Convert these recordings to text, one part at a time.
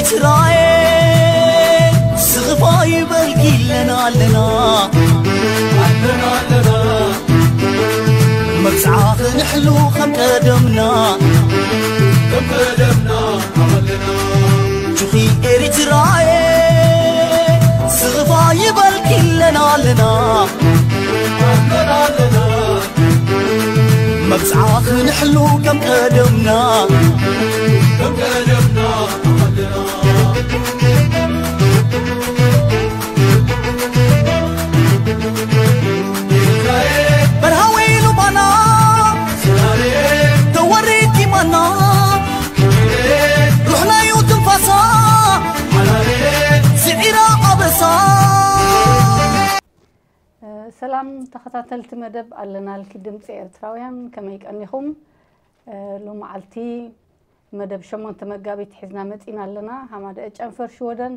ትራየ ስኽፋ ይበልኪ ኣለና ኣለና ኣለና ኣለና መብጽዓ ክንሕሉ ከም ቀደምና ከም ቀደምና ኣለና ጁኺ ኤሪትራየ ስኽፋ ይበልኪ ኣለና ኣለና ኣለና ኣለና መብጽዓ ክንሕሉ ከም ቀደምና ከም ቀደምና በርሃ ወይኑ ባና ተወሪድ ዲማና ሩሕናዩ ትንፋሳ ስዒራ ኣበሳ ሰላም ተኸታተልቲ መደብ ኣለናልኪ ድምፂ ኤርትራውያን፣ ከመይ ቀኒኹም? ሎመዓልቲ መደብ ሸሞንተ መጋቢት ሒዝና መፂና ኣለና። ሃማደአ ጨንፈር ሽወደን፣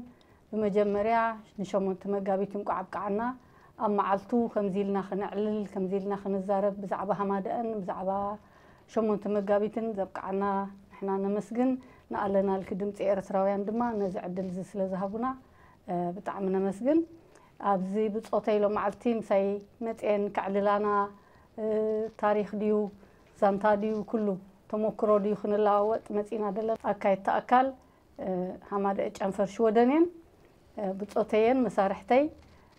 ብመጀመርያ ንሸሞንተ መጋቢት እንቋዕ ኣብቅዓና። ኣብ መዓልቱ ከምዚ ኢልና ክነዕልል፣ ከምዚ ኢልና ክንዛረብ ብዛዕባ ሃማደአን ብዛዕባ ሸሞንተ መጋቢትን ዘብቅዓና ንሕና ነመስግን። ንኣለናልኪ ድምፂ ኤርትራውያን ድማ ነዚ ዕድል እዚ ስለ ዝሃቡና ብጣዕሚ ነመስግን። ኣብዚ ብጾተይ ሎመዓልቲ ምሳይ መፅኤን ከዕልላና፣ ታሪኽ ድዩ ዛንታ ድዩ ኩሉ ተሞክሮ ድዩ ክንለዋወጥ መፂና ዘለና። ኣካየድቲ ኣካል ሃማደአ ጨንፈር ሽወደን እየን። ብጾተየን መሳርሕተይ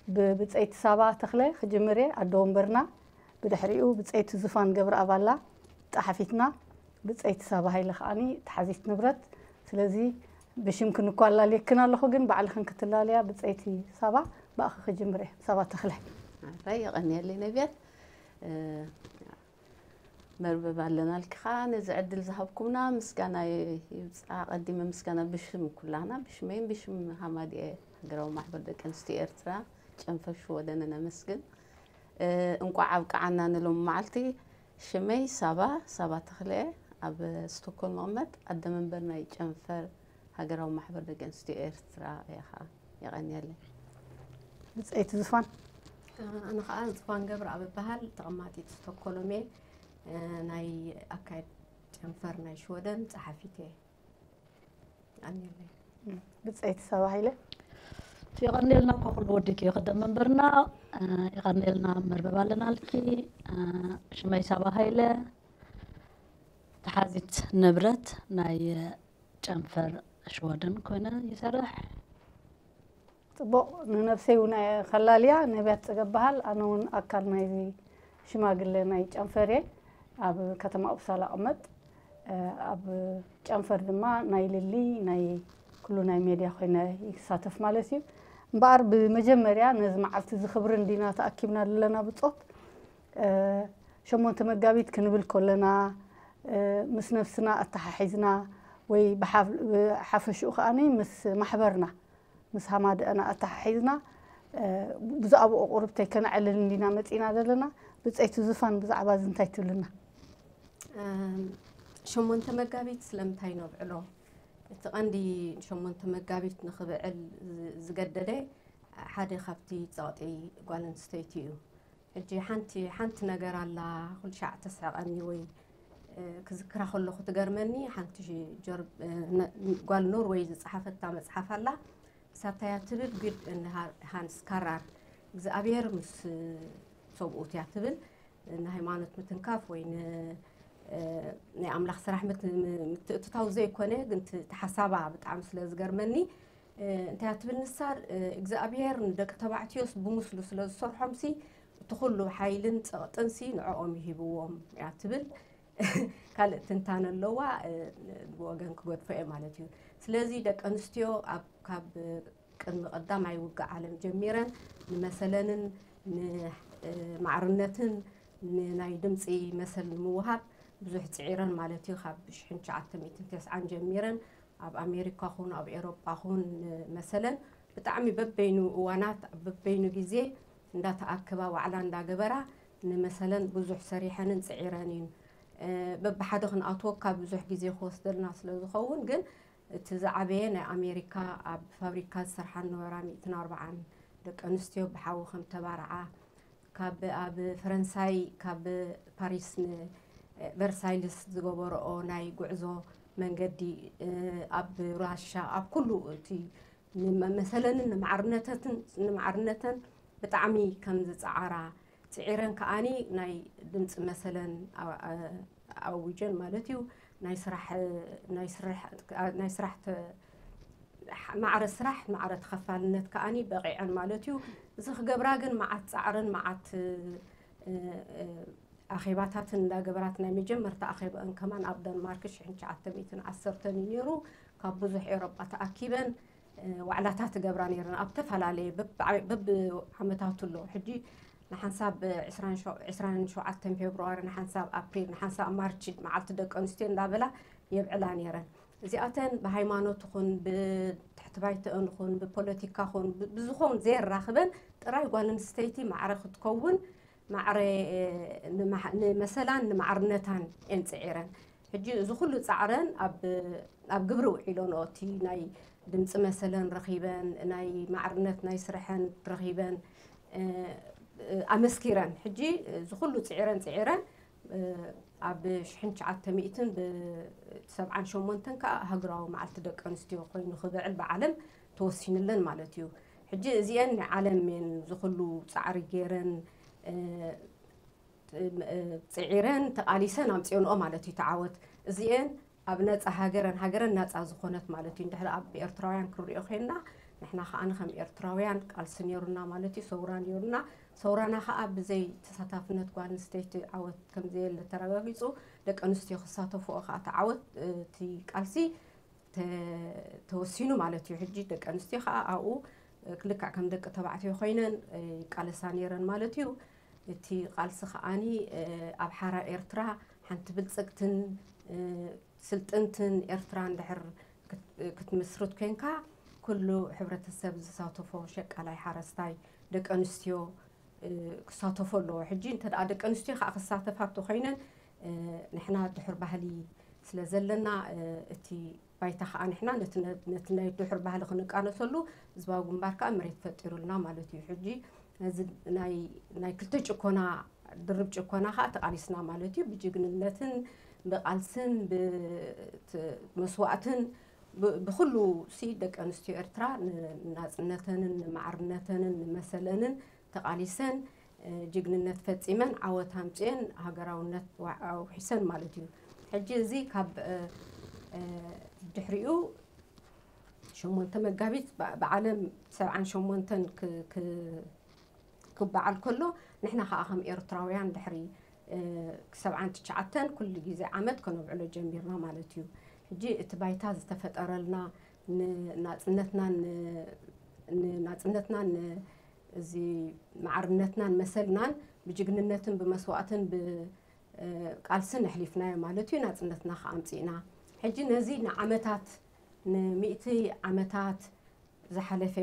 ብብፀይቲ ሳባ ተኽለ ክጅምር እየ፣ ኣደ ወንበርና። ብድሕሪኡ ብፀይቲ ዙፋን ገብረኣብ ኣላ፣ ጸሓፊትና። ብፀይቲ ሳባ ሃይለ ከዓኒ ተሓዚት ንብረት። ስለዚ ብሽምክን እኳ ኣላልየክን ኣለኹ፣ ግን ባዕልኽን ክትላለያ። ብፀይቲ ሳባ፣ ብኣኺ ክጅምር እየ። ሳባ ተኽለ። ኣራይ፣ የቐንየለይ ነብያት። መርበብ ኣለናልኪ ኸዓ ነዚ ዕድል ዝሃብኩምና ምስጋና ይብጻ። ኣቐዲመ ምስጋና ብሽም ኩላህና፣ ብሽመይን ብሽም ሃማድኤ ሃገራዊ ማሕበር ደቂ ኣንስትዮ ኤርትራ ጨንፈር ሽወደን ነመስግን። እንቋዕ ኣብቅዓና ንሎም መዓልቲ። ሽመይ ሳባ፣ ሳባ ተኽለ፣ ኣብ ስቶኮልም እቕመጥ፣ ኣደ መንበር ናይ ጨንፈር ሃገራዊ ማሕበር ደቂ ኣንስትዮ ኤርትራ እየ ኸዓ። የቐንየለይ። ብጸይቲ ዝፋን። ኣነ ኸዓ ዝፋን ገብረኣብ እበሃል፣ ተቐማጢት ስቶኮሎም እየ። ናይ ኣካየድ ጨንፈር ናይ ሽወደን ጸሓፊት እየ። የቐንየለይ። ብጸይቲ ሳባ ሃይለ። የቐንየልና እኮ ኩሉ ወዲኪ፣ ኣደ መንበርና። የቐንየልና መርበብ ኣለናልኪ። ሽመይ ሳባ ሃይለ፣ ተሓዚት ንብረት ናይ ጨንፈር ሽወደን ኮይነ ይሰርሕ። ጽቡቕ፣ ንነብሰይ እውን እየ ከላልያ። ነብያት ጽገብ በሃል፣ ኣነ እውን ኣካል ናይዚ ሽማግለ ናይ ጨንፈር እየ። ኣብ ከተማ ኡፕሳላ እቕመጥ። ኣብ ጨንፈር ድማ ናይ ልሊ፣ ናይ ኩሉ ናይ ሜድያ ኮይነ ይሳተፍ ማለት እዩ። እምበኣር ብመጀመርያ ነዚ መዓልቲ እዚ ክብሪ እንዲና ተኣኪብና ዘለና ብጾት፣ ሸሞንተ መጋቢት ክንብል ከለና፣ ምስ ነብስና ኣተሓሒዝና ወይ ብሓፍ-፣ ብሓፈሽኡ ከኣኒ ምስ ማሕበርና፣ ምስ ሃማደአና ኣተሓሒዝና፣ ብዛዕባኡ ቁርብተይ ከነዕልል እንዲና መጺና ዘለና። ብጸይቲ ዙፋን፣ ብዛዕባ እዚ እንታይ ትብልና? ሸሞንተ መጋቢት ስለምንታይ ነብዕሎ? እቲ ቀንዲ ሸሞንተ መጋቢት ንኽብዕል ዝ-፣ ዝገደደ ሓደ ካብቲ ጸቕጢ ጓል ኣንስተይቲ እዩ። ሕጂ ሓንቲ፣ ሓንቲ ነገር ኣላ፣ ኩሉ ሻዕ ተስሕቐኒ ወይ፣ እ፣ ክዝክራ ከለኹ ትገርመኒ። ሓንቲ ጀር-፣ እ፣ ነ-፣ ጓል ኖርወይ ዝጸሓፈታ መጽሓፍ ኣላ። እሳታ እያ ትብል፣ ግድ ን ሃ-፣ ሃንስ ካራር፣ እግዚኣብሔር ምስ ሰብኡት እያ ትብል። ንሃይማኖት ምትንካፍ ወይ ን-፣ እ፣ ናይ ኣምላኽ ስራሕ ምት-፣ ም-፣ ምትእትታው ዘይኮነ፣ ግን እቲ፣ እቲ ሓሳባ ብጣዕሚ ስለ ዝገርመኒ፣ እ፣ እንታይ እያ ትብል ንሳ፣ እ፣ እግዚኣብሔር ንደቂ ተባዕትዮስ ብምስሉ ስለ ዝሰርሖምሲ፣ እቲ ኩሉ ሓይልን ጸቕጥንሲ ንዕኦም ይሂብዎም እያ ትብል። ካልእ ትንታነ ኣለዋ፣ እ፣ ብወገን ክገድፎ እየ ማለት እዩ። ስለዚ ደቂ ኣንስትዮ ኣብ፣ ካብ ቅድሚ ቀዳማይ ውግእ ዓለም ጀሚረን ንመሰለንን ን-፣ እ፣ ማዕርነትን ንናይ ድምፂ መሰል ንምውሃብ ብዙሕ ፅዒረን ማለት እዩ። ካብ ሽሕን ትሽዓተ ሚእትን ተስዓን ጀሚረን ኣብ ኣሜሪካ ኹን ኣብ ኤሮጳ ኹን ንመሰለን ብጣዕሚ በበይኑ እዋናት ኣብ በበይኑ ግዜ እንዳተኣከባ ዋዕላ እንዳገበራ ንመሰለን ብዙሕ ሰሪሐንን ፅዒረን እዩን። እ፣ በብሓደ ክንኣትወካ ብዙሕ ግዜ ክወስደልና ስለ ዝኸውን፣ ግን እቲ ዝዓበየ ናይ ኣሜሪካ ኣብ ፋብሪካ ዝሰርሓ ዝነበራ ሚእትን ኣርባዓን ደቂ ኣንስትዮ ብሓዊ ከም ተባርዓ፣ ካብ ኣብ ፈረንሳይ ካብ ፓሪስ ንቨርሳይልስ ዝገበረኦ ናይ ጉዕዞ መንገዲ ኣብ ራሻ ኣብ ኩሉ እቲ ንመሰለንን ንማዕርነተትን ንማዕርነተን ብጣዕሚ ከም ዝፀዓራ ፅዒረን ከዓኒ ናይ ድምፂ መሰለን ኣዊጀን ማለት እዩ። ናይ ስራሕ ናይ ስራሕ ናይ ስራሕ ማዕረ ስራሕ ማዕረ ተኸፋልነት ከዓኒ በቂዐን ማለት እዩ። እዚ ክገብራ ግን መዓት ፃዕርን መዓት ኣኼባታትን እንዳገበራት ናይ መጀመርታ ኣኼባአን ከማን ኣብ ደንማርክ ሽሕን ትሽዓተ ሚእትን ዓሰርተን እዩ ነይሩ። ካብ ብዙሕ ኤውሮጳ ተኣኪበን ዋዕላታት ትገብራ ነይረን ኣብ ተፈላለየ በብዓመታቱ ኣሎ። ሕጂ ንሓንሳብ ዕስራን ሸውዓተን ፌብርዋሪ፣ ንሓንሳብ ኣፕሪል፣ ንሓንሳብ ማርች መዓልቲ ደቂ ኣንስትዮ እንዳበላ የብዕላ ነይረን። እዚኣተን ብሃይማኖት ኹን ብትሕቲ ባይተአን ኹን ብፖለቲካ ኹን ብዝኾን ዘየራኽበን ጥራይ ጓል ኣንስተይቲ ማዕረ ክትከውን ማዕረ ንመሰላን ንማዕርነታን እየን ፅዒረን። ሕጂ እዚ ኩሉ ፃዕረን ኣብ ግብሪ ውዒሎንኦ እቲ ናይ ድምፂ መሰለን ረኺበን ናይ ማዕርነት ናይ ስርሐን ረኺበን ኣመስኪረን። ሕጂ እዚ ኩሉ ፅዒረን ፅዒረን ኣብ ሽሕን ትሽዓተ ሚእትን ብሰብዓን ሸሞንተን ከዓ ሃገራዊ መዓልቲ ደቂ ኣንስትዮ ኮይኑ ክብዕል ብዓለም ተወሲንለን ማለት እዩ። ሕጂ እዚአን ናይ ዓለም እየን ዝኩሉ ፃዕሪ ገይረን ፅዒረን ተቓሊሰን ኣምፅኦንኦ ማለት እዩ ተዓወት። እዚአን ኣብ ነፃ ሃገረን ሃገረን ናፃ ዝኾነት ማለት እዩ። እንድሕር ኣብ ኤርትራውያን ክንሪኦ ኮይንና ንሕና ከዓ ከም ኤርትራውያን ቃልሲ ነይሩና ማለት እዩ። ሰውራ ነይሩና። ሰውራና ከዓ ብዘይ ተሳታፍነት ጓል ኣንስተይቲ ዓወት ከምዘየለ ተረጋጊፁ። ደቂ ኣንስትዮ ክሳተፍኦ ከዓ ተዓወት እቲ ቃልሲ ተወሲኑ ማለት እዩ። ሕጂ ደቂ ኣንስትዮ ከዓ ኣብኡ ልክዕ ከም ደቂ ተባዕትዮ ኮይነን ይቃለሳ ነይረን ማለት እዩ። እቲ ቃልሲ ከዓኒ ኣብ ሓራ ኤርትራ ሓንቲ ብልፅግትን ስልጥንትን ኤርትራ እንድሕር ክትምስርት ኮይንካ ኩሉ ሕብረተሰብ ዝሳተፎ ሸቃላይ ሓረስታይ ደቂ ኣንስትዮ ክሳተፎ ኣለዎ። ሕጂ እንተ ደኣ ደቂ ኣንስትዮ ከዓ ክሳተፋ እንተኮይነን ንሕና ድሑር ባህሊ ስለ ዘለና እቲ ባይታ ከዓ ንሕና ነቲ ናይ ድሑር ባህሊ ክንቃለሰሉ ህዝባዊ ግንባር ከዓ መሬት ፈጢሩልና ማለት እዩ። ሕጂ ነዚ ናይ ክልተ ጭኮና ድርብ ጭኮና ከዓ ተቃሊስና ማለት እዩ። ብጅግንነትን ብቃልስን ብመስዋእትን ብኩሉ ሲ ደቂ ኣንስትዮ ኤርትራ ንናፅነተንን ንማዕርነተንን ንመሰለንን ተቃሊሰን ጅግንነት ፈፂመን ዓወት ኣምፅኤን ሃገራውነት ኣውሒሰን ማለት እዩ። ሕጂ እዚ ካብ ድሕሪኡ ሸሞንተ መጋቢት ብዓለም ሰብዓን ሸሞንተን ክበዓል ከሎ ንሕና ከዓ ከም ኤርትራውያን ድሕሪ ሰብዓን ትሽዓተን ኩሉ ግዜ ዓመት ከነብዕሎ ጀሚርና ማለት እዩ። ሕጂ እቲ ባይታ ዝተፈጠረልና ንናፅነትናን ንናፅነትናን እዚ ማዕርነትናን መሰልናን ብጅግንነትን ብመስዋእትን ብቃልስን ኣሕሊፍናዮ ማለት እዩ። ናፅነትና ከዓ ኣምፂእና። ሕጂ ነዚ ንዓመታት ንሚእቲ ዓመታት ዝሓለፈ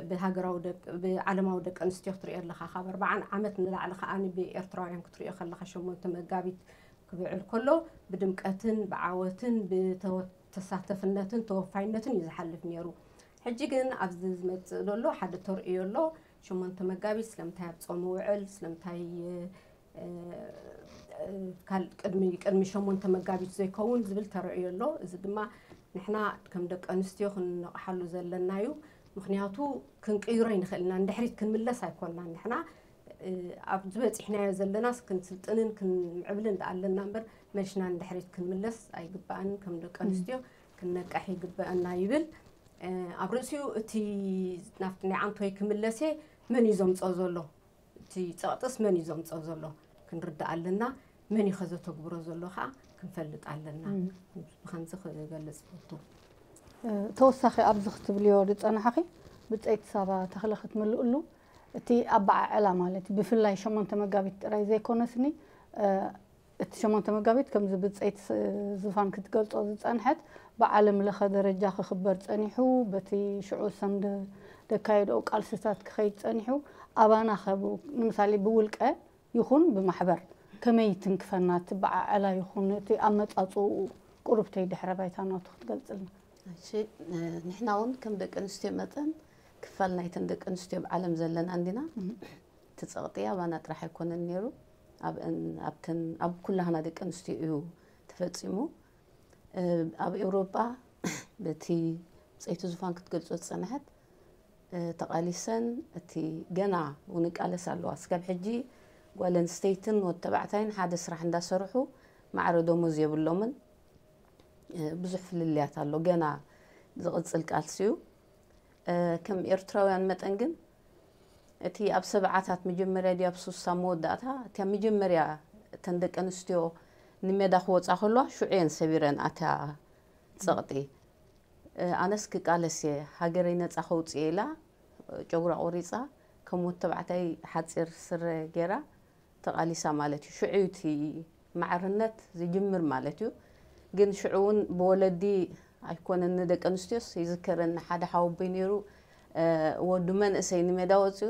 ብሃገራዊ ብዓለማዊ ደቂ ኣንስትዮ ክትሪኦ ኣለካ። ካብ ኣርባዓን ዓመት ንላዕሊ ከዓ ብኤርትራውያን ክትሪኦ ከለካ ሸሞንተ መጋቢት ክብዕል ከሎ ብድምቀትን ብዓወትን ብተሳተፍነትን ተወፋይነትን እዩ ዝሓልፍ ነይሩ። ሕጂ ግን ኣብዚ ዝመፅእ ዘሎ ሓደ ተርእዮ ኣሎ። ሸሞንተ መጋቢት ስለምንታይ ኣብ ፆም ውዕል ስለምንታይ ቅድሚ ሸሞንተ መጋቢት ዘይከውን ዝብል ተርእዮ ኣሎ። እዚ ድማ ንሕና ከም ደቂ ኣንስትዮ ክንነቕሓሉ ዘለና እዩ። ምክንያቱ ክንቅይሮ ይንኽእል ኢና፣ ንድሕሪት ክንምለስ ኣይኮንናን። ንሕና ኣብ ዝበፂሕናዮ ዘለናስ ክንስልጥንን ክንምዕብልን ደኣ ኣለና እምበር መሊስና ንድሕሪት ክንምለስ ኣይግባእን። ከም ደቂ ኣንስትዮ ክንነቅሕ ይግበአና ይብል። ኣብ ርእሲኡ እቲ ናብቲ ናይ ዓንቶይ ክምለስ እየ፣ መን እዩ ዘምፅኦ ዘሎ? እቲ ፀቕጥስ መን እዩ ዘምፅኦ ዘሎ ክንርዳእ ኣለና። መን እዩ ከዘተግብሮ ዘሎ ከዓ ክንፈልጥ ኣለና። ብከምዚ ክገልፅ ፈቱ። ተወሳኺ ኣብዚ ክትብልዮ ዝፀናሕኺ ብፀይቲ ሳባ ተኽለ ክትምልእሉ እቲ ኣበዓዕላ ማለት ብፍላይ ሸሞንተ መጋቢት ጥራይ ዘይኮነስኒ እቲ ሸሞንተ መጋቢት ከምዚ ብፀይቲ ዝፋን ክትገልፆ ዝፀንሐት ብዓለም ለኸ ደረጃ ክኽበር ፀኒሑ በቲ ሽዑ ሰምደ ደካየድኦ ቃልስታት ክኸይድ ፀኒሑ ኣባና ኸ ንምሳሌ ብውልቀ ይኹን ብማሕበር ከመይ ትንክፈና ትበዓዐላ ይኹን እቲ ኣመፃፅኡ ቁሩብተይ ድሕረ ባይታ ናቱ ክትገልፅልና። እሺ ንሕና እውን ከም ደቂ ኣንስትዮ መጠን ክፋል ናይተን ደቂ ኣንስትዮ ኣብ ዓለም ዘለና እንዲና። እቲ ፀቕጢ ኣባና ጥራሕ ኣይኮነን ነይሩ ኣብን ኣብተን ኣብ ኩላህና ደቂ ኣንስትዮ እዩ ተፈፂሙ። ኣብ ኤውሮጳ በቲ ብፀይቲ ዙፋን ክትገልጾ ዝጸንሐት ተቓሊሰን እቲ ገና እውን ይቃለሳ ኣለዋ። እስካብ ሕጂ ጓል ኣንስተይትን ወዲ ተባዕታይን ሓደ ስራሕ እንዳሰርሑ ማዕረ ደሞዝ የብሎምን። ብዙሕ ፍልልያት ኣሎ። ገና ዝቕጽል ቃልሲ እዩ። ከም ኤርትራውያን መጠን ግን እቲ ኣብ ሰብዓታት መጀመርያ ድዩ ኣብ ሱሳ መወዳእታ እቲያ መጀመርያ እተን ደቂ ኣንስትዮ ንሜዳ ክወፃ ከለዋ ሽዑ እየን ሰቢረን ኣትያ ፀቕጢ። ኣነስ ክቃለስ እየ ሃገረይ ነፃ ከውፅእ ኢላ ጨጉራ ቆሪፃ ከም ወዲ ተባዕታይ ሓፂር ስረ ገይራ ተቓሊሳ ማለት እዩ። ሽዑ እዩ እቲ ማዕርነት ዝጅምር ማለት እዩ። ግን ሽዑ እውን ብወለዲ ኣይኮነን ንደቂ ኣንስትዮስ ይዝከረኒ ሓደ ሓወቦይ ነይሩ ወዱ መንእሰይ ንሜዳ ወፅኡ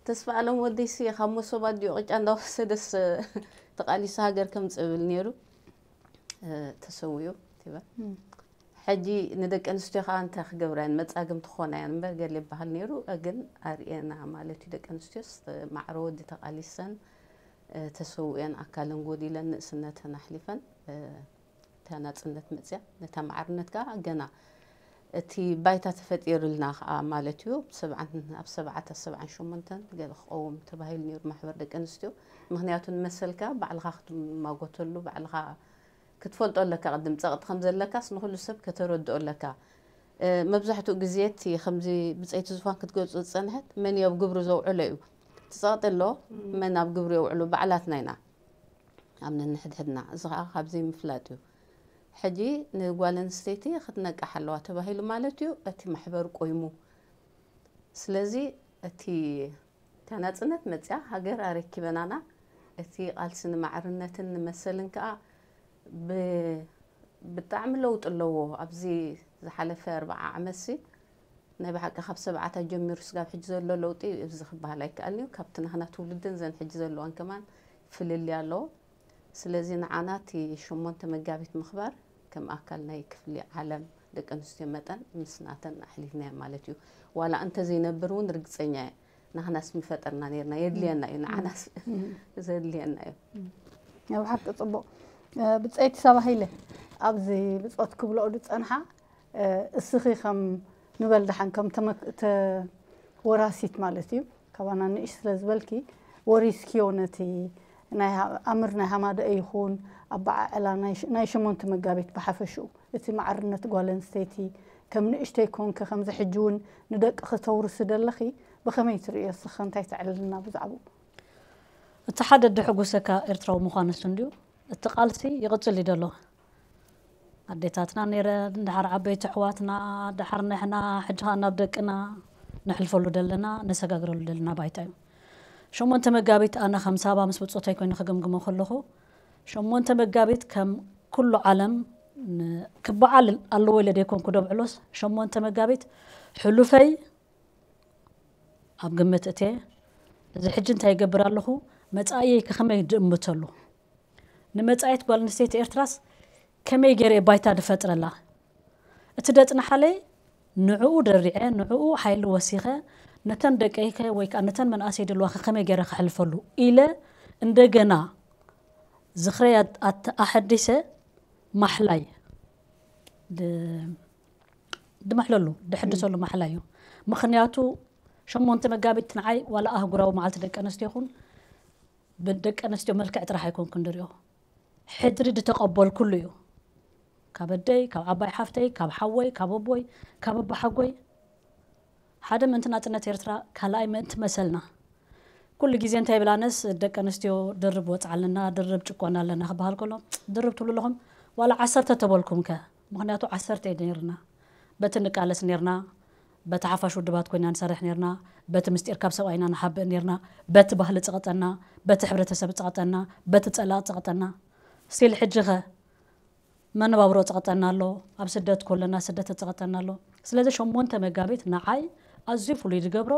ተስፋ ኣለም ወደይሲ ካብ መሶብ ኣዲኡ ቅጫ እንዳወሰደስ ተቓሊሱ ሃገር ከምፅእ ይብል ነይሩ ተሰዊኡ ትበል ሕጂ ንደቂ ኣንስትዮ ከዓ እንታይ ክገብራ እየን መፃግም ትኾና እየን እምበር ገለ ይበሃል ነይሩ ግን ኣርእየና ማለት እዩ ደቂ ኣንስትዮስ ማዕረ ወዲ ተቓሊሰን ተሰዊኤን ኣካለን ጎዲለን ንእስነተን ኣሕሊፈን እታ ናፅነት መፅያ ነታ ማዕርነት ከዓ ገና እቲ ባይታ ተፈጢርልና ከዓ ማለት እዩ ሰብዓን ኣብ ሰብዓተ ሰብዓን ሸሞንተን ገለ ክቀውም ተባሂሉ ነይሩ ማሕበር ደቂ ኣንስትዮ ምክንያቱ ንመሰልካ ባዕልካ ክትማጎተሉ ባዕልካ ክትፈልጦ ኣለካ ቅድም ፀቕጢ ከም ዘለካስ ንኩሉ ሰብ ከተረድኦ ኣለካ መብዛሕትኡ ግዜ እቲ ከምዚ ብፀይቲ ዝፋን ክትገልፁ ዝፀንሐት መን እዩ ኣብ ግብሪ ዘውዕሎ እዩ ትፀቕጢ ኣሎ መን ኣብ ግብሪ የውዕሎ ባዕላትና ኢና ኣብ ነንሕድሕድና እዚ ከዓ ካብ ዘይምፍላጥ እዩ ሕጂ ንጓል ኣንስተይቲ ክትነቅሕ ኣለዋ ተባሂሉ ማለት እዩ እቲ ማሕበር ቆይሙ ስለዚ እቲ እታ ናፅነት መፅያ ሃገር ኣረኪበናና እቲ ቃልሲ ንማዕርነትን ንመሰልን ከዓ ብጣዕሚ ለውጢ ኣለዎ ኣብዚ ዝሓለፈ ኣርባዓ ዓመትሲ ናይ ብሓቂ ካብ ሰብዓታት ጀሚሩ ስጋብ ሕጂ ዘሎ ለውጢ እዚ ክበሃል ኣይከኣልን እዩ ካብቲ ናህና ትውልድን ዘን ሕጂ ዘለዋን ከማን ፍልልይ ኣለዎ ስለዚ ንዓና እቲ ሸሞንተ መጋቢት ምኽባር ከም ኣካል ናይ ክፍሊ ዓለም ደቂ ኣንስትዮ መጠን ምስ ናተን ኣሕሊፍናዮ ማለት እዩ ዋላ እንተዘይነብር እውን ርግፀኛ እየ ናህናስ ምፈጠርና ነርና የድልየና እዩ ንዓናስ ዘድልየና እዩ ኣብ ሓቂ ፅቡቅ ብፀይቲ ሰባሂለ ኣብዚ ብፆት ክብልኦ ዝፀንሓ እስኺ ከም ንበል ደሓን ከም ወራሲት ማለት እዩ ካባና ንእሽ ስለ ዝበልኪ ወሪስኪዮ ነቲ ኣምር ናይ ሃማደአ ይኹን ኣበዓዕላ ናይ ሸሞንተ መጋቢት ብሓፈሽኡ እቲ ማዕርነት ጓል ኣንስተይቲ ከም ንእሽተይ ኮንኪ ከምዚ ሕጂ እውን ንደቅኺ ተውርሲ ደለኺ ብኸመይ ትርእዮ እስኺ እንታይ ተዕልልና ብዛዕባኡ እቲ ሓደ ደሕጉሰካ ኤርትራዊ ምዃንስ እንድዩ እቲ ቃልሲ ይቕጽል እዩ ዘሎ ኣዴታትና ነይረን፣ ደሓር ዓበይቲ ኣሕዋትና፣ ደሓር ንሕና፣ ሕጂ ኸኣ ናብ ደቅና ነሕልፈሉ ደለና፣ ነሰጋግረሉ ደለና ባይታ እዩ። ሸሞንተ መጋቢት ኣነ ከም ሳባ ምስ ብጾተይ ኮይነ ክግምግሞ ከለኹ፣ ሸሞንተ መጋቢት ከም ኩሉ ዓለም ክበዓል ኣለዎ ኢለ ደይኮንኩ ደብዕሎስ፣ ሸሞንተ መጋቢት ሕሉፈይ ኣብ ግምት እትየ፣ እዚ ሕጂ እንታይ ይገብር ኣለኹ፣ መጻኢየይ ከ ከመይ ድእምተሉ? ንመጻኢት ጓል ኣንስተይቲ ኤርትራስ ከመይ ገይረ እየ ባይታ ድፈጥረላ? እቲ ደጽንሓለይ ንዕኡ ደሪዐ፣ ንዕኡ ሓይሊ ወሲኸ፣ ነተን ደቀይከ ወይ ከኣ ነተን መናእሰይ ድልዋኸ ከመይ ገይረ ከሕልፈሉ ኢለ እንደገና ዝኽረይ ኣት- ኣት- ኣሐዲሰ ማሕላይ ድ- ድምሕለሉ ድሕድሰሉ ማሕላ እዩ። ምኽንያቱ ሸሞንተ መጋቢት ንዓይ ዋላ ኣህጉራዊ መዓልቲ ደቂ ኣንስትዮ ይኹን ብደቂ ኣንስትዮ መልክዕ ጥራሕ ኣይኮንኩን ድሪኦ ሕድሪ ድተቐበልኩሉ እዩ ካብ ኣደይ ካብ ዓባይ ሓፍተይ ካብ ሓወይ ካብ ኣቦይ ካብ ኣቦሓጎይ ሓደ ምእንቲ ናፅነት ኤርትራ ካልኣይ ምእንቲ መሰልና ኩሉ ግዜ እንታይ ይብላነስ ደቂ ኣንስትዮ ድርብ ወፅዓ ኣለና ድርብ ጭቆና ኣለና ክበሃል ከሎ ድርብ ትብሉ ኣለኹም ዋላ ዓሰርተ ተበልኩም ከ ምክንያቱ ዓሰርተ ነርና በቲ ንቃለስ ነርና በቲ ሓፋሽ ውድባት ኮይና ንሰርሕ ነርና በቲ ምስጢር ካብ ሰብኣይና ንሓብእ ነርና በቲ ባህሊ ፀቕጠና በቲ ሕብረተሰብ ፀቕጠና በቲ ፀላእ ፀቕጠና ስቲል ሕጂ ኸ መነባብሮ ፀቕጠና ኣሎ ኣብ ስደት ኮለና ስደት ፀቕጠና ኣሎ ስለዚ ሸሞንተ መጋቢት ንዓይ ኣዝዩ ፍሉይ ዝገብሮ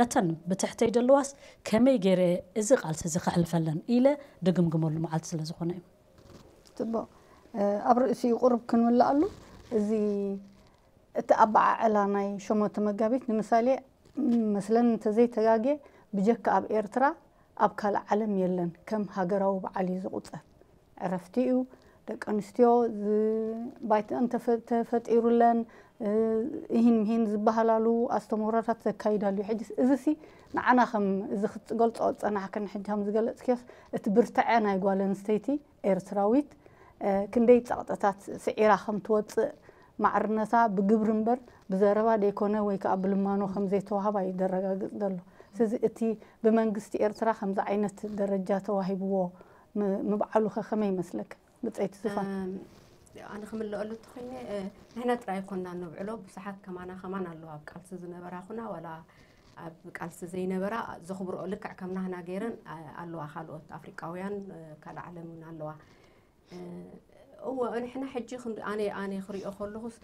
ነተን ብትሕተይ ዘለዋስ ከመይ ገይረ እዚ ቃልሲ እዚ ከሕልፈለን ኢለ ድግምግመሉ መዓልቲ ስለ ዝኾነ እዩ ፅቡቕ ኣብ ርእሲኡ ቁሩብ ክንምልኣሉ እዚ እቲ ኣበዓዕላ ናይ ሸሞንተ መጋቢት ንምሳሌ መስለን እንተዘይተጋጌ ብጀካ ኣብ ኤርትራ ኣብ ካልእ ዓለም የለን ከም ሃገራዊ በዓል እዩ ዝቑጸር ዕረፍቲ እዩ ደቂ ኣንስትዮ ባይተን ተፈጢሩለን፣ እሂን ምሂን ዝበሃላሉ ኣስተምህሮታት ዘካይዳሉ እዩ። ሕጂ እዚሲ ንዓና ከም እዚ ክትገልጾ ዝጸናሕክን፣ ሕጂ ከም ዝገለጽክዮስ እቲ ብርትዐ ናይ ጓል ኣንስተይቲ ኤርትራዊት ክንደይ ጸቕጥታት ስዒራ ከም ትወጽእ፣ ማዕርነታ ብግብሪ እምበር ብዘረባ ደይኮነ ወይ ከኣ ብልማኖ ከም ዘይተዋህባ እዩ ዘረጋግጽ ዘሎ። ስለዚ እቲ ብመንግስቲ ኤርትራ ከምዚ ዓይነት ደረጃ ተዋሂብዎ ምብዓሉኸ ከመይ ይመስለክ? ብጸይቲ ዝፋን። ኣነ ክምልአሉ እንተኾይነ፣ ንሕና ጥራይ ኣይኮንና ነብዕሎ፣ ብዙሓት ከማና ከማን ኣለዋ፣ ኣብ ቃልሲ ዝነበራ ኹና ዋላ ኣብ ቃልሲ ዘይነበራ፣ ዘኽብርኦ ልክዕ ከም ናህና ገይረን ኣለዋ፣ ካልኦት ኣፍሪቃውያን፣ ካልእ ዓለም እውን ኣለዋ። እወ፣ ንሕና ሕጂ ኣነ ኣነ ክሪኦ ከለኹስ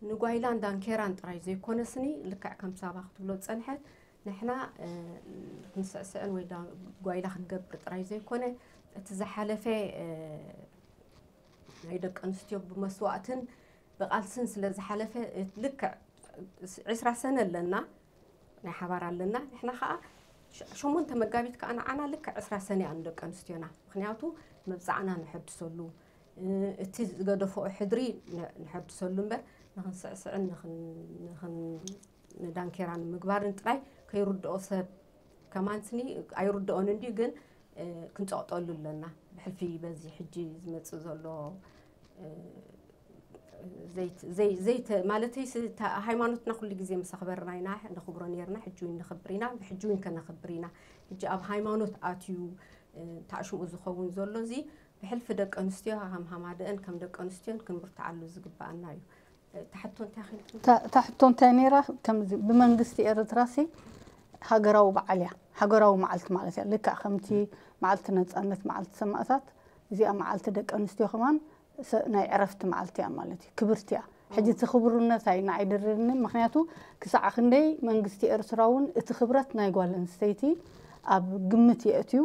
ንጓይላን ዳንኬራን ጥራይ ዘይኮነስኒ፣ ልክዕ ከም ሳባ ክትብሎ ዝጸንሐት፣ ንሕና ክንስዕስዕን ወይ ጓይላ ክንገብር ጥራይ ዘይኮነ፣ እቲ ዝሓለፈ ናይ ደቂ ኣንስትዮ ብመስዋእትን ብቓልስን ስለ ዝሓለፈ፣ ልክዕ ዕስራ ሰነ ኣለና፣ ናይ ሓባር ኣለና። ንሕና ኸዓ ሸሞንተ መጋቢት ከኣ ንዓና ልክዕ ዕስራ ሰነ እያ ንደቂ ኣንስትዮና። ምኽንያቱ መብጻዕና ንሐድሰሉ፣ እቲ ዝገደፈኦ ሕድሪ ንሐድሰሉ እምበር፣ ንኽንስዕስዕን ንዳንኬራ ንምግባርን ጥራይ ከይርድኦ ሰብ ከማንስኒ ኣይርድኦን እንድዩ፣ ግን ክንጸቕጠሉ ኣለና። ብሕልፊ በዚ ሕጂ ዝመጽእ ዘሎ ማለተይ፣ ሃይማኖትና ኩሉ ግዜ ምስ ኣኽበርና ኢና ነኽብሮ ነርና፣ ሕጂ እውን ነኽብር ኢና፣ ብሕጂ እውን ከነኽብር ኢና። ሕጂ ኣብ ሃይማኖት ኣትዩ ታዕሽሙ ዝኸውን ዘሎ እዚ ብሕልፊ ደቂ ኣንስትዮ ሃምሃማደአን ከም ደቂ ኣንስትዮን ክንብርትዓሉ ዝግባኣና እዩ። ታሕቶ እንታይ ኺልኩም? ታሕቶ እንታይ ነይራ? ከምዚ ብመንግስቲ ኤርትራ ሲ ሃገራዊ በዓል እያ፣ ሃገራዊ መዓልቲ ማለት እያ። ልክዕ ከምቲ መዓልቲ ነጻነት፣ መዓልቲ ሰማእታት፣ እዚኣ መዓልቲ ደቂ ኣንስትዮ ከማን ናይ ዕረፍቲ መዓልቲ እያ ማለት እዩ። ክብርቲ እያ። ሕጂ እቲ ክቡርነት ኣይ ንዓይ ድርርኒ፣ ምኽንያቱ ክሳዕ ክንደይ መንግስቲ ኤርትራ እውን እቲ ክብረት ናይ ጓል ኣንስተይቲ ኣብ ግምት የእትዩ።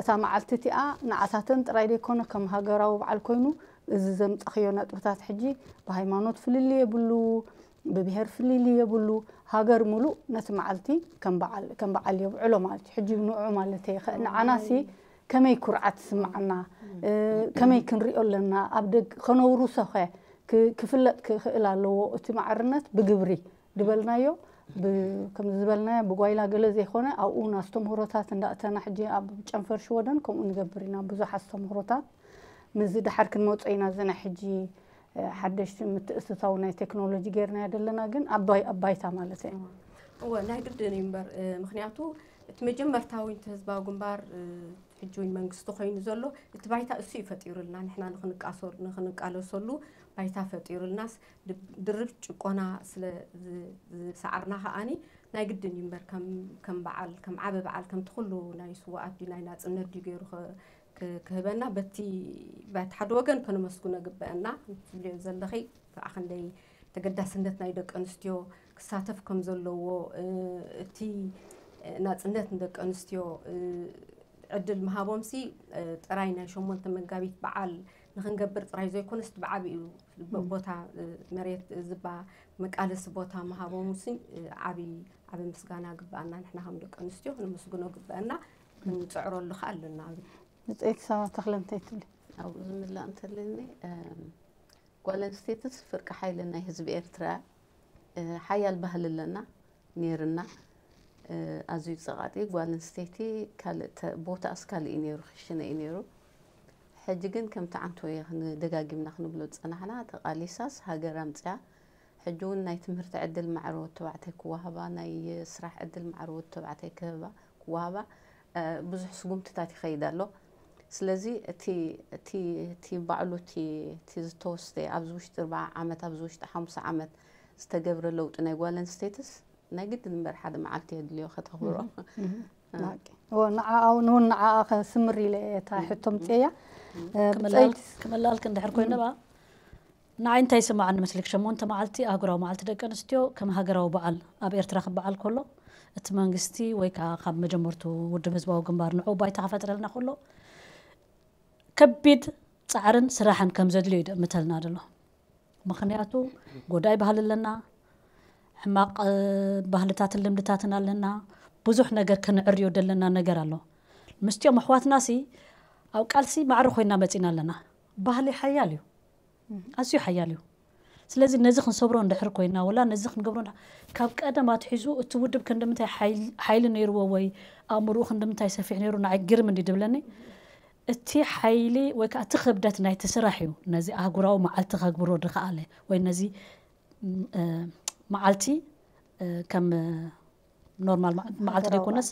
እታ መዓልቲ እቲኣ ንዓታተን ጥራይ ደይኮነ ከም ሃገራዊ በዓል ኮይኑ፣ እዚ ዘምጻኽዮ ነጥብታት ሕጂ ብሃይማኖት ፍልልይ የብሉ፣ ብብሄር ፍልልይ የብሉ። ሃገር ሙሉእ ነቲ መዓልቲ ከም በዓል የብዕሎ ማለት እዩ። ሕጂ ንዑ ማለት እየ ንዓናሲ ከመይ ኩርዓት ትስምዓና፣ ከመይ ክንሪኦ ኣለና፣ ኣብ ደግ ከነውርሶኸ ክፍለጥ ክኽእል ኣለዎ እቲ ማዕርነት ብግብሪ ዝበልናዮ፣ ከምዚ ዝበልናዮ ብጓይላ ገለ ዘይኮነ ኣብኡ ኣስተምህሮታት እንዳእተና ሕጂ ኣብ ጨንፈር ሽወደን ከምኡ ንገብር ኢና። ብዙሕ ኣስተምህሮታት ምስዚ ደሓር ክንመጾ ኢና። እዚ ናይ ሕጂ ሓደሽቲ ምትእትታው ናይ ቴክኖሎጂ ጌርናዮ ዘለና ግን ኣባይ ኣባይታ ማለት እዩ። እወ ናይ ግድን እዩ እምበር፣ ምኽንያቱ እቲ መጀመርታዊ እቲ ህዝባዊ ግንባር ሕጂ እውን መንግስቲ ኮይኑ ዘሎ እቲ ባይታ እሱ እዩ ፈጢሩልና። ንሕና ንኽንቃለሰሉ ባይታ ፈጢሩልናስ ድርብ ጭቆና ስለ ዝሰዓርና ከኣኒ ናይ ግድን እዩ እምበር ከም በዓል ከም ዓቢ በዓል ከምቲ ኩሉ ናይ ስዋኣት ድዩ ናይ ናጽነት ድዩ ገይሩ ክህበና በቲ በቲ ሓደ ወገን ከነመስግኖ ግበአና። ትብልዮ ዘለኺ ከዓ ክንደይ ተገዳስነት ናይ ደቂ ኣንስትዮ ክሳተፍ ከም ዘለዎ፣ እቲ ናጽነት ንደቂ ኣንስትዮ ዕድል ምሃቦምሲ ጥራይ ናይ ሸሞንተ መጋቢት በዓል ንኽንገብር ጥራይ ዘይኮነስ ብዓቢኡ ቦታ መሬት ዝባ መቃለሲ ቦታ ምሃቦምሲ ዓቢ ዓቢ ምስጋና ግበኣና። ንሕና ከም ደቂ ኣንስትዮ ክነመስግኖ ግበአና፣ ክንጽዕረሉ ከዓ ኣለና። ብፀይቲ ሳባ ተኽለ እንታይ ትብሊ? ኣብኡ ዝምላእ እንተለኒ ጓል ኣንስተይትስ ፍርቂ ሓይሊ ናይ ህዝቢ ኤርትራ ሓያል ባህሊ ኣለና ነይርና። ኣዝዩ ጸቓጢ ጓል ኣንስተይቲ ካልእ ቦታኣስ ካልእ እዩ ነይሩ ክሽነ እዩ ነይሩ። ሕጂ ግን ከምቲ ዓንቶ ደጋጊምና ክንብሎ ዝጸናሕና ተቓሊሳስ ሃገር ኣምጽኣ ሕጂ እውን ናይ ትምህርቲ ዕድል ማዕረ ወዲ ተባዕታይ ክወሃባ፣ ናይ ስራሕ ዕድል ማዕረ ወዲ ተባዕታይ ክህባ ክወሃባ ብዙሕ ስጉምትታት ይኸይድ ኣሎ። ስለዚ እቲ እቲ እቲ ባዕሉ እቲ እቲ ዝተወስደ ኣብዚ ውሽጢ ኣርብዓ ዓመት ኣብዚ ውሽጢ ሓሙሳ ዓመት ዝተገብረ ለውጢ ናይ ጓል ኣንስተይትስ ናይ ግድን እምበር ሓደ መዓልቲ የድልዮ ከተኽብሮ። ንዓኣ ንውን ንዓኣ ከስምር ኢለ እየ እታ ሕቶ ምፅእያ። ክመላልክ እንድሕር ኮይነ ባ ንዓይ እንታይ ይስምዓኒ መስልክ፣ ሸሞንተ መዓልቲ ኣህጉራዊ መዓልቲ ደቂ ኣንስትዮ ከም ሃገራዊ በዓል ኣብ ኤርትራ ክበዓል ከሎ፣ እቲ መንግስቲ ወይ ከዓ ካብ መጀመርቱ ውድብ ህዝባዊ ግንባር ንዑ ባይታ ክፈጥረልና ከሎ፣ ከቢድ ጻዕርን ስራሕን ከም ዘድልዮ እዩ ደእምተልና ዘሎ። ምኽንያቱ ጎዳይ ባህሊ ኣለና፣ ሕማቕ ባህልታትን ልምድታትን ኣለና፣ ብዙሕ ነገር ከነዕርዮ ደለና ነገር ኣሎ። ምስቲኦም ኣሕዋትና ሲ ኣብ ቃልሲ ማዕረ ኮይና መጺና ኣለና። ባህሊ ሓያል እዩ፣ ኣዝዩ ሓያል እዩ። ስለዚ ነዚ ክንሰብሮ እንድሕር ኮይና፣ ወላ ነዚ ክንገብሮ እንዳ- ካብ ቀደም ኣትሒዙ እቲ ውድብ ክንድምንታይ ሓይል- ሓይሊ ነይርዎ ወይ ኣእምሮኡ ክንድምንታይ ሰፊሕ ነይሩ ንዓይ ግርም እንዲ ድብለኒ፣ እቲ ሓይሊ ወይ ከዓ እቲ ክብደት ናይቲ ስራሕ እዩ ነዚ ኣህጉራዊ መዓልቲ ከግብሮ ድኸኣለ ወይ ነዚ ም- እ፣ መዓልቲ እ፣ ከም እ፣ ኖርማል መዓ- መዓልቲ ሃገራዊ ዘይኮነስ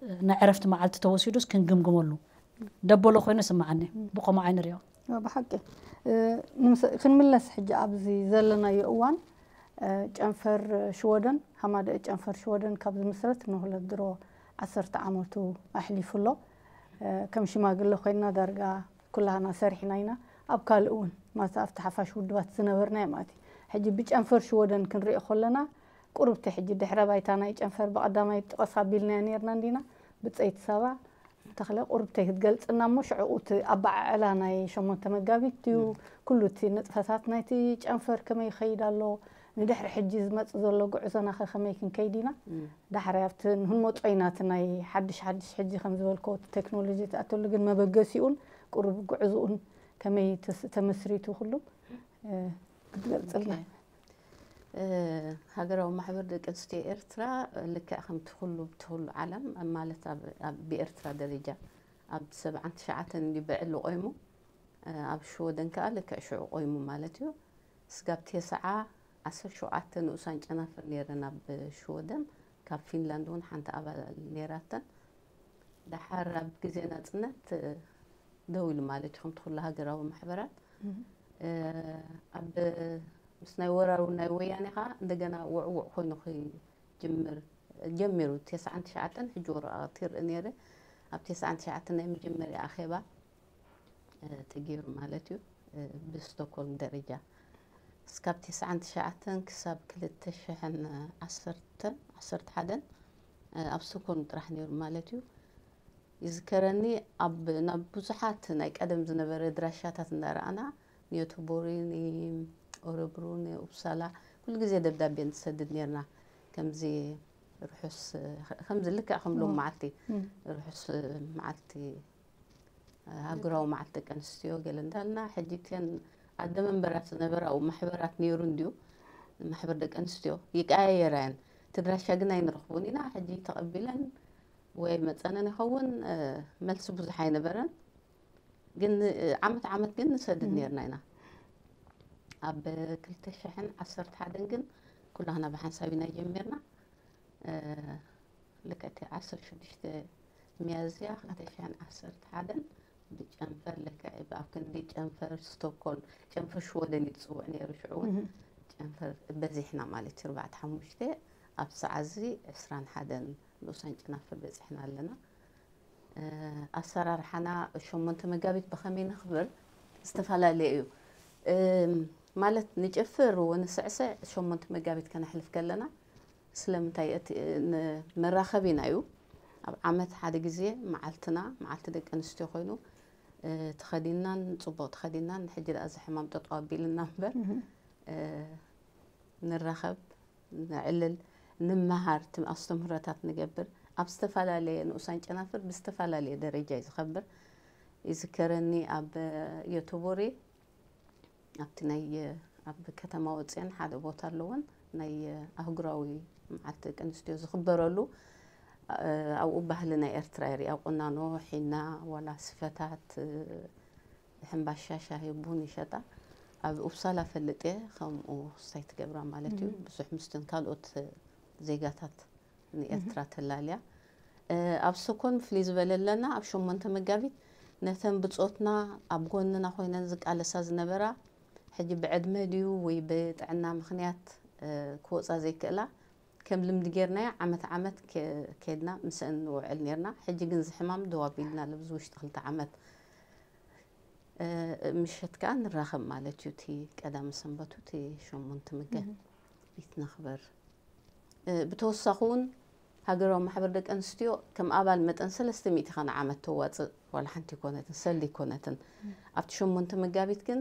እ፣ ናይ ዕረፍቲ መዓልቲ ተወሲዱስ ክንግምግመሉ ደበሎ ኮይኑ ስምዓኒ። ብኸምኡ ዓይኒ ሪኦ። ብሓቂ እ፣ ንምስ- ክንምለስ ሕጂ ኣብዚ ዘለናዮ እዋን እ፣ ጨንፈር ሽወደን ሃማደአ ጨንፈር ሽወደን ካብ ዝምስረት ንሁለት ድሮ ዓሰርተ ዓመቱ ኣሕሊፉ ኣሎ። እ፣ ከም ሽማግለ ኮይንና ዳርጋ ኩላህና ሰሪሕና ኢና። ኣብ ካልእ እውን ማታ ኣብቲ ሓፋሽ ውድባት ዝነበርና ማለት እዩ። ሕጂ ብጨንፈር ሽወደን ክንሪኦ ከለና ቁርብቲ ሕጂ ድሕረ ባይታ ናይ ጨንፈር ብቐዳማይ ጥቐስ ኣቢልናዮ ነርና እንዲና ብፀይቲ ሳባ ተኽለ ቁርብተይ ክትገልፅና እሞ ሽዕኡ እቲ ኣበዓዕላ ናይ ሸሞንተ መጋቢት ድዩ ኩሉ እቲ ንጥፈታት ናይቲ ጨንፈር ከመይ ይኸይድ ኣሎ ንድሕሪ ሕጂ ዝመፅ ዘሎ ጉዕዞና ከ ከመይ ክንከይድ ኢና ዳሕራይ ኣብቲ ንህንመፆ ኢና እቲ ናይ ሓድሽ ሓድሽ ሕጂ ከም ዝበልኮ እቲ ቴክኖሎጂ ትኣተሉ ግን መበገሲኡን ቁሩብ ጉዕዝኡን ከመይ ተስ- ተመስሪቱ ኩሉ እ፣ ክትገልፅልና ሃገራዊ ማሕበር ደቂ ኣንስትዮ ኤርትራ ልክዕ ከምቲ ኩሉ ብቲ ኩሉ ዓለም ማለት ኣብ- ኣብ- ብኤርትራ ደረጃ ኣብ ሰብዓን ትሽዓተን እንዲ ብዕሊ ቆይሙ እ፣ ኣብ ሽወደን ከዓ ልክዕ ሽዑ ቆይሙ ማለት እዩ። ስጋብ ቴስዓ ዓሰርተ ሸውዓተ ንኡሳን ጨናፍር ነይረን ኣብ ሽወደን ካብ ፊንላንድ እውን ሓንቲ ኣባል ነይራተን ደሓር ኣብ ግዜ ናፅነት ደው ኢሉ ማለት እዩ ከምቲ ኩሉ ሃገራዊ ማሕበራት ኣብ ምስ ናይ ወራሩ ናይ ወያኔ ከዓ እንደገና ውዕውዕ ኮይኑ ክጅምር ጀሚሩ ተስዓን ትሽዓተን ሕጂ ወረቃቅቲ ይርኢ ነይረ ኣብ ተስዓን ትሽዓተን ናይ መጀመርያ ኣኼባ ተገይሩ ማለት እዩ ብስቶኮልም ደረጃ እስካብ ተስዓን ትሽዓተን ክሳብ ክልተ ሽሕን ዓሰርተን ዓሰርተ ሓደን ኣብ ስቶኮልም ጥራሕ ነይሩ ማለት እዩ ይዝከረኒ ኣብ ናብ ብዙሓት ናይ ቀደም ዝነበረ ድራሻታት እንዳረኣና ንዮቶቦሪ ንኦረብሩ ንኡፕሳላ ኩሉ ግዜ ደብዳቤ ንሰድድ ነርና ከምዚ ርሑስ ከምዚ ልክዕ ከም ሎም መዓልቲ ርሑስ መዓልቲ ሃገራዊ መዓልቲ ደቂ ኣንስትዮ ገለ እንዳልና ሕጂ እተን ኣደ መንበራት ዝነበራ ኣብኡ ማሕበራት ነይሩ እንድዩ ማሕበር ደቂ ኣንስትዮ ይቀያየራ እየን እቲ ድራሻ ግን ኣይንረኽቦን ኢና ሕጂ ተቐቢለን ወይ መፀነን ይኸውን መልሲ ብዙሕ ኣይነበረን ግን ዓመት ዓመት ግን ንሰድድ ነርና ኢና ኣብ ክልተ ሽሕን ዓሰርተ ሓደን ግን ኩላህና ብሓንሳብ ኢና ጀሚርና ልክዕቲ ዓሰርተ ሽዱሽተ ሚያዝያ ክልተ ሽሕን ዓሰርተ ሓደን ብጨንፈር ልክዕ ኣብ ክንዲ ጨንፈር ስቶኮልም ጨንፈር ሽወደን እዩ ዝፅውዕ ነይሩ ሽዑ እውን ጨንፈር በዚሕና ማለት እዩ ኣርባዕተ ሓሙሽተ ኣብ ሰዓዚ ዕስራን ሓደን ንኡሳን ጨናፍር በፂሕና ኣለና ኣሰራርሓና ሸሞንተ መጋቢት ብኸመይ ነኽብር ዝተፈላለየ እዩ ማለት ንጨፍር ወንስዕስዕ ሸሞንተ መጋቢት ከነሕልፍ ከለና ስለምንታይ እቲ መራኸቢና እዩ ኣብ ዓመት ሓደ ግዜ መዓልትና መዓልቲ ደቂ ኣንስትዮ ኮይኑ ተኸዲናን ፅቡቕ ተኸዲናን ሕጂ ደኣ እዚ ሕማም ጠጠው ኣቢልና እምበር ንራኸብ ነዕልል፣ ንመሃር፣ ትም ኣስተምህሮታት ንገብር፣ ኣብ ዝተፈላለየ ንኡሳን ጨናፍር ብዝተፈላለየ ደረጃ እዩ ዝኸብር። ይዝከረኒ ኣብ ዮቶቦሪ ኣብቲ ናይ ኣብ ከተማ ወፅአን ሓደ ቦታ ኣለወን ናይ ኣህጉራዊ መዓልቲ ደቂ ኣንስትዮ ዝኽበረሉ ኣብኡ ባህሊ ናይ ኤርትራ የርኢ ኣብ ቁናኖ፣ ሒና፣ ዋላ ስፈታት፣ ሕምባሻ ሻሂ ቡን ይሸጣ ኣብ ኡፕሳላ ፈልጥ እየ ከምኡ ክስታይ ትገብራ ማለት እዩ ብዙሕ ምስተን ካልኦት ዜጋታት ንኤርትራ ተላልያ ኣብ ስኮን ፍልይ ዝበለ ኣለና ኣብ ሸሞንተ መጋቢት ነተን ብጾትና ኣብ ጎንና ኮይነን ዝቃለሳ ዝነበራ ሕጂ ብዕድመ ድዩ ወይ ብጥዕና ምክንያት ክወፃ ዘይክእላ ከም ልምዲ ጌርናዮ ዓመት ዓመት ከድና ምስአን ንውዕል ኔርና። ሕጂ ግን እዚ ሕማም ደው ኣቢልና ኣሎ። ብዚ ውሽጢ ክልተ ዓመት ምሸት ከኣ ንራኸብ ማለት እዩ። እቲ ቀዳመ ሰንበቱ እቲ ሸሞንተ መጋቢት ነኽብር። ብተወሳኺ እውን ሃገራዊ ማሕበር ደቂ ኣንስትዮ ከም ኣባል መጠን ሰለስተ ሚእቲ ከ ንዓመት ተዋፅእ ዋላ ሓንቲ ኣይኮነትን፣ ሰልዲ ኣይኮነትን። ኣብቲ ሸሞንተ መጋቢት ግን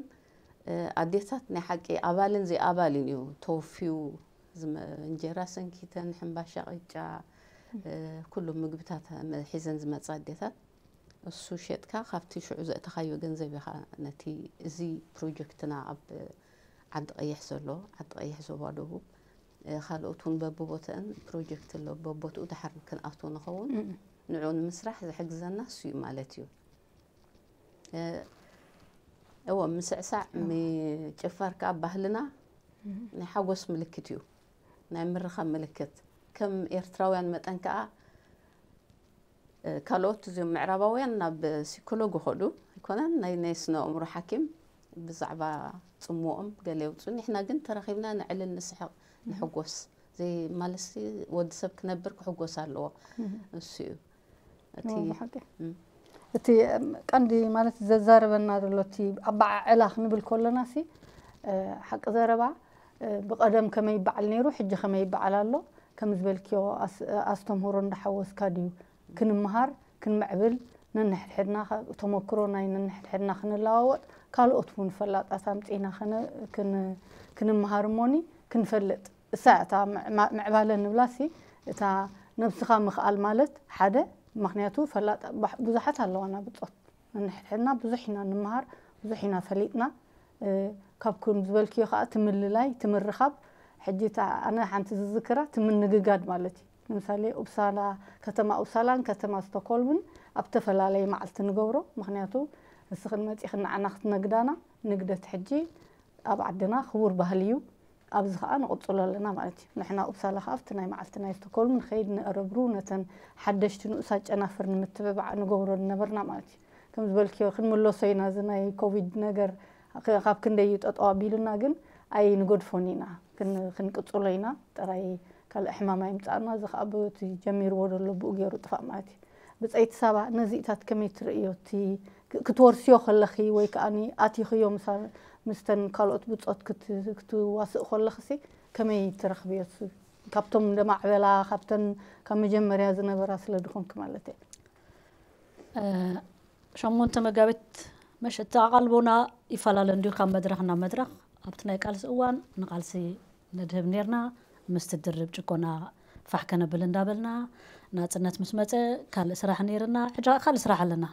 ኣዴታት ናይ ሓቂ ኣባልን ዘይኣባልን እዩ ተወፍዩ ዝመ- እንጀራ ሰንኪተን፣ ሕምባሻ፣ ቅጫ፣ ኩሉ ምግብታት ሒዘን ዝመፃ ኣዴታት እሱ ሸጥካ ካብቲ ሽዑ ዘእተኻዮ ገንዘብ ኢኻ ነቲ እዚ ፕሮጀክትና ኣብ ዓዲ ቀይሕ ዘሎ፣ ዓዲ ቀይሕ ዞባ ደቡብ፣ እ፣ ካልኦት እውን በብቦተአን ፕሮጀክት ኣሎ፣ በቦትኡ ድሓር ክንኣትዎ ንኸውን። ንዕኡ ንምስራሕ ዝሕግዘና እሱ እዩ ማለት እዩ። እ፣ እወ፣ ምስዕሳዕ፣ ምጭፋር ከዓ ባህልና ናይ ሓጎስ ምልክት እዩ፣ ናይ ምርኻብ ምልክት። ከም ኤርትራውያን መጠን ከዓ፣ እ፣ ካልኦት እዚኦም ምዕራባውያን ናብ ሲኮሎግ ይኸዱ ኣይኮነን፣ ናይ፣ ናይ ስነ ኣእምሮ ሓኪም ብዛዕባ ጽምኦም ገለ የውጽኡ። ንሕና ግን ተራኺብና ንዕልል፣ ንስሕቕ፣ ንሕጎስ። ዘይ ማለትሲ ወዲ ሰብ ክነብር ክሕጎስ ኣለዎ። እሱ እዩ። እቲ እዎ፣ ብሓቂ። እም። እቲ፣ እም፣ ቀንዲ ማለት ዘዛርበና ዘሎ እቲ ኣበዓዕላ ክንብል ከለና ሲ፣ እ፣ ሓቂ ዘረባ፣ እ፣ ብቐደም ከመይ ይበዓል ነይሩ፣ ሕጂ ከመይ ይበዓል ኣሎ፣ ከም ዝበልክዮ ኣስ-፣ ኣስተምህሮ እንዳሓወስካ ድዩ ክንምሃር፣ ክንምዕብል፣ ነንሕድሕድና ከ-፣ ተመክሮ ናይ ነንሕድሕድና ክንለዋወጥ፣ ካልኦት እውን ፈላጣት ኣምጺእና ክን-፣ ክን-፣ ክንምሃር እሞኒ ክንፈልጥ። እሳ እታ ምዕ-፣ ማ-፣ ምዕባለ ንብላሲ፣ እታ ነብስኻ ምኽኣል ማለት ሓደ፣ ምኽንያቱ ፈላጣ ባሕ-፣ ብዙሓት ኣለዋና ብጾት። ነንሕድሕድና ብዙሕ ኢና ንምሃር፣ ብዙሕ ኢና ፈሊጥና። እ፣ ካብ ከም ዝበልክዮ ከኣ ትምልላይ፣ ትምርኻብ። ሕጂ እታ ኣነ ሓንቲ ዝዝክራ ትምንግጋድ ማለት እዩ። ንምሳሌ ኡፕሳላ፣ ከተማ ኡፕሳላን ከተማ ስቶክሆልምን ኣብ ተፈላለየ መዓልቲ ንገብሮ። ምኽንያቱ ንስኽን መጺኽን ንዓና ክትነግዳና፣ ንግደት ሕጂ ኣብ ዓድና ክቡር ባህሊ እዩ። ኣብዚ ከኣ ንቕጽሎ ኣለና ማለት እዩ። ንሕና ኡፕሳላ ከኣ ኣብቲ ናይ መዓልቲ ናይ ስቶክሆልም ንኸይድ፣ ንእረብሩ፣ ነተን ሓደሽቲ ንኡሳት ጨናፍር ንምትብባዕ ንገብሮ ዝነበርና ማለት እዩ። ከም ዝበልክዮ ክንምለሶ ኢና፣ እዚ ናይ ኮቪድ ነገር ከ-፣ ካብ ክንደይ እዩ ጠጠው ኣቢሉና፣ ግን ኣይንገድፎን ኢና፣ ክን-፣ ክንቅጽሎ ኢና። ጥራይ ካልእ ሕማም ኣይምጻእና፣ እዚ ከኣ በቲ ጀሚርዎ ዘሎ ብኡ ገይሩ ጥፋእ ማለት እዩ። ብጸይቲ ሳባ፣ ነዚእታት ከመይ ትርእዮ? እቲ ክ-፣ ክትወርስዮ ከለኺ ወይ ከኣ ኣቲኽዮ ምሳ-፣ ምስተን ካልኦት ብጾት ክት-፣ ክትዋስእ ከለኽሲ ከመይ ትረኽብዮ? እሱ ካብቶም እንደማዕበላ፣ ካብተን ካብ መጀመርያ ዝነበራ ስለ ድኾንኪ ማለት እየ። እ፣ ሸሞንተ መጋቢት መሸ-፣ እቲ ኣቓልቦና ይፈላለ እንድዩ ካብ መድረኽ ናብ መድረኽ። ኣብቲ ናይ ቃልሲ እዋን ንቓልሲ ነድህብ ኔርና። ምስቲ ድርብ ጭቆና ፋሕ ከነብል እንዳበልና፣ ናጽነት ምስ መጸ ካልእ ስራሕ ኔርና፣ ሕጂ ካልእ ስራሕ ኣለና።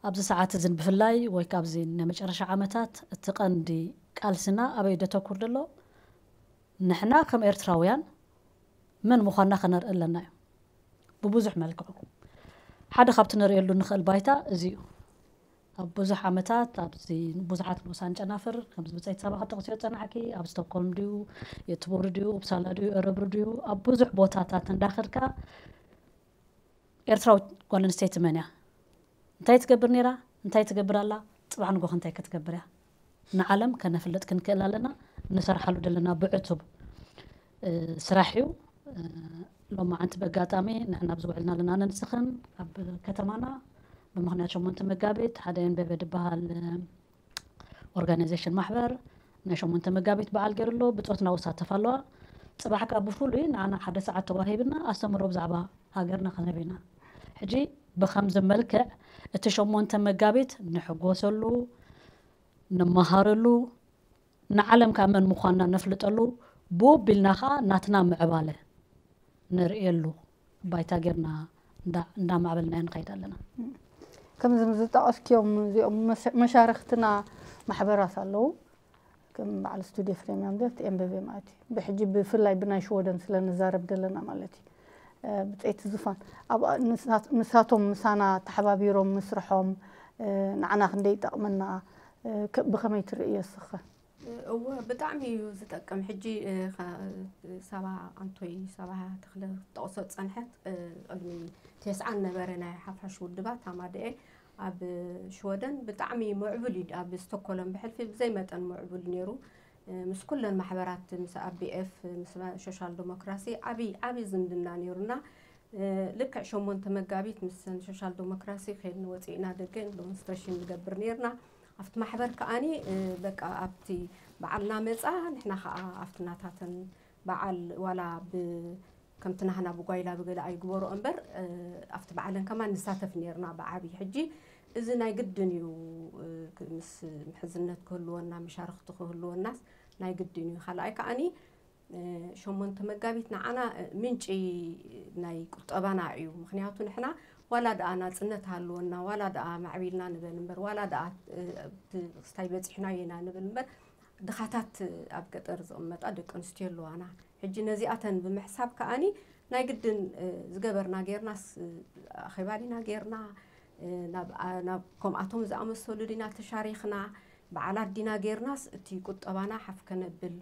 ኣብዚ ሰዓት እዝን ብፍላይ ወይ ካብዚ ናይ መጨረሻ ዓመታት እቲ ቀንዲ ቃልስና ኣበይ ደተኩር ደሎ? ንሕና ከም ኤርትራውያን መን ምዃንና ከነርኢ ኣለና እዩ። ብብዙሕ መልክዑ ሓደ ካብቲ ነርእየሉ ንኽእል ባይታ እዚ እዩ። ኣብ ብዙሕ ዓመታት ኣብዚ ብዙሓት ንኡሳን ጨናፍር ከምዚ ብጸይቲ ሳባ ክጠቕስዮ ጸናሕኪ፣ ኣብ ስቶክሆልም ድዩ፣ የትቦሪ ድዩ፣ ኡፕሳላ ድዩ፣ ኤረብሩ ድዩ፣ ኣብ ብዙሕ ቦታታት እንዳኸድካ ኤርትራዊት ጓል ኣንስተይቲ መን እያ? እንታይ ትገብር ነይራ? እንታይ ትገብር ኣላ? ጽባሕ ንጎ እንታይ ክትገብር እያ? ንዓለም ከነፍልጥ ክንክእል ኣለና። ንሰርሓሉ ዘለና ብዕቱብ፣ እ፣ ስራሕ እዩ። እ፣ ሎማዓንቲ በጋጣሚ ንሕና ኣብዚ ውዕልና ኣለና ነንስኽን ኣብ ከተማና ብምኽንያት ሸሞንተ መጋቢት ሓደ ኤንበበ ዝበሃል፣ እ፣ ኦርጋናይዜሽን ማሕበር ናይ ሸሞንተ መጋቢት በዓል ገይሩ ኣሎ። ብጾትና ውሳተፍ ኣለዋ። ጽባሕ ከኣ ብፍሉይ ንዓና ሓደ ሰዓት ተዋሂብና ኣስተምህሮ ብዛዕባ ሃገርና ክንህብ ኢና። ሕጂ ብኸምዚ መልክዕ እቲ ሸሞንተ መጋቢት ንሕጎሰሉ፣ ንመሃረሉ፣ ንዓለም ከኣ መን ምዃንና ነፍልጠሉ፣ ብኡ ኣቢልና ከኣ ናትና ምዕባለ ነርእየሉ ባይታ ጌርና እንዳ-፣ እንዳማዕበልናዮ ንኸይድ ኣለና። ከምዚ ዝጠቐስክዮም እዚኦም መሽ-፣ መሻርኽትና ማሕበራት ኣለዉ። ከም በዓል ስቱድዮ ፍሬም ኣምደት ኤምበቤ ማለት እዩ። ብሕጂ ብፍላይ ብናይ ሽወደን ስለ ንዛረብ ዘለና ማለት እዩ። እ፣ ብጸይቲ ዙፋን፣ ኣብ ንሳት-፣ ንሳቶም ምሳና ተሓባቢሮም ምስርሖም፣ እ፣ ንዓና ክንደይ ይጠቕመና፣ እ፣ ከ-፣ ብኸመይ ትርእዮ እስኸ? እወ፣ ብጣዕሚ እዩ ዝጠቅም። ሕጂ፣ እ፣ ኸ-፣ ሳባ ኣንቶይ፣ ሳባ ተኽለ ክትጠቕሶ ዝጸንሐት፣ እ፣ ቅድሚ ቴስዓን ነበረ ናይ ሓፋሽ ውድባት ሃማደኤ ኣብ ሽወደን ብጣዕሚ ምዕቡል እዩ። ኣብ ስቶኮሎም ብሕልፊ ብዘይ መጠን ምዕቡል ነይሩ። እ፣ ምስ ኩለን ማሕበራት፣ ምስ ኣቢኤፍ፣ ምስ ሶሻል ዲሞክራሲ ዓብዪ፣ ዓብዪ ዝምድና ነይሩና። እ፣ ልክዕ ሸሞንተ መጋቢት ምስ ሶሻል ዲሞክራሲ ከይድን ወፂእና ደገ ዲሞንስትሬሽን ንገብር ነይርና። ኣብቲ ማሕበር ከኣኒ፣ እ፣ በቃ ኣብቲ በዓልና መፃ፣ ንሕና ከኣ ኣብቲ ናታተን በዓል ዋላ ብ-፣ ከምቲ ናህና ብጓይላ ብገለ ኣይግበሮ እምበር፣ እ፣ ኣብቲ በዓለን ከማን ንሳተፍ ነይርና ብዓብዪ። ሕጂ እዚ ናይ ግድን እዩ፣ እ፣ ክ-፣ ምስ ምሕዝነት ክህልወና፣ መሻርኽቲ ክህልወናስ ናይ ግድን እዩ። ካልኣይ ከኣኒ፣ እ፣ ሸሞንተ መጋቢት ንዓና፣ እ፣ ምንጪ ናይ ቁጠባና እዩ። ምኽንያቱ ንሕና ዋላ ደኣ ናጽነት ሃልወና፣ ዋላ ደኣ ማዕቢልና ንበል እምበር፣ ዋላ ደኣ እቲ ክስታይ በጺሕናዮ ኢና ንብል እምበር፣ ድኻታት ኣብ ገጠር ዝቕመጣ ደቂ ኣንስትዮ ኣለዋና። ሕጂ ነዚኣተን ብምሕሳብ ከኣኒ ናይ ግድን ዝገበርና ጌርናስ፣ ኣኼባ ዲና ጌርና፣ ናብ ከምኣቶም ዝኣመሰሉ ዲና ተሻሪኽና፣ በዓላት ዲና ጌርናስ እቲ ቁጠባና ሓፍ ከነብል፣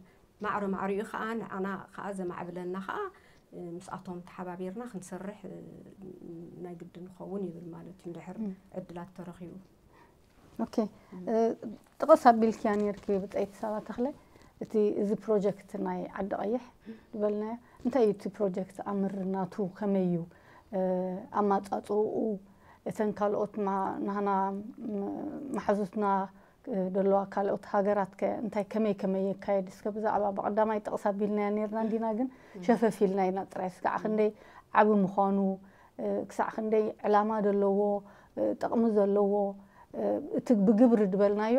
ማዕረ ማዕሪኡ ከኣ ንዓና ከኣ ዘማዕብለና ከኣ ምስኣቶም ተሓባቢርና ክንሰርሕ ናይ ግድን ንኸውን ይብል ማለት እዩ፣ እንድሕር ዕድላት ተረኺቡ። ኦኬ፣ ጥቕስ ኣቢልክያ ኔርኪ ብጸይቲ ሳባ ተኽለ፣ እቲ እዚ ፕሮጀክት ናይ ዓዲ ቀይሕ ዝበልናዮ እንታይ እዩ? እቲ ፕሮጀክት ኣምር ናቱ ከመይ እዩ? ኣማጻጽኡ እተን ካልኦት ናህና መሓዙትና ደለዋ ካልኦት ሃገራት ከ እንታይ ከመይ ከመይ የካየድ? እስከ ብዛዕባ ብቐዳማይ ጥቕስ ኣቢልናያ ኔርና እንዲና፣ ግን ሸፈፍ ኢልና ኢና ጥራይ። እስካዕ ክንደይ ዓቢ ምዃኑ፣ ክሳዕ ክንደይ ዕላማ ዘለዎ፣ ጥቕሚ ዘለዎ፣ እቲ ብግብሪ ዝበልናዮ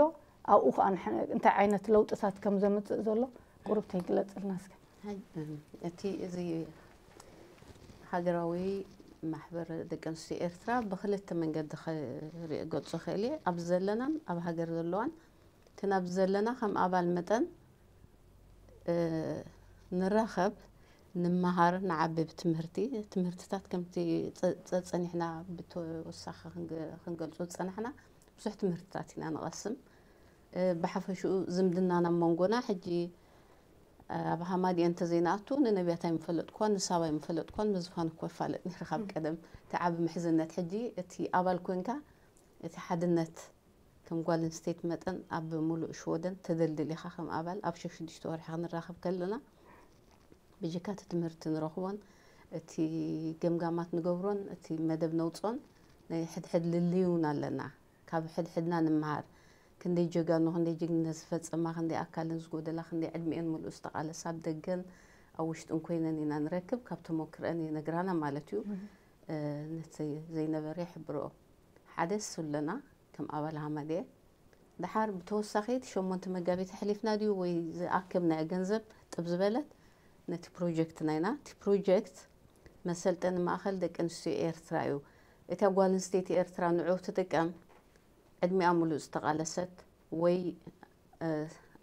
ኣብኡ ከዓ እንታይ ዓይነት ለውጥታት ከም ዘምፅእ ዘሎ ቁሩብ ተይግለፅልና እስከ። እቲ እዚ ሃገራዊ ማሕበር ደቂ ኣንስትዮ ኤርትራ ብክልተ መንገዲ ክገልጾ ክእል እየ። ኣብ ዘለናን ኣብ ሃገር ዘለዋን። እቲ ናብ ዘለና ከም ኣባል መጠን ንራኸብ፣ ንመሃር፣ ንዓቢ ብትምህርቲ። ትምህርትታት ከምቲ ጸጸኒሕና ብተወሳኺ ክንገልጾ ዝጸናሕና ብዙሕ ትምህርትታት ኢና ንቐስም። ብሓፈሽኡ ዝምድናና ኣብ መንጎና ሕጂ ኣብ ሃማድኤ እንተዘይንኣቱ ንነብያት ኣይምፈለጥኳን ንሳባ ኣይምፈለጥኳን። ምዝፋን እኮ ይፋለጥ ነይረ ካብ ቀደም። እቲ ዓቢ ምሕዝነት ሕጂ እቲ ኣባል ኮንካ እቲ ሓድነት ከም ጓል ኣንስተይቲ መጠን ኣብ ምሉእ ሽወደን ተደልድል ኢኻ ከም ኣባል ኣብ ሸሽዱሽተ ወርሒ ክንራኸብ ከለና ብጀካ እቲ ትምህርቲ ንረኽቦን እቲ ገምጋማት ንገብሮን እቲ መደብ ነውፅኦን ናይ ሕድሕድ ልልይ እውን ኣለና። ካብ ሕድሕድና ንምሃር። ክንደይ ጀጋኑ፣ ክንደይ ጅግንነት ዝፈፀማ፣ ክንደይ ኣካለን ዝጎደላ፣ ክንደይ ዕድሚኤን ሙሉእ ዝተቓለሳ ኣብ ደገን ኣብ ውሽጥን ኮይነን ኢና ንረክብ። ካብ ተሞክረአን ይነግራና ማለት እዩ። ነቲ ዘይነበረ ይሕብርኦ። ሓደ እሱ ኣለና ከም ኣባል ሃማደኤ። ደሓር ብተወሳኺ እቲ ሸሞንተ መጋቢት ኣሕሊፍና ድዩ ወይ ዝኣከብናዮ ገንዘብ ጥብ ዝበለት ነቲ ፕሮጀክት ናይና። እቲ ፕሮጀክት መሰልጠኒ ማእኸል ደቂ ኣንስትዮ ኤርትራ እዩ። እታ ጓል ኣንስተይቲ ኤርትራ ንዑ ትጥቀም ዕድሚኣ ሙሉእ ዝተቓለሰት ወይ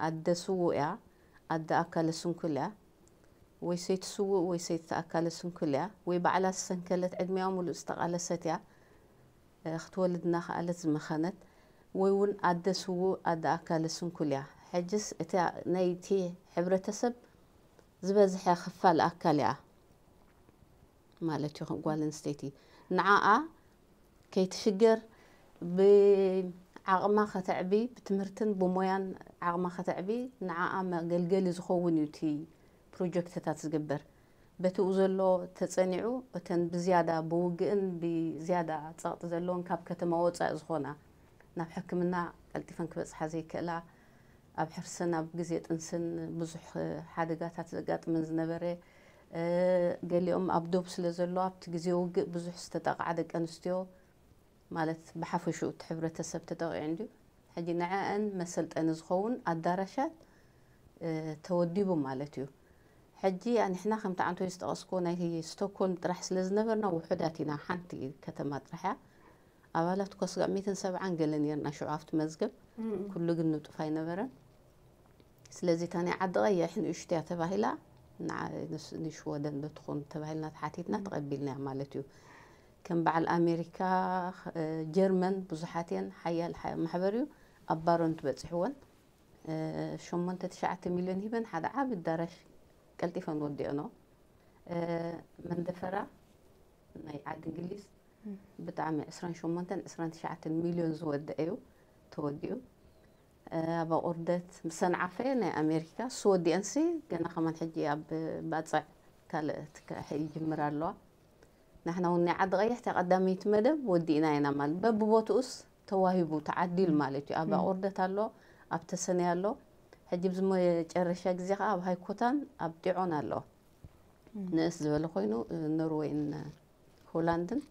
ኣደ ስዉእ እያ፣ ኣደ ኣካለ ስንኩል እያ፣ ወይ ሰይቲ ስዉእ ወይ ሰይቲ ኣካለ ስንኩል እያ፣ ወይ ባዕላ ዝሰንከለት ዕድሚኣ ሙሉእ ዝተቓለሰት እያ፣ ክትወልድ እናኸኣለት ዝመኸነት፣ ወይ እውን ኣደ ስዉእ ኣደ ኣካለ ስንኩል እያ። ሕጅስ እታ ናይቲ ሕብረተሰብ ዝበዝሐ ክፋል ኣካል እያ ማለት እዩ። ጓል ኣንስተይቲ ንዓኣ ከይትሽገር ብዓቕማ ከተዕቢ፣ ብትምህርትን ብሞያን ዓቕማ ከተዕቢ፣ ንዓኣ መገልገሊ ዝኸውን እዩ እቲ ፕሮጀክትታት ዝግበር። በቲኡ ዘሎ ተጸኒዑ፣ እተን ብዝያዳ ብውግእን ብዝያዳ ጸቕጢ ዘለወን ካብ ከተማ ወጻኢ ዝኾና፣ ናብ ሕክምና ቀልጢፈን ክበጽሓ ዘይክእላ፣ ኣብ ሕርስን ኣብ ግዜ ጥንስን ብዙሕ ሓደጋታት ዘጋጥመን ዝነበረ፣ ገሊኦም ኣብ ዶብ ስለ ዘሎ ኣብቲ ግዜ ውግእ ብዙሕ ዝተጠቕዓ ደቂ ኣንስትዮ ማለት ብሓፈሽኡ እቲ ሕብረተሰብ ተጠቒዑ እንድዩ። ሕጂ ንዐአን መሰልጠኒ ዝኸውን ኣዳራሻት ተወዲቡ ማለት እዩ። ሕጂ ኣንሕና ከምቲ ዓንቶይ ዝጠቐስኮ ናይ ስቶኮልም ጥራሕ ስለ ዝነበርና ውሑዳት ኢና፣ ሓንቲ ከተማ ጥራሕ እያ። ኣባላት እኳ ስጋዕ ሚእትን ሰብዓን ገለ ነርና ሽዑ ኣብቲ መዝገብ፣ ኩሉ ግን ንጡፍ ኣይነበረን። ስለዚ እታ ናይ ዓዲ ቀይሕ ንእሽቶ እያ ተባሂላ፣ ንዓ-፣ ንስ-፣ ንሽወደን ዶ ትኾን ተባሂልና ተሓቲትና ተቐቢልናያ ማለት እዩ። ከም በዓል ኣሜሪካ፣ እ፣ ጀርመን ብዙሓት እየን፣ ሓያል ሓ-፣ ማሕበር እዩ። ኣብ ባሮን ትበፂሕወን፣ እ፣ ሸሞንተ ትሽዓተ ሚልዮን ሂበን ሓደ ዓቢ ኣዳራሽ ቀልጢፈን ወዲኦኖ። እ፣ መንደፈራ ናይ ዓዲ እንግሊዝ ብጣዕሚ ዕስራን ሸሞንተን ዕስራን ትሽዓተን ሚልዮን ዝወደአ እዩ ተወዲኡ። ኣብ ኣቑርደት ምሰን ዓፈየ ናይ ኣሜሪካ እሱ ወዲአንሲ ገና ከማን ሕጂ ኣብ ባፅዕ ካልእ ትካ-፣ ይጅምር ኣለዋ። ንሕና እውን ናይ ዓዲ ቀይሕ እታ ቀዳመይቲ መደብ ወዲእና ኢና ማለት በብቦትኡስ ተዋሂቡ ተዓዲሉ ማለት እዩ። ኣብ ኣቑርደት ኣሎ፣ ኣብ ተሰነይ ኣሎ። ሕጂ ብዝመጨረሻ ግዜ ከዓ ኣብ ሃይኮታን ኣብ ጢዖን ኣሎ። ንእስ ዝበለ ኮይኑ ኖርዌይን ሆላንድን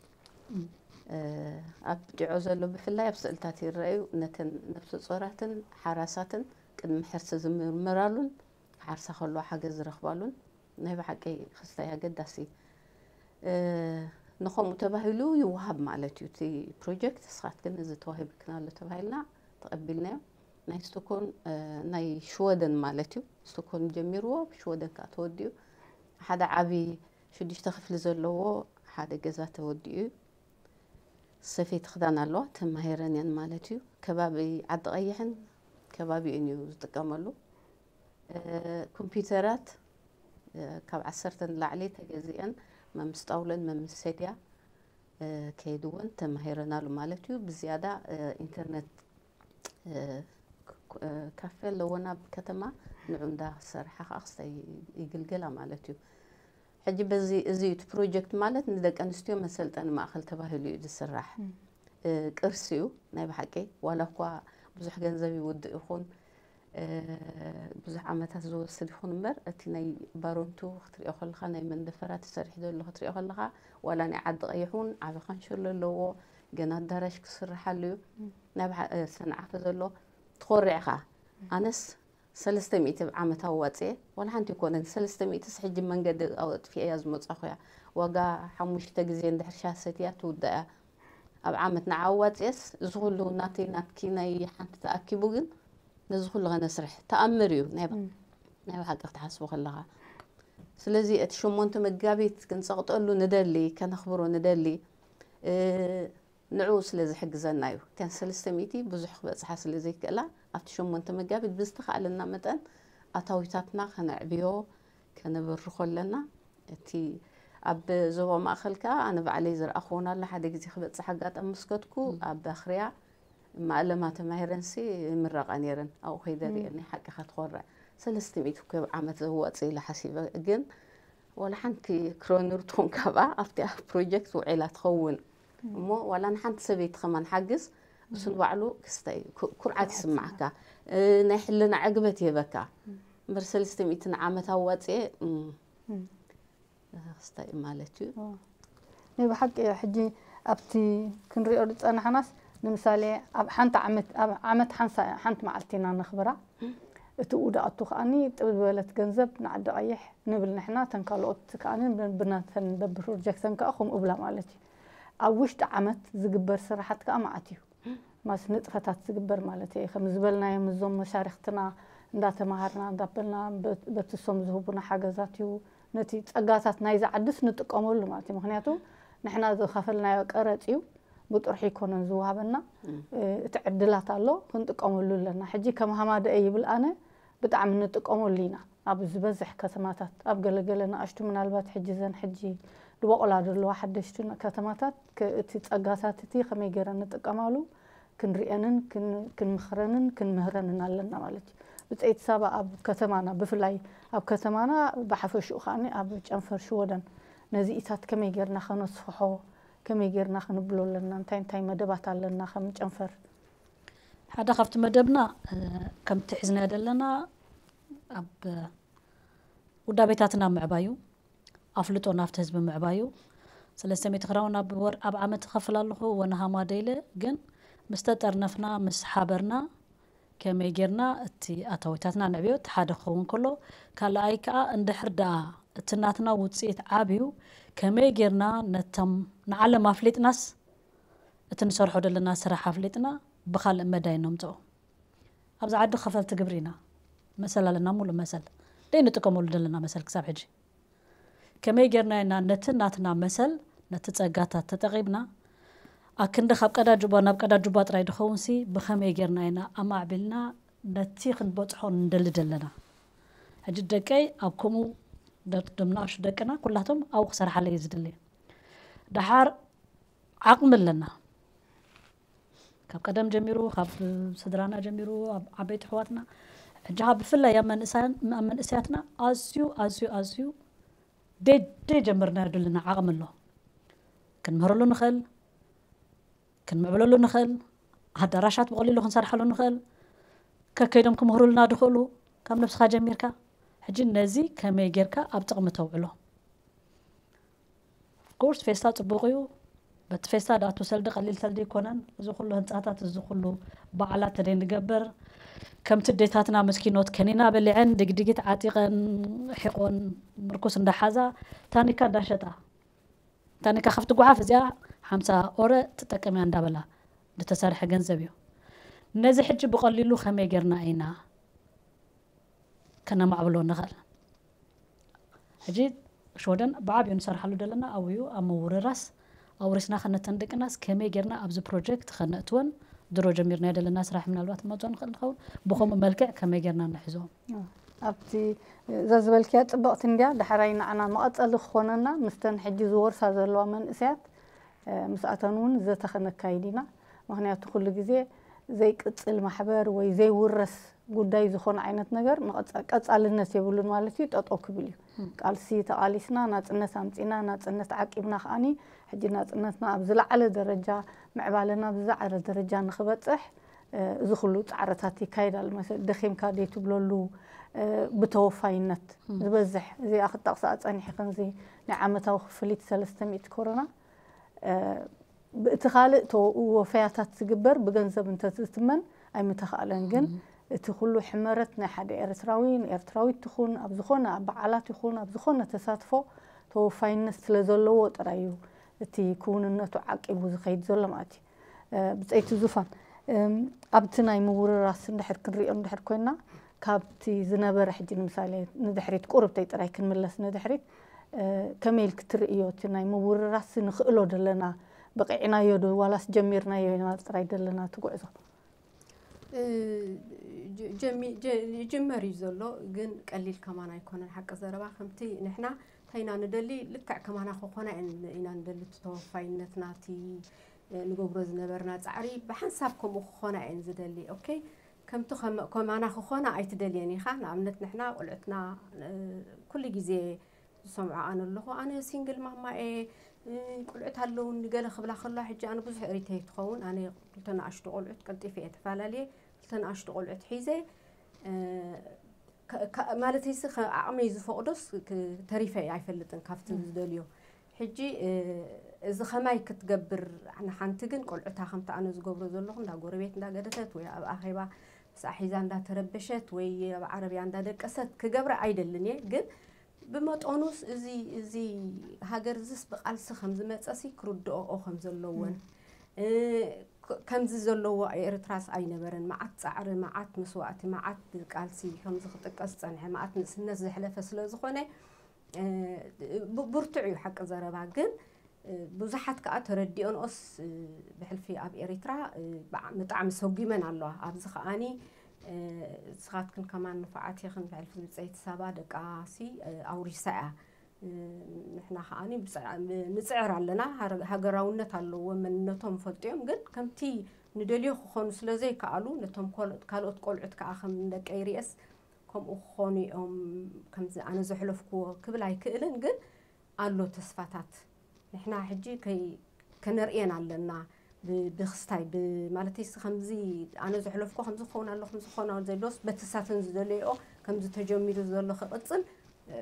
ኣብ ጢዖ ዘሎ ብፍላይ ኣብ ስእልታት ይረኣዩ። ነተን ነፍሰ ጾራትን ሓራሳትን ቅድሚ ሕርሲ ዝምርመራሉን ክሓርሳ ከለዋ ሓገዝ ዝረኽባሉን ናይ ብሓቂ ክስታይ ኣገዳሲ። ንኸምኡ ተባሂሉ ይወሃብ ማለት እዩ። እቲ ፕሮጀክት ንስኻትክን እዚ ተዋሂብክን ኣሎ ተባሂልና ተቐቢልናዮ። ናይ ስቶኮን ናይ ሽወደን ማለት እዩ። ስቶኮን ጀሚርዎ፣ ብሽወደን ከዓ ተወዲኡ ሓደ ዓብዪ ሽዱሽተ ክፍሊ ዘለዎ ሓደ ገዛ ተወዲኡ እዩ። ሰፈይቲ ክዳን ኣለዋ፣ ተማሂረን እየን ማለት እዩ። ከባቢ ዓዲ ቀይሕን ከባቢኡን እዩ ዝጥቀመሉ። ኮምፒውተራት ካብ ዓሰርተ ንላዕሊ ተገዚአን፣ መምስ ጣውለን መምስ ሰድያ ከይድወን ተማሂረናሉ ማለት እዩ። ብዝያዳ ኢንተርነት ካፌ ኣለዎና ኣብ ከተማ፣ ንዑ እንዳ ሰርሓ ከዓ ክስታይ ይግልገላ ማለት እዩ። ሕጂ በዚ እዚ እቲ ፕሮጀክት ማለት ንደቂ ኣንስትዮ መሰልጠኒ ማእኸል ተባሂሉ እዩ ዝስራሕ። ቅርሲ እዩ ናይ ብሓቂ። ዋላ እኳ ብዙሕ ገንዘብ ይውድእ ይኹን፣ ብዙሕ ዓመታት ዝወስድ ይኹን እምበር፣ እቲ ናይ ባሮንቱ ክትሪኦ ከለኻ፣ ናይ መንደፈራ ተሰሪሑ ዘሎ ክትሪኦ ከለኻ፣ ዋላ ናይ ዓዲ ቀይሕ እውን ዓቢ ካንሸሎ ኣለዎ። ገና ኣዳራሽ ክስርሓሉ እዩ። ናይ ብሓ- ሰንዓፈ ዘሎ ትኾርዕኻ። ኣነስ ሰለስተ ሚእቲ ዓመት ኣዋፅኤ፣ ዋላ ሓንቲ ኣይኮነን፣ ሰለስተ ሚእትስ ሕጂ መንገዲ ኣጥፊአ እያ ዝመፃኹ እያ። ዋጋ ሓሙሽተ ግዜ እንድሕር ሻሂ ሰትያ ትውዳእ እያ ኣብ ዓመት። ንዓ ኣዋፅኤስ እዚ ኩሉ ናተይ ናትኪ ናይ ሓንቲ ተኣኪቡ ግን ነዚ ኩሉ ከነስርሕ ተኣምር እዩ ናይ ብ- ናይ ብሓቂ ክትሓስቡ ከለኻ። ስለዚ እቲ ሸሞንተ መጋቢት ክንፀቕጠሉ ንደሊ፣ ከነኽብሮ ንደሊ። ንዕኡ ስለ ዝሕግዘና እዩ። እተን ሰለስተ ሚእቲ ብዙሕ ክበጽሓ ስለ ዘይክእላ፣ ኣብቲ ሸሞንተ መጋቢት ብዝተኻእለና መጠን ኣታዊታትና ከነዕብዮ፣ ከነበርኾ ኣለና። እቲ ኣብ ዞባ ማእኸል ከኣ ኣነ ባዕለይ ዝረኣኽዎን ኣሎ። ሓደ ግዜ ክበጽሕ ኣጋጣሚ ምስ ከድኩ፣ ኣብ ባኽርያ ማእለማ ተማሂረንሲ ይምረቓ ነይረን። ኣብኡ ከይደ ርእየን፣ ናይ ሓቂ ከትኾርዕ። ሰለስተ ሚእቲ እኮ ኣብ ዓመት ዘዋጽእ ኢለ ሓሲበ። ግን ዋላ ሓንቲ ክሮንር ትኹን ካብኣ ኣብቲ ፕሮጀክት ውዒላ ትኸውን እሞ፣ ዋላ ንሓንቲ ሰበይቲ ከማን ሓግዝ፣ እሱ ንባዕሉ ክስታይ ኩ- ኩርዓት ይስማዓካ። እ፣ ናይ ሕልና ዕግበት ይህበካ። እምበር ሰለስተ ሚእቲ ንዓመት ኣዋፅኤ እም፣ ክስታይ ማለት እዩ። ናይ ብሓቂ ሕጂ ኣብቲ ክንሪኦ ዝፀናሕናስ፣ ንምሳሌ ኣብ ሓንቲ ዓመት ኣብ ዓመት ሓንሳ ሓንቲ መዓልቲ ኢና ነኽብራ። እቲ ውዳእቱ ከኣኒ ጥብ ዝበለት ገንዘብ ንዓዲ ቀይሕ ንብል ንሕና፣ እተን ካልኦት ከኣኒ ብናተን በብፕሮጀክተን ከኣ ከምኡ እብላ ማለት እዩ። ኣብ ውሽጢ ዓመት ዝግበር ስራሓት ከኣ መዓት እዩ። ማስ ንጥፈታት ዝግበር ማለት እየ። ከም ዝበልናዮም እዞም መሻርክትና እንዳተማሃርና እንዳበልና በትሶም ዝህቡና ሓገዛት እዩ። ነቲ ጸጋታት ናይዚ ዓድስ ንጥቀመሉ ማለት እዩ። ምክንያቱ ንሕና ዝኸፈልናዮ ቀረጽ እዩ፣ ብጥርሑ ይኮነን ዝወሃበና። እቲ ዕድላት ኣሎ፣ ክንጥቀመሉ ኣለና። ሕጂ ከም ሃማደኤ ይብል ኣነ፣ ብጣዕሚ ንጥቀመሉ ኢና። ኣብ ዝበዝሕ ከተማታት፣ ኣብ ገለገለ ንኣሽቱ ምናልባት ሕጂ ዘን ሕጂ ድበቆላ ዘለዋ ሓደሽቲ ከተማታት እቲ ጸጋታት እቲ ከመይ ገይረን ንጥቀማሉ ክንሪአንን ክንምኽረንን ክንምህረንን ኣለና ማለት እዩ። ብፀይቲ ሳባ ኣብ ከተማና ብፍላይ ኣብ ከተማና ብሓፈሽኡ ከዓኒ ኣብ ጨንፈር ሽወደን ነዚ ኢታት ከመይ ጌርና ከነስፍሖ ከመይ ጌርና ክንብሎ ኣለና እንታይ እንታይ መደባት ኣለና ከም ጨንፈር ሓደ ካብቲ መደብና ከምቲ ሒዝናዮ ዘለና ኣብ ውዳቤታትና ምዕባዩ ኣፍልጦ ናብቲ ህዝቢ ምዕባዩ ሰለስተ ሚእቲ ክራውን ኣብ ወር ኣብ ዓመት እኸፍል ኣለኹ ወነሃማ ደይለ ግን ምስ ተጠርነፍና ምስ ሓበርና ከመይ ጌርና እቲ ኣታዊታትና ንዕብዮ እቲ ሓደ ክኸውን ከሎ ካልኣይ ከዓ እንድሕር ደኣ እቲ ናትና ውፅኢት ዓብዩ ከመይ ጌርና ነቶም ንዓለም ኣፍሊጥናስ እቲ ንሰርሖ ዘለና ስራሕ ኣፍሊጥና ብካልእ መዳይ ነምፅኦ ኣብዚ ዓዲ ከፈልቲ ግብሪ ኢና መሰል ኣለና ሙሉእ መሰል ደይ ንጥቀመሉ ዘለና መሰል ክሳብ ሕጂ ከመይ ጌርና ኢና ነቲ ናትና መሰል ነቲ ጸጋታት ተጠቒምና ኣክንዲ ካብ ቀዳጁባ ናብ ቀዳጁባ ጥራይ ድኸውንሲ ብኸመይ ጌርና ኢና ኣማዕቢልና ነቲ ክንበጽሖ ንደሊ ደለና ሕጂ ደቀይ ኣብ ከምኡ ዶም ንኣሹ ደቅና ኩላቶም ኣብኡ ክሰርሓለ እዩ ዝደሊ ደሓር ዓቕሚ ኣለና ካብ ቀደም ጀሚሩ ካብ ስድራና ጀሚሩ ኣብ ዓበይቲ ኣሕዋትና ሕጂ ከዓ ብፍላይ ኣብ መንእሰያትና ኣዝዩ ኣዝዩ ኣዝዩ ደይ ጀመርናዮ ዘለና ዓቕሚ ኣሎ ክንምህረሉ ንኽእል ክንምዕብለሉ ንኽእል ኣዳራሻት ብቐሊሉ ክንሰርሓሉ ንኽእል ከከይዶም ክምህሩልና ድኽእሉ ካብ ነብስኻ ጀሚርካ ሕጂ ነዚ ከመይ ጌርካ ኣብ ጥቕሚ ተውዕሎ ኦፍኮርስ ፌስታ ፅቡቕ እዩ በቲ ፌስታ ድኣቱ ሰልዲ ቀሊል ሰልዲ ኣይኮነን እዚ ኩሉ ህንፃታት እዚ ኩሉ በዓላት ተደይ ንገብር ከምቲ ኣዴታትና ምስኪኖት ከኒና በሊዐን ድግድጊት ዓጢቐን ሒቖን ምርኩስ እንዳሓዛ ታኒካ እንዳሸጣ እንታኒካ ካብቲ ጓሓፍ እዚኣ ሓምሳ ኦረ ትጠቀም እያ እንዳበላ ዝተሰርሐ ገንዘብ እዩ። ነዚ ሕጂ ብቐሊሉ ከመይ ጌርና ኢና ከነማዕብሎ ንኽእል? ሕጂ ሽወደን ብዓብዩ ንሰርሓሉ ዘለና ኣብዩ ኣብ ምውርራስ ኣውሪስና ከነተን ደቅናስ ከመይ ጌርና ኣብዚ ፕሮጀክት ከነእትወን ድሮ ጀሚርናዮ ዘለና ስራሕ ምናልባት ንመፅኦ ንኽእል ንኸውን። ብኸምኡ መልክዕ ከመይ ጌርና ንሕዞም? ኣብቲ እዛ ዝበልክያ ፅብቕቲ እንድያ። ዳሕራይ ንዓና መቐፀሊ ክኾነና ምስተን ሕጂ ዝወርሳ ዘለዋ መንእሰያት ምስኣተን እውን ዘተ ከነካይድ ኢና። ምክንያቱ ኩሉ ግዜ ዘይቅፅል ማሕበር ወይ ዘይውረስ ጉዳይ ዝኾነ ዓይነት ነገር ቀፃልነት የብሉን ማለት እዩ፣ ጠጠው ክብል እዩ። ቃልሲ ተቓሊስና ናፅነት ኣምፂና ናፅነት ዓቂብና ከዓኒ ሕጂ ናፅነትና ኣብ ዝለዓለ ደረጃ ምዕባለና ብዝለዓለ ደረጃ ንክበፅሕ እዚ ኩሉ ፃዕርታት ይካየድ ኣሎ። መሰ ደኺምካ ዘይትብለሉ ብተወፋይነት ዝበዝሕ እዚኣ ክጠቕሳ ፀኒሐ ከምዚ ናይ ዓመታዊ ክፍሊት ሰለስተ ሚእቲ ኮሮና ብእቲ ካልእ ተወ- ወፈያታት ዝግበር ብገንዘብ እንተዝትመን ኣይምተኻእለን። ግን እቲ ኩሉ ሕመረት ናይ ሓደ ኤርትራዊ ንኤርትራዊት ትኹን ኣብ ዝኾነ ኣብ በዓላት ይኹን ኣብ ዝኾነ ተሳትፎ ተወፋይነት ስለ ዘለዎ ጥራይ እዩ እቲ ክውንነቱ ዓቂቡ ዝኸይድ ዘሎ ማለት እዩ። ብፀይቲ ዙፋን ኣብቲ ናይ ምውርራስ እንድሕር ክንሪኦ እንድሕር ኮይና ካብቲ ዝነበረ ሕጂ ንምሳሌ ንድሕሪት ቁርብተይ ጥራይ ክንምለስ ንድሕሪት ከመይ ኢልክ ትርእዮ እቲ ናይ ምውርራስ ንኽእሎ ደለና በቂዕናዮ ዶ ዋላስ ጀሚርናዮ ኢና ጥራይ ደለና እቲ ጉዕዞ? ይጅመር እዩ ዘሎ ግን ቀሊል ከማን ኣይኮነን ሓቂ ዘረባ ከምቲ ንሕና እንታይ ኢና ንደሊ ልክዕ ከማና ክኾና ኢና ንደሊ እቲ ተወፋይነትና እቲ ንገብሮ ዝነበርና ፃዕሪ ብሓንሳብ ከምኡ ክኾና እየን ዝደሊ ኦኬ ከምቲ ከማና ክኾና ኣይትደልየን ኢኻ ንኣብነት ንሕና ቆልዑትና ኩሉ ግዜ ዝሰምዖ ኣነ ኣለኹ ኣነ ሲንግል ማማ እየ ቆልዑት ኣለውኒ ገለ ክብላ ከለዋ ሕጂ ኣነ ብዙሕ እሪተይ ትኸውን ኣነ ክልተ ንኣሽቱ ቆልዑት ቀልጢፈ እየ ተፈላለየ ክልተ ንኣሽቱ ቆልዑት ሒዘ ማለተይሲ ዓቕመይ ዝፈቕዶስ ተሪፈ እየ ኣይፈልጥን ካብቲ ዝደልዮ ሕጂ እዚ ከማይ ክትገብር ንሓንቲ ግን ቆልዑታ ከምቲ ኣነ ዝገብሮ ዘለኹ እንዳ ጎረቤት እንዳገደፈት ወይ ኣብ ኣኼባ ምስኣ ሒዛ እንዳተረበሸት ወይ ኣብ ዓረብያ እንዳደቀሰት ክገብራ ኣይደልን እየ ግን ብመጠኑስ እዚ እዚ ሃገር እዚስ ብቃልሲ ከም ዝመፀሲ ክርድኦኦ ከም ዘለወን ከምዚ ዘለዎ ኤርትራስ ኣይነበረን መዓት ፃዕሪ መዓት መስዋእቲ መዓት ቃልሲ ከምዚ ክጥቀስ ዝፀንሐ መዓት ንእስነት ዘሕለፈ ስለ ዝኾነ ብርቱዕ እዩ ሓቂ ዘረባ ግን ብዙሓት ከዓ ተረዲኦንኦስ ብሕልፊ ኣብ ኤሪትራ ብጣዕሚ ሰጒመን ኣለዋ ኣብዚ ከዓኒ ንስኻትክን ከማን ንፉዓት ኢኽን ብሕልፊ ብፀይቲ ሳባ ደቃ ሲ ኣውሪሳ እያ ንሕና ከዓኒ ንፅዕር ኣለና ሃገራውነት ኣለዎም መንነቶም ይፈልጡ እዮም ግን ከምቲ ንደልዮ ክኾኑ ስለ ዘይከኣሉ ነቶም ካልኦት ቆልዑት ከዓ ከም ንደቀይ ሪኤስ ከምኡ ክኾኑ እዮም ከምዚ ኣነ ዘሕለፍክዎ ክብል ኣይክእልን ግን ኣሎ ተስፋታት ንሕና ሕጂ ከይ ከነርእየን ኣለና ብክስታይ ማለተይሲ ከምዚ ኣነ ዘሕለፍኮ ከምዚ ክኸውን ኣሎ ከምዚ ክኸውን ኣሎ ዘሎስ በቲ ሳተን ዝደለይኦ ከምዚ ተጀሚሩ ዘሎ ክቕፅል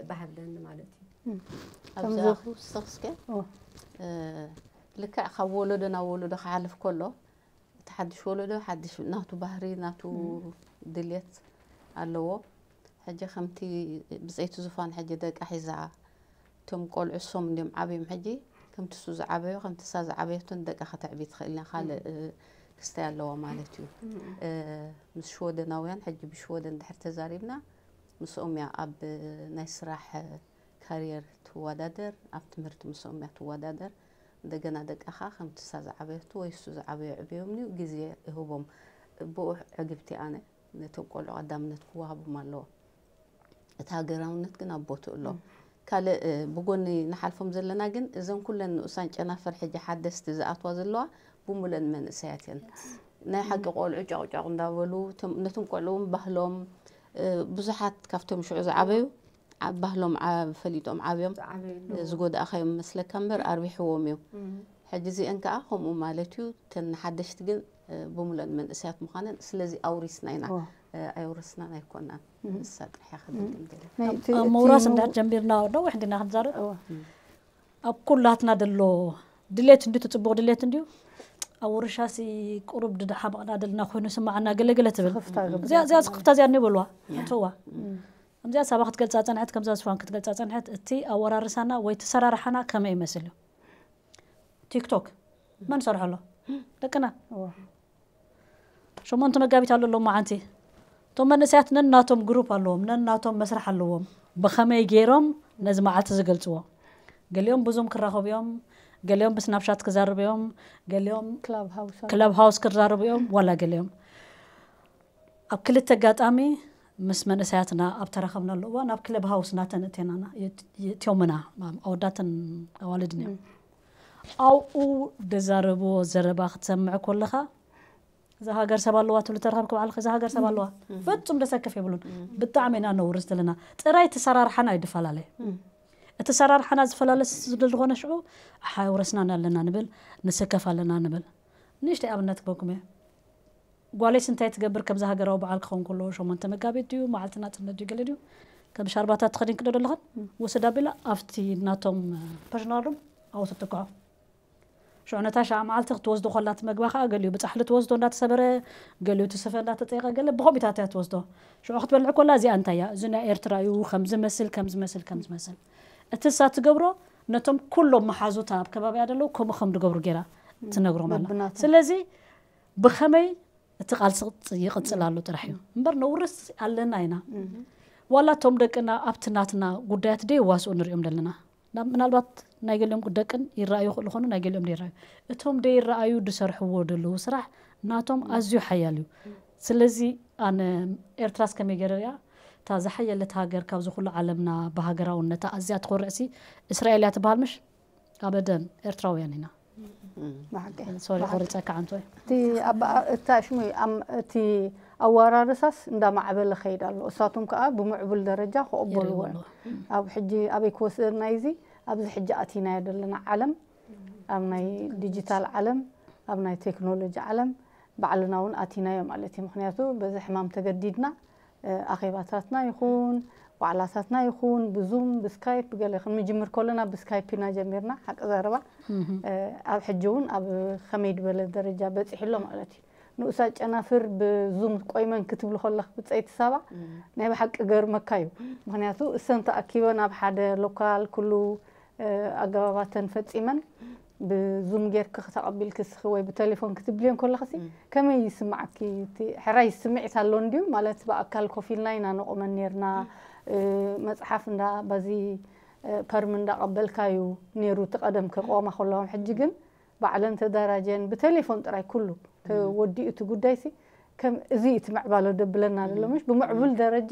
ባህብለኒ ማለት እዩ ኣብዚኣ ክውስኽ እስከ ልክዕ ካብ ወለዶ ናብ ወለዶ ክሓልፍ ከሎ እቲ ሓድሽ ወለዶ ሓድሽ ናቱ ባህሪ ናቱ ድልየት ኣለዎ ሕጂ ከምቲ ብፀይቲ ዙፋን ሕጂ ደቃ ሒዛ እቶም ቆልዑ እሶም እንዲዮም ዓብዮም ሕጂ ከምቲ እሱ ዝዓበዮ ከምቲ እሳ ዝዓበየቶ ንደቃ ከተዕቢ ትኽእል እያ ካልእ ክስታይ ኣለዋ ማለት እዩ ምስ ሽወደናውያን ሕጂ ብሽወደን ድሕር ተዛሪብና ምስኦም እያ ኣብ ናይ ስራሕ ካርየር ትወዳደር ኣብ ትምህርቲ ምስኦም እያ ትወዳደር እንደገና ደቃ ከዓ ከምቲ እሳ ዝዓበየቶ ወይ እሱ ዝዓበዮ ዕብዮም እዩ ግዜ ይህቦም ብኡ ዕግብቲ ኣነ ነቶም ቆልዑ ቀዳምነት ክወሃቦም ኣለዎ እቲ ሃገራውነት ግን ኣብ ቦትኡ ኣሎ ካልእ ብጎኒ ንሓልፎም ዘለና ግን እዘን ኩለን ንኡሳን ጨናፍር ሕጂ ሓደስቲ ዝኣትዋ ዘለዋ ብሙለን መንእሰያት እየን ናይ ሓቂ ቆልዑ ጨቕጨቕ እንዳበሉ ነቶም ቆልዑ እውን ባህሎም ብዙሓት ካብቶም ሽዑ ዝዓበዩ ባህሎም ፈሊጦም ዓብዮም ዝጎዳእኻዮም መስለካ እምበር ኣርቢሕዎም እዩ ሕጂ እዚአን ከዓ ከምኡ ማለት እዩ ተን ሓደሽቲ ግን ብሙለን መንእሰያት ምዃነን ስለዚ ኣውሪስና ኢና ኣየውረስናን ኣይኮናን ንሳ ጥራሕ ከደግም ኣብ ምውራስ እንዳ ጀሚርና ዶ ወሕድና ክንዛረብ ኣብ ኩላትና ደሎ ድሌት እንዲ ትፅቡቕ ድሌት እንዲዩ ኣብ ውርሻሲ ቁሩብ ድሓመቕና ደልና ኮይኑ ስማዓና ገለገለ ትብል እዚኣ ስኽፍታ እዚኣ እኒ በልዋ ኣትዋ ከምዚኣ ሳባ ክትገልፃ ፀንሐት ከምዛ ዝፋን ክትገልፃ ፀንሐት እቲ ኣወራርሳና ወይ ተሰራርሓና ከመይ ይመስል እዩ ቲክቶክ መን ሰርሖ ኣሎ? ደቅና። ሸሞንተ መጋቢት ኣሎ ኣሎ መዓንቲ። እቶም መንእሰያት ነናቶም ግሩፕ ኣለዎም፣ ነናቶም መስርሕ ኣለዎም። ብኸመይ ገይሮም ነዚ መዓልቲ ዝገልጽዎ? ገሊኦም ብዙም ክራኸቡ እዮም፣ ገሊኦም ብስናፕሻት ክዛረቡ እዮም፣ ገሊኦም ክላብ ሃውስ ኣሎ። ክለብ ሃውስ ክዛረቡ እዮም፣ ዋላ ገሊኦም ኣብ ክልተ ኣጋጣሚ ምስ መንእሰያትና ኣብ ተራኸብናሉ እዋን ኣብ ክለብ ሃውስ ናተን እቴናና የእትዮምና። ኣወዳትን ኣዋልድን እዮም። ኣብኡ ደዛረብዎ ዘረባ ክትሰምዕ ኮለኻ እዛ ሃገር ሰብ ኣለዋ ትብሉ ተረኸብክ ባዕልኻ እዛ ሃገር ሰብ ኣለዋ ፍጹም ደሰክፍ የብሉን። ብጣዕሚ ኢና ነውርስ ዘለና። ጥራይ እቲ ሰራርሓና ኣይፈላለ። እቲ ሰራርሓና ዝፈላለ ስለዝኾነ ሽዑ ሓውረስና ኣለና ንብል፣ ንስከፍ ኣለና ንብል። ንእሽተይ ኣብነት ክበኩም እየ። ጓለይስ እንታይ ትገብር ከምዚ ሃገራዊ በዓል ክኸውን ከሎ ሸሞንተ መጋቢት ድዩ መዓልቲ ናጽነት ድዩ ገለ ድዩ ከም ሻርባታት ትኸዲን ክዶ ዘለኽን ውስድ ኣቢላ ኣብቲ ናቶም ፐርሶናል ሩም ኣውት ትትክዖ። ሽዑ ነታ ሻዓ መዓልቲ ክትወስዶ ኮላ እቲ መግባ ከዓ ገሊኡ ብጻሕሊ ትወስዶ እንዳተሰበረ ገሊኡ እቲ ስፈ እንዳተጠይቐ ገለ ብኸምኡታት እያ ትወስዶ። ሽዑ ክትበልዕ ኮላ እዚኣ እንታይ እያ እዚ ናይ ኤርትራ እዩ ከም ዝመስል ከም ዝመስል ከም ዝመስል እቲ እሳ ትገብሮ ነቶም ኩሎም መሓዙታ ኣብ ከባቢያ ደለዉ ከምኡ ከም ዝገብሩ ገይራ ትነግሮም ኣላ። በብናቶም። ስለዚ ብኸመይ እቲ ቃልሲ ይቕጽል ኣሎ ጥራሕ እዩ እምበር ነውርስ ኣለና ኢና። ዋላ እቶም ደቅና ኣብቲ ናትና ጉዳያት ደየዋስኡ ንሪኦም ዘለና ናብ ምናልባት ናይ ገሊኦም ደቅን ይረኣዩ ይኽእሉ ኾኑ ናይ ገሊኦም ደይረኣዩ። እቶም ደይረኣዩ ዝሰርሕዎ ዘለዉ ስራሕ ናቶም ኣዝዩ ሓያል እዩ። ስለዚ ኣነ ኤርትራስ ከመይ ገይረ ሪኣ እታ ዝሓየለት ሃገር ካብዚ ኩሉ ዓለምና ብሃገራውነታ ኣዝያ ትኾርዕሲ እስራኤል እያ ትበሃል ምሽ? ኣበደን ኤርትራውያን ኢና። ብሓቂ ሶሪ ቆሪፀካ ዓንቶይ። እቲ ኣባ እታ ሽሙ ኣም- እቲ ኣወራርሳስ እንዳማዕበለ ከይድ ኣሎ። እሳቶም ከዓ ብምዕቡል ደረጃ ክቕበልዎ እዮም። ኣብ ሕጂ ኣበይ ክወስደና እዚ ኣብዚ ሕጂ ኣቲናዮ ዘለና ዓለም ኣብ ናይ ዲጂታል ዓለም ኣብ ናይ ቴክኖሎጂ ዓለም ባዕልና እውን ኣቲናዮ ማለት እዩ። ምክንያቱ በዚ ሕማም ተገዲድና ኣኼባታትና ይኹን ዋዕላታትና ይኹን ብዙም ብስካይፕ ገለ ክንምጅምር ከለና ብስካይፕ ኢና ጀሚርና ሓቂ ዘረባ ኣብ ሕጂ እውን ኣብ ከመይ ድበለ ደረጃ በፂሑ ኣሎ ማለት እዩ። ንኡሳ ጨናፍር ብዙም ቆይመን ክትብል ከለክ ብፀይቲ ሳባ ናይ ብሓቂ ገርመካ እዩ። ምክንያቱ እሰን ተኣኪበን ኣብ ሓደ ሎካል ኩሉ ኣገባባተን ፈፂመን ብዙም ጌርክ ክተቐቢልክ ስኺ ወይ ብቴሌፎን ክትብልዮ ከለኽሲ ከመይ ይስምዓኪ? እቲ ሕራይ ስምዒት ኣሎ እንድዩ ማለት ብኣካል ኮፍ ኢልና ኢና ነቑመን ኔርና። መፅሓፍ እንዳ በዚ ፐርም እንዳቐበልካ እዩ ኔሩ እቲ ቀደም ክቆማ ከለዎም። ሕጂ ግን ባዕለን ተደራጀን ብቴሌፎን ጥራይ ኩሉ ተወዲኡ እቲ ጉዳይሲ ከም እዚ እቲ ምዕባለ ደብለና ዘሎ ምሽ ብምዕቡል ደረጃ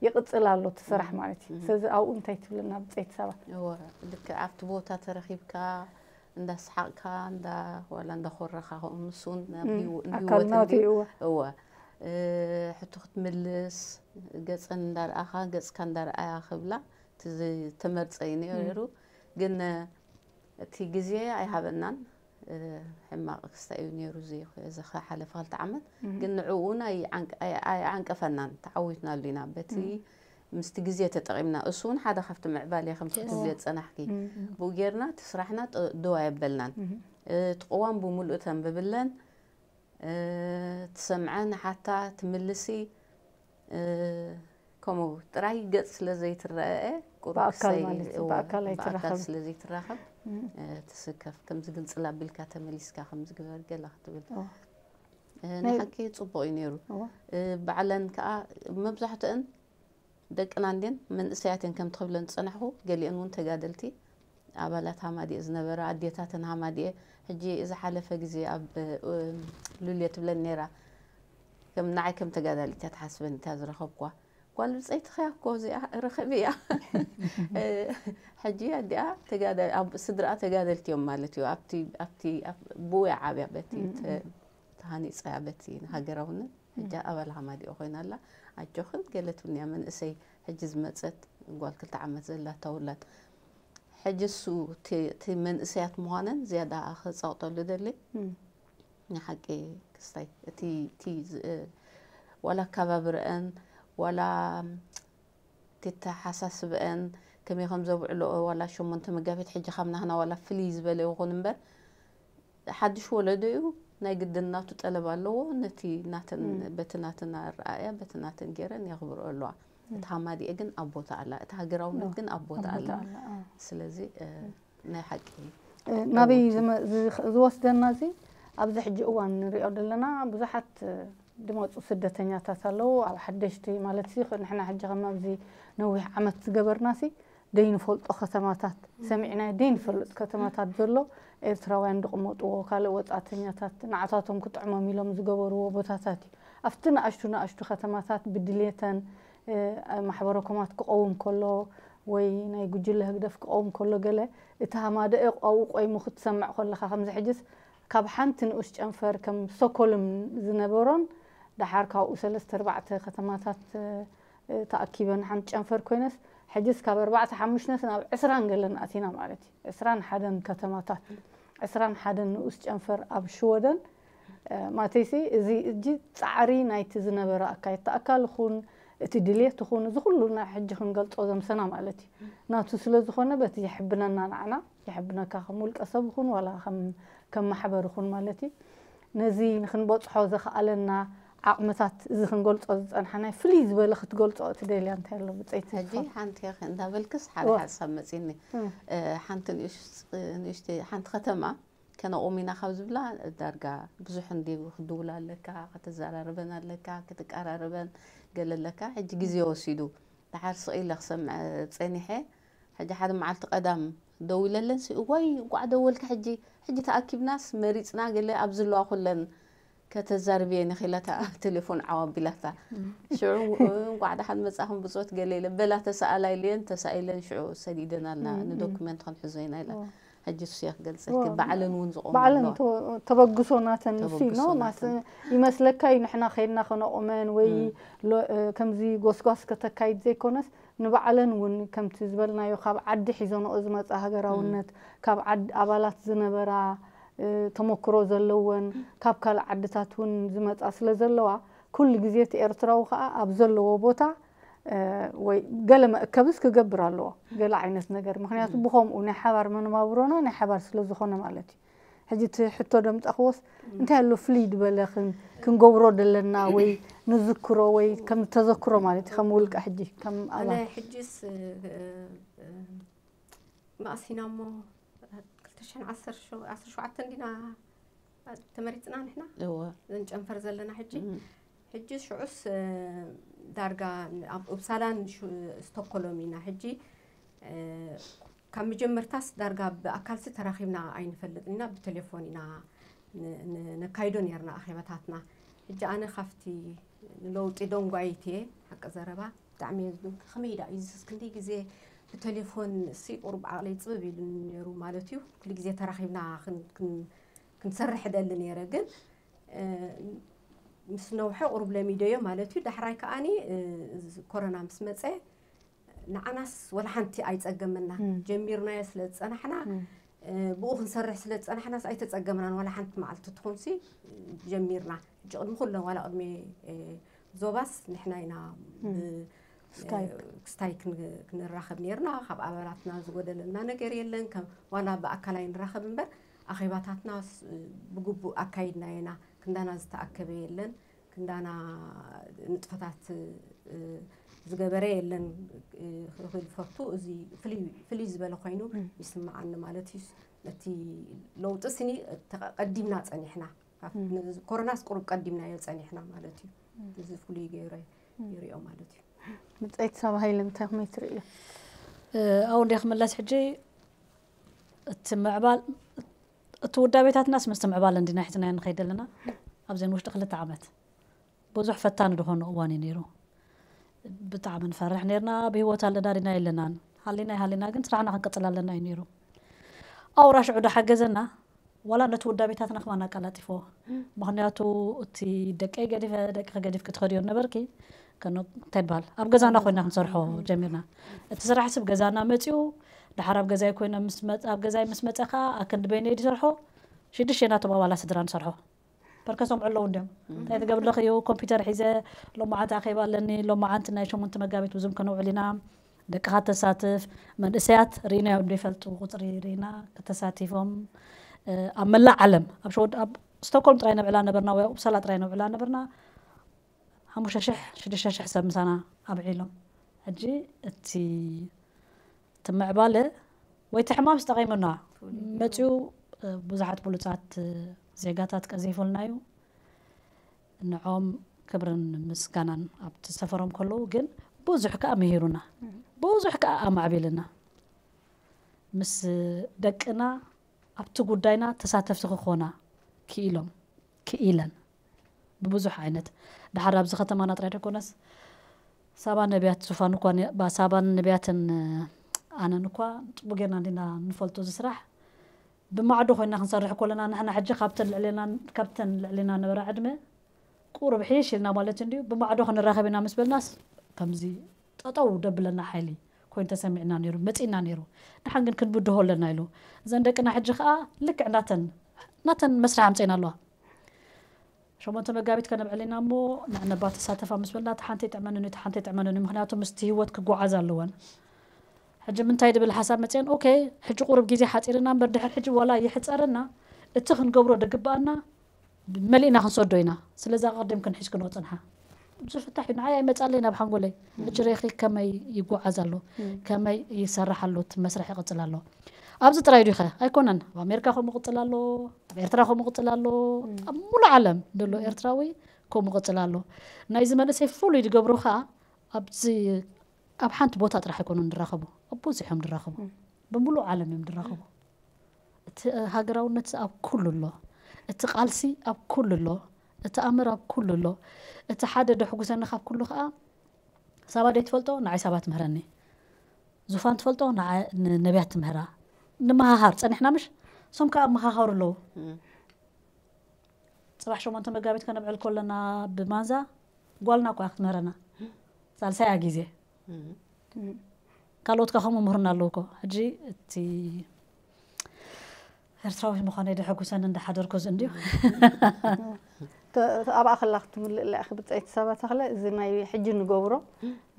ይቕፅል ኣሎ እቲ ስራሕ ማለት እዩ። ስለዚ ኣብኡ እንታይ ትብልና ብፀይቲ ሰባት? እወ ልክዕ ኣብቲ ቦታ ተረኺብካ እንዳሰሓቕካ እንዳ ዋላ እንዳኾረኻ ከምኡ ምስ እውን ኣብ እም፣ ህይወ- ኣካል ህይወት ናቱ እንድዩ እዩ፣ እወ። እወ እ፣ ሕቶ ክትምልስ ገፀን እንዳረኣኻ ገፅካ እንዳረኣያ ክብላ እቲ ዝተመርፀ እዩ ነይሩ። ግን እ፣ እቲ ግዜ ኣይሃበናን። እ፣ ሕማቕ ክስታይ እዩ ነይሩ እዚ እዚ ዝሓለፈ ክልተ ዓመት። ግን ንዕኡ እውን ኣይዓንቀ- ኣይ- ኣይዓንቀፈናን ተዓዊትናሉ ኢና በቲ ምስቲ ግዜ ተጠቒምና። እሱ እውን ሓደ ካብቲ ምዕባለ ከም ክትብልዮ ዝፀናሕኪ። ብኡ ጌርና እቲ ስራሕና ጥ- ደው ኣየበልናን። እቲ ቅዋም ብምሉእ ተንብብለን ትሰምዐ ንሓታ ትምልሲ። ከምኡ ጥራይ ገጽ ስለ ዘይትረአ ቁሩብ ብኣካል ክሰይ- ማለት እዩ፣ እወ፣ ብኣካል ብኣካል ኣይትራኸብን። ስለ ዘይትራኸብ ትስከፍ። ከምዚ ግልጽል ኣቢልካ ተመሊስካ ከምዚ ግበር ገላ ክትብል እወ። ንሓቂ ጽቡቕ እዩ ነይሩ። እወ። ባዕለን ከኣ መብዛሕትአን ደቅና እንድየን መንእሰያት እየን ከም ትኽብለን ዝጸናሕኹ፣ ገሊአን እውን ተጋደልቲ ኣባላት ሃማዲኤ ዝነበራ ኣዴታተን ሃማዲኤ። ሕጂ እዚ ሓለፈ ግዜ ኣብ ሉልየ ትብለን ነይራ፣ ከም ንዓይ ከም ተጋዳሊት እያ ትሓስበን እታ ዝረኸብኳ። ጓል ብጸይትኸያ እኮ እዚኣ ርኽብ እያ። ሕጂ ኣዲኣ ተጋዳ- ኣብ- ስድራኣ ተጋደልቲ እዮም ማለት እዩ። ኣብቲ ኣብቲ ኣብ- ብኡ እያ ዓብያ በቲ ተ- ተሃኒፀ በቲ ንሃገራውነት። ሕጂ ኣባል ሃማዲኦ ኮይና ኣላ። ኣጆኽን ገለ ትብልንያ መንእሰይ ሕጂ ዝመፀት ጓል ክልተ ዓመት ዘላታ ውላድ። ሕጂ እሱ እቲ እቲ መንእሰያት ምዃነን ዝያዳ ከፃውጠሉ ደሊ። ንሓቂ ክስታይ እቲ እቲ ዝ- ዋላ ኣከባብርአን ዋላ ተተሓሳስብአን ከመይ ከም ዘብዕልኦ ዋላ ሸሞንተ መጋቢት ሕጂ ካብ ናህና ዋላ ፍልይ ዝበለ ይኹን እምበር ሓድሽ ወለዶ እዩ ናይ ግድን ናቱ ጠለብ ኣለዎ። ነቲ ናተን በቲ ናተን ኣረኣእያ በቲ ናተን ገይረን የኽብርኦ ኣለዋ። እቲ ሃማዲኤ ግን ኣብ ቦታ ኣላ፣ እቲ ሃገራውነት ግን ኣብ ቦታ ኣላ። ስለዚ ናይ ሓቂ ናበይ ዝወስደና እዚ ኣብዚ ሕጂ እዋን ንሪኦ ዘለና ብዙሓት ድመፁ ስደተኛታት ኣለዉ። ኣብ ሓደሽቲ ማለት ንሕና ሕጂ ከም ኣብዚ ነዊሕ ዓመት ዝገበርና ሲ ደይንፈልጦ ከተማታት ሰሚዕና ደይንፈልጥ ከተማታት ዘሎ ኤርትራውያን ዝቕመጥዎ ካልእ ወፃእተኛታት ንዓታቶም ክጥዕሞም ኢሎም ዝገበርዎ ቦታታት እዩ። ኣብቲ ንኣሽቱ ንኣሽቱ ከተማታት ብድሌተን ማሕበረኮማት ክቐውም ከሎ ወይ ናይ ጉጅለ ህግደፍ ክቐውም ከሎ ገለ እቲ ሃማደኤ ኣብኡ ቆይሙ ክትሰምዕ ከለኻ ከምዚ ሕጅስ ካብ ሓንቲ ንኡስ ጨንፈር ከም ስቶኮልም ዝነበሮን ደሓር ካብኡ ሰለስተ ኣርባዕተ ከተማታት ተኣኪበን ሓንቲ ጨንፈር ኮይነስ ሕጅስ ካብ ኣርባዕተ ሓሙሽተስ ናብ ዕስራን ገለን ኣቲና ማለት እዩ። ዕስራን ሓደን ከተማታት ዕስራን ሓደን ንኡስ ጨንፈር ኣብ ሽወደን ማተይሲ እዚ እጂ ፃዕሪ ናይቲ ዝነበረ ኣካየድቲ ኣካል ይኹን እቲ ድሌት ይኹን እዚ ኩሉ ናይ ሕጂ ክንገልፆ ዘምሰና ማለት እዩ። ናቱ ስለ ዝኾነ በቲ የሕብነና ንዓና የሕብነካ ከም ውልቀ ሰብ ይኹን ዋላ ከም ከም ማሕበር ይኹን ማለት እዩ። ነዚ ንክንበፅሖ ዘኽኣለና ዓቕምታት እዚ ክንገልፆ ዝፀንሓናይ ፍልይ ዝበለ ክትገልፆ እቲ ደልያ እንታይ ኣሎ ብፀይቲ ሕጂ ሓንቲ እንዳበልክስ ሓደ ሓሳብ መፂኒ ሓንቲ ንእሽተይ ሓንቲ ከተማ ከነቑም ኢና ካብ ዝብላ ዳርጋ ብዙሕ እንዲ ክድውላ ኣለካ ከተዘራርበን ኣለካ ክትቀራረበን ገለ ኣለካ ሕጂ ግዜ ወሲዱ ደሓር ስቕ ኢለ ክሰምዐ ፀኒሐ ሕጂ ሓደ መዓልቲ ቀዳም ደዊለለን እዋይ እንቋዕ ደወልካ ሕጂ ሕጂ ተኣኪብናስ መሪፅና ገለ ኣብ ዝለዋ ኩለን ከተዛርብየን ኢኺ ኢላታ ቴሌፎን ዓው ኣቢላታ ሽዑ እንቋዕ ደሓን መጻኹም ብጾት ገለ ኢለ በላ ተሰኣላ ኢለየን ተሳኢለን ሽዑ ሰዲደናልና ንዶክመንት ክንሕዞ ኢና ኢላ ሕጂ እሱ እየ ክገልጸኪ ባዕለን እውን ዝቆማ ባዕለን ኣለዋ ተበግሶ ናተን እሱ እዩ ተበግሶ ነው ናተን። ይመስለካ እዩ ንሕና ከይድና ከነቑመን ወይ ሎ- እ፣ ከምዚ ጎስጓስ ከተካይድ ዘይኮነስ ንባዕለን እውን ከምቲ ዝበልናዮ ካብ ዓዲ ሒዞንኦ ዝመፃ ሃገራውነት ካብ ዓድ ኣባላት ዝነበራ ተሞክሮ ዘለወን ካብ ካልእ ዓድታት እውን ዝመፃ ስለ ዘለዋ ኩሉ ግዜ እቲ ኤርትራዊ ከዓ ኣብ ዘለዎ ቦታ ወይ ገለ መእከብስ ክገብር ኣለዎ ገለ ዓይነት ነገር ምክንያቱ ብከምኡ ናይ ሓባር መነባብሮና ናይ ሓባር ስለ ዝኾነ ማለት እዩ ሕጂ እቲ ሕቶ ደምፃኽዎስ እንታይ ኣሎ ፍልይ ዝበለ ክንገብሮ ደለና ወይ ንዝክሮ ወይ ከም ተዘክሮ ማለት እዩ ከም ውልቀ ሕጂ ከም ኣባል ሕጅስ ማእሲና እሞ ክልተ ሽሕን ዓሰርተ ሸውዓተን ዲና ተመሪፅና ንሕና እወ እዘን ጨንፈር ዘለና ሕጂ እም። ሕጂ ሽዑስ እ፣ ዳርጋ ኣብ ኡፕሳላን ሹ- ስቶኮሎም ኢና ሕጂ እ፣ ካብ መጀመርታስ ዳርጋ ብኣካልሲ ተራኺብና ኣይንፈልጥን ኢና ብቴሌፎን ኢና ን- ን- ነካይዶ ነርና ኣኼባታትና ሕጂ ኣነ ካብቲ ንለውጢ ደንጓይት እየ ሓቂ ዘረባ ብጣዕሚ እየ ዝድንቅ ከመይ ዳ እዩ ዝስ ክንደይ ግዜ ብቴሌፎን ሲ ቁሩብ ዓቕለይ ፅብብ ኢሉ ነይሩ ማለት እዩ ኩሉ ግዜ ተራኺብና ክን- ክን- ክንሰርሕ ደሊ ነይረ ግን ምስ ነውሐ ቁሩብ ለሚደዮ ማለት እዩ ዳሕራይ ከዓኒ ኮረና ምስ መፀ ንዓናስ ወላ ሓንቲ ኣይፀገመና ጀሚርናዮ ስለ ዝፀናሕና ብኡ ክንሰርሕ ስለ ዝፀናሕናስ ኣይተፀገምናን ዋላ ሓንቲ መዓልቲ ትኹንሲ ጀሚርና ሕጂ ቅድሚ ኩለን ዋላ ቅድሚ ዞባስ ንሕና ኢና ስካይፕ ክንራኸብ ነርና ካብ ኣባላትና ዝጎደለና ነገር የለን ዋላ ብኣካል ኣይንራኸብ እምበር ኣኼባታትና ብግቡእ ኣካይድና ኢና ክንዳና ዝተኣከበ የለን ክንዳና ንጥፈታት ዝገበረ የለን ክብል ፈቱ እዚ ፍልይ ዝበለ ኮይኑ ይስምዓኒ ማለት እዩ ነቲ ለውጢ ስኒ ቀዲምና ፀኒሕና ኮሮናስ ቁሩብ ቀዲምናዮ ፀኒሕና ማለት እዩ እዚ ፍሉይ ገይረ ይሪኦ ማለት እዩ ምፀይቲ ሳብ ሃይለ እንታይ ከመይ ትርእዮ ኣብኡ እንደ ክምለስ ሕጂ እቲ ምዕባል እቲ ውዳቤታትናስ ምስቲ ምዕባል እንዲና ሒዝናዮ ንኸይድ ኣለና ኣብዘን ውሽጢ ክልተ ዓመት ብዙሕ ፈታኒ ዝኾነ እዋን እዩ ነይሩ ብጣዕሚ ንፈርሕ ነርና ብህይወት ኣለና ዲና የለናን ሃሊና ይሃሊና ግን ስራሕና ክንቅፅል ኣለና እዩ ነይሩ ኣውራ ሽዑ ዶ ሓገዘና ዋላ ነቲ ውዳቤታትና ከማን ኣቀላጢፎ ምክንያቱ እቲ ደቀይ ገዲፈ ደቂ ገዲፍ ክትኸድዮ ነበርኪ እንታይ ይበሃል ኣብ ገዛና ኮይና ክንሰርሖ ጀሚርና እቲ ስራሕ ስብ ገዛና መፅኡ ድሓር ኣብ ገዛይ ኮይነ ኣብ ገዛይ ምስ መፀ ከዓ ኣክንዲ በይነይ ዝሰርሖ ሽዱሽተ ናቶም ኣባላት ስድራ ንሰርሖ ፐርከሶም ዕለዉ እንዲዮም እንታይ ትገብር ኣለኽዮ ኮምፒውተር ሒዘ ሎማዓንቲ ኣኼባ ኣለኒ ሎማዓንቲ ናይ ሸሞንተ መጋቢት ብዙም ከነውዕል ኢና ደቅኻ ተሳትፍ መንእሰያት ርኢናዮ ዘይፈልጡ ቁፅሪ ርኢና ከተሳቲፎም ኣብ መላእ ዓለም ኣብ ሸወድ ኣብ ስቶኮልም ጥራይ ነብዕላ ነበርና ወይ ኣብ ኡፕሳላ ጥራይ ነብዕላ ነበርና ሓሙሽተ ሽሕ ሽዱሽተ ሽሕ ሰብ ምሳና ኣብዒሎም ሕጂ እቲ እቲ ምዕባለ ወይ እቲ ሕማም ዝጠቒሙና መፅኡ ብዙሓት ብሉፃት ዜጋታት ቀዚፉልና እዩ። ንዖም ክብርን ምስጋናን ኣብቲ ሰፈሮም ከለዉ ግን ብዙሕ ከዓ ምሂሩና፣ ብዙሕ ከዓ ኣማዕቢልና፣ ምስ ደቅና ኣብቲ ጉዳይና ተሳተፍቲ ክኾና ክኢሎም ክኢለን ብብዙሕ ዓይነት። ድሓር ኣብዚ ከተማና ጥራይ ደኮነስ ሳባ ነቢያት ዙፋን እኳ ሳባን ነቢያትን ኣነን እኳ ፅቡቅ ጌርና እንዲና ንፈልጦ ዝስራሕ ብማዕዶ ኮይና ክንሰርሕ ኮለና ንሕና ሕጂ ካብተን ልዕሌና ነበራ ዕድመ ቁሩብ ሒሽ ኢልና ማለት እንድዩ ብማዕዶ ክንራኸብ ኢና ምስ በልናስ ከምዚ ጠጠው ደብለና ሓይሊ ኮይኑ ተሰሚዕና ነይሩ መፂና ነይሩ። ደሓን ግን ክንብድሆ ኣለና ኢሉ እዘን ደቅና ሕጂ ከዓ ልክዕ ናተን ናተን መስርሕ ኣምፀና ኣለዋ። ሸሞንተ መጋቢት ከነብዕል ኢና እሞ ንዕነባ ተሳተፋ ምስ በልና እቲ ሓንቲ ይጥዕመንን እቲ ሓንቲ ይጥዕመንን ምክንያቱ ምስቲ ህይወት ክጓዓዝ ኣለወን። ሕጂ ምንታይ ድብል ሓሳብ መፅአን ኦኬ ሕጂ ቁሩብ ግዜ ሓፂርና እምበር ድሕር ሕጂ ዋላ ይሕፀረና እቲ ክንገብሮ ድግበኣና መሊእና ክንሰዶ ኢና። ስለዚ ኣቐዲምክን ሒዝክንኦ ፅንሓ። ዝፍታሕ እዩ ንዓይ ኣይመፃለይ ናብ ሓንጎለይ ሕጂ ሬኺ ከመይ ይጓዓዝ ኣሎ ከመይ ይሰርሕ ኣሎ እቲ መስርሕ ይቕፅል ኣሎ። ኣብዚ ጥራይ ዲኸ ኣይኮነን ኣብ ኣሜሪካ ከምኡ ቅፅል ኣሎ ኣብ ኤርትራ ከምኡ ቅፅል ኣሎ ኣብ ሙሉ ዓለም ዘሎ ኤርትራዊ ከምኡ ቅፅል ኣሎ። ናይዚ መንእሰይ ፍሉይ ዝገብሮ ከዓ ኣብዚ ኣብ ሓንቲ ቦታ ጥራሕ ኣይኮኑን ድራኸቡ ኣብ ብዙሕ እዮም ድራኸቡ ብሙሉ ዓለም እዮም ድራኸቡ። እቲ ሃገራውነት ኣብ ኩሉ ኣሎ። እቲ ቃልሲ ኣብ ኩሉ ኣሎ። እቲ ኣምር ኣብ ኩሉ ኣሎ። እቲ ሓደ ደሕጉሰኒ ካብ ኩሉ ከዓ ሳባ ደይ ትፈልጦ ንዓይ ሳባ ትምህረኒ። ዙፋን ትፈልጦ ንነቢያት ትምህራ። ንመሃሃር ፀኒሕና ምሽ ሶም ከዓ መሃሃሩ ኣለዉ። ፅባሕ ሸሞንተ መጋቢት ከነብዕል ከለና ብማንዛ ጓልና እኳ ክትምህረና ሳልሳያ ግዜ ካልኦት ከ ከምኡ ምህሩና ኣለዉ እኮ ሕጂ እቲ ኤርትራዊ ምዃነይ ደሐጉሰኒ እንዳሓደርኩ እዚ እንድዩ። ኣብኣ ከላ ክትምልእ ላ ኢኺ ብፀይቲ ሰባ ተኽለ እዚ ናይ ሕጂ ንገብሮ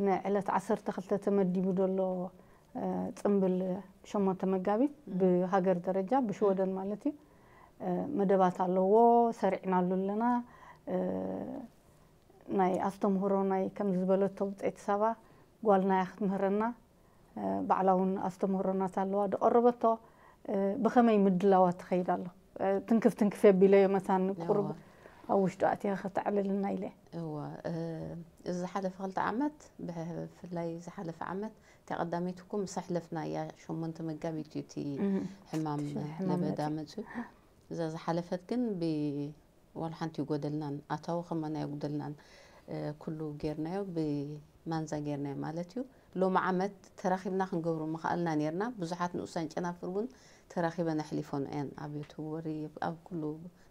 ንዕለት ዓሰርተ ክልተ ተመዲቡ ዘሎ ፅምብል ሸሞንተ መጋቢት ብሃገር ደረጃ ብሽወደን ማለት እዩ መደባት ኣለዎ ሰሪዕናሉ ኣለና ናይ ኣስተምህሮ ናይ ከም ዝበለቶ ብፀይቲ ሰባ ጓልና እያ ክትምህረና ባዕላ እውን ኣስተምህሮናት ኣለዋ ድቐረበቶ ብኸመይ ምድላዋት ትኸይድ ኣሎ ትንክፍ ትንክፍ የቢለዮ መታን ቁሩብ ኣብ ውሽጡ ኣትያ ከተዕልልና ኢለ እወ እዚ ዝሓለፈ ክልተ ዓመት ብፍላይ ዝሓለፈ ዓመት እታ ቀዳመይቲ እኮ ምስ ኣሕለፍና እያ ሸሞንተ መጋቢት እዩ እቲ ሕማም ለበዳ መፅዩ እዛ ዝሓለፈት ግን ዋላ ሓንቲ ይጎደልናን ኣታዊ ከማን ኣየጉደልናን ኩሉ ጌርናዮ ብማንዛ ጌርናዮ ማለት እዩ ሎሚ ዓመት ተራኺብና ክንገብሮ ምኽኣልና ኔርና ብዙሓት ንኡሳን ጨናፍር እውን ተራኺበን ኣሕሊፎን እየን ኣብ ዮቶቦሪ ኣብ ኩሉ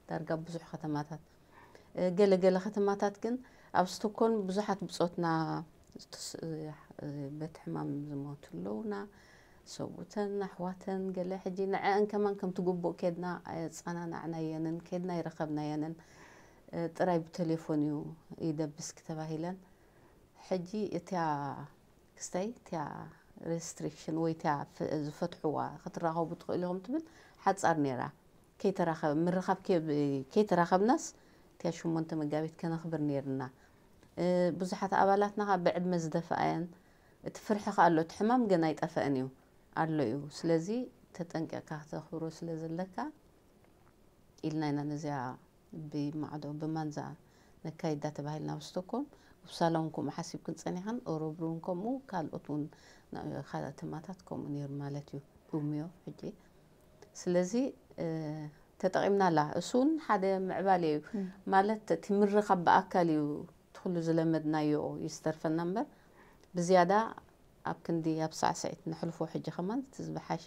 ዳርጋ ብዙሕ ከተማታት ገለ ገለ ከተማታት ግን ኣብ ስቶኮልም ብዙሓት ብጾትና በቲ ሕማም ዝሞቱ ኣለውና ሰብኡተን ኣሕዋተን ገለ ሕጂ ንዐአን ከማን ከምቲ ግቡእ ኬድና ኣየጸናናዕናየንን ኬድና ኣይረኸብናየንን ጥራይ ብቴሌፎን እዩ ይደብስኪ ተባሂለን ሕጂ እቲያ ክስታይ እቲያ restriction ወይ እቲያ ዝፈትሕዋ ክትራኸቡ ትኽእሉ ኢኹም ትብል ሓጻር ነይራ ከይተራኸብ ምርኻብ ከይተራኸብናስ እቲያ ሽሞንተ መጋቢት ከነኽብር ነይርና ብዙሓት ኣባላትና ካብ ብዕድመ ዝደፍኣየን እቲ ፍርሒ ከ ኣሎ እቲ ሕማም ገና ኣይጠፈአን እዩ ኣሎ እዩ ስለዚ ተጠንቂቕካ ክተኽብሮ ስለ ዘለካ ኢልና ኢና ነዚኣ ብማዕዶ ብማንዛ ነካይዳ ተባሂልና ኣብ ስቶኮልም ውሳላ እውን ከምኡ ሓሲብክን ፀኒሕን ኦሮብሩ እውን ከምኡ ካልኦት እውን ከተማታት ከምኡ ነይሩ ማለት እዩ ኡምዮ ሕጂ ስለዚ ተጠቒምናላ እሱ እውን ሓደ ምዕባለ እዩ ማለት እቲ ምርኻብ ብኣካል እዩ ትኩሉ ዝለመድናዮ ይዝተርፈና እምበር ብዝያዳ ኣብ ክንዲ ኣብ ሳዕስዒት ነሕልፎ ሕጂ ከማን እቲ ዝበሓሸ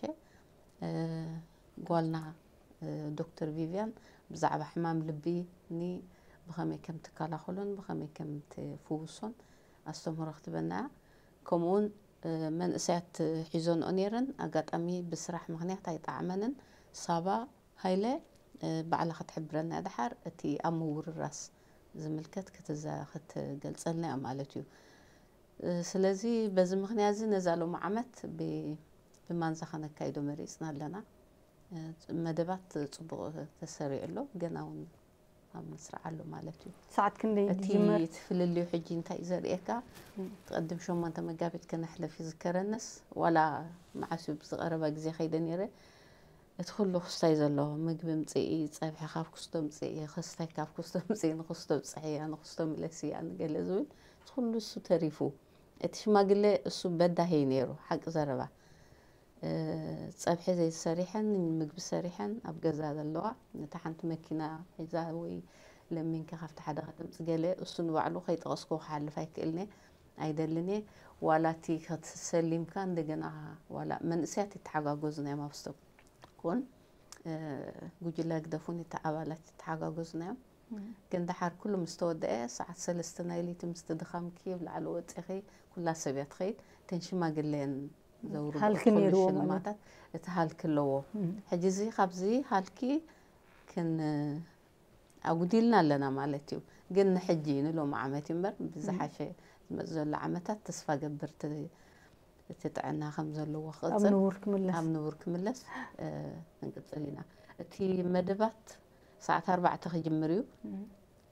ጓልና ዶክተር ቪቪያን ብዛዕባ ሕማም ልቢ ኒ ብኸመይ ከም ትከላኸሎን ብኸመይ ከም ትፍውሶን ኣስተምህሮ ክትበና እያ ከምኡውን መንእሰያት ሒዞንኦ ነይረን ኣጋጣሚ ብስራሕ ምክንያት ኣይጠዓመንን ሳባ ሃይለ ባዕላ ክትሕብረና እያ ደሓር እቲ ኣብ ምውርራስ ዝምልከት ክትገልፀልና እያ ማለት እዩ ስለዚ በዚ ምክንያት እዚ ነዛ ሎም ዓመት ብማንዛ ከነካይዶ መሪፅና ኣለና መደባት ፅቡቅ ተሰሪዑ ኣሎ ገና እውን ኣብ መስርዕ ኣሎ ማለት እዩ ሰዓት ክንደይ እቲ ዝጅመር እቲ ፍልልዩ ሕጂ እንታይ እዩ ዘርእየካ ቅድም ሸሞንተ መጋቢት ከነሕለፍ ይዝከረንስ ዋላ መዓስ እዩ ብዝቀረባ ግዜ ከይደ ነይረ እቲ ኩሉ ክስታይ ዘለዎ ምግቢ ምፅኢ፣ ፀብሒ ካብ ክስቶ ምፅኢ፣ ክስታይ ካብ ክስቶ ምፅኢ፣ ንክስቶ ብፅሕያ፣ ንክስቶ ምለስያ፣ ንገለ ዝብል እቲ ኩሉ እሱ ተሪፉ። እቲ ሽማግለ እሱ በዳሂ እዩ ነይሩ፣ ሓቂ ዘረባ። እ፣ ፀብሒ ዘይሰሪሐን ምግቢ ሰሪሐን ኣብ ገዛ ዘለዋ፣ ነታ ሓንቲ መኪና ሒዛ ወይ ለሚንካ ካብቲ ሓደ ከተምፅ ገለ፣ እሱ ንባዕሉ ከይጠቐስኩ ክሓልፍ ኣይክእልኔ፣ ኣይደልን እየ። ዋላ እቲ ክትሰሊምካ እንደገና ዋላ መንእሰያት ይተሓጋገዙ ናይ ማብስቶ ኮን፣ እ፣ ጉጅለ ህግደፍ እውን እቲ ኣባላት ይተሓጋገዙ ናዮም። ግን ደሓር ኩሉ ምስ ተወደአ፣ ሰዓት ሰለስተ ናይ ለይቲ ምስቲ ድኻምኪ ኣብ ላዕሊ ወፂኺ፣ ኩላ ሰብ እያ ትኸይድ። እተን ሽማግለ እየን ዘውርዶ ሃልኪ ኩሉ ነይርዎ ማለት ሽልማታት፣ እቲ ሃልኪ ኣለዎ። ሕጂ እዚ ካብዚ ሃልኪ ክን-፣ ኣጉዲልና ኣለና ማለት እዩ። ግን ንሕጂ ንሎሚ ዓመት እዩ እምበር፣ ብዝሓሸ ዝመጽእ ዘሎ ዓመታት ተስፋ ገብር እቲ፣ እቲ ጥዕና ከም ዘለዎ ኣብ ክቕጽል፣ ንቡር ክምለስ። ኣብ ንቡር ክምለስ፣ እ፣ ክንቅጽል ኢና። እቲ መደባት ሰዓት ኣርባዕተ ክጅምር እዩ።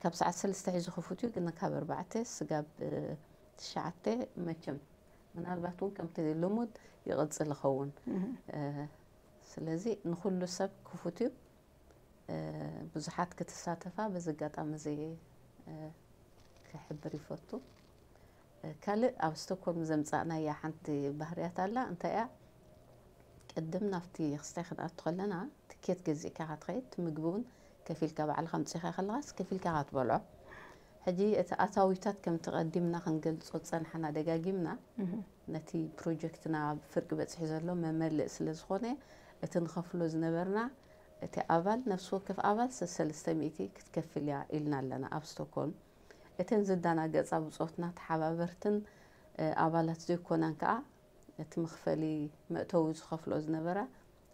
ካብ ሰዓት ሰለስተ ሒዙ ክፉት እዩ፣ ግን ካብ ኣርባዕተ ስጋብ፣ እ፣ ትሽዓተ መቸም ምናልባት እውን ከምቲ ልሙድ ይቕጽል ይኸውን። እ፣ ስለዚ ንኹሉ ሰብ ክፉት እዩ። እ፣ ብዙሓት ክትሳተፋ በዚ ኣጋጣሚ እዚ፣ እ፣ ክሕብር ይፈቱ። እ፣ ካልእ ኣብ ስቶክሆልም ዘምጻእናያ ሓንቲ ባህርያት ኣላ። እንታይ እያ? ቅድም ናብቲ ክስታይ ክንኣቱ ከለና ትኬት ገዚእካ ኢኻ ትኸይድ፣ እቲ ምግቢ እውን ከፊልካ ባዕልኻ ኣምጺእካ ከለኻስ ከፊልካ ኢኻ ትበልዖ። ሕጂ እቲ ኣታዊታት ከምቲ ቀዲምና ክንገልጾ ዝጸናሕና ደጋጊምና፣ ነቲ ፕሮጀክትና ኣብ ፍርቂ በጺሑ ዘሎ መመልእ ስለ ዝኾነ፣ እቲ ንኸፍሎ ዝነበርና፣ እቲ ኣባል፣ ነፍሲ ወከፍ ኣባል ሰሰለስተ ሚእቲ ክትከፍል እያ ኢልና ኣለና ኣብ ስቶክሆልም። እተን ዝደናገጻ ብጾትና ተሓባበርትን፣ እ፣ ኣባላት ዘይኮናን ከኣ፣ እቲ መኽፈሊ መእተዊ ዝኸፍሎ ዝነበራ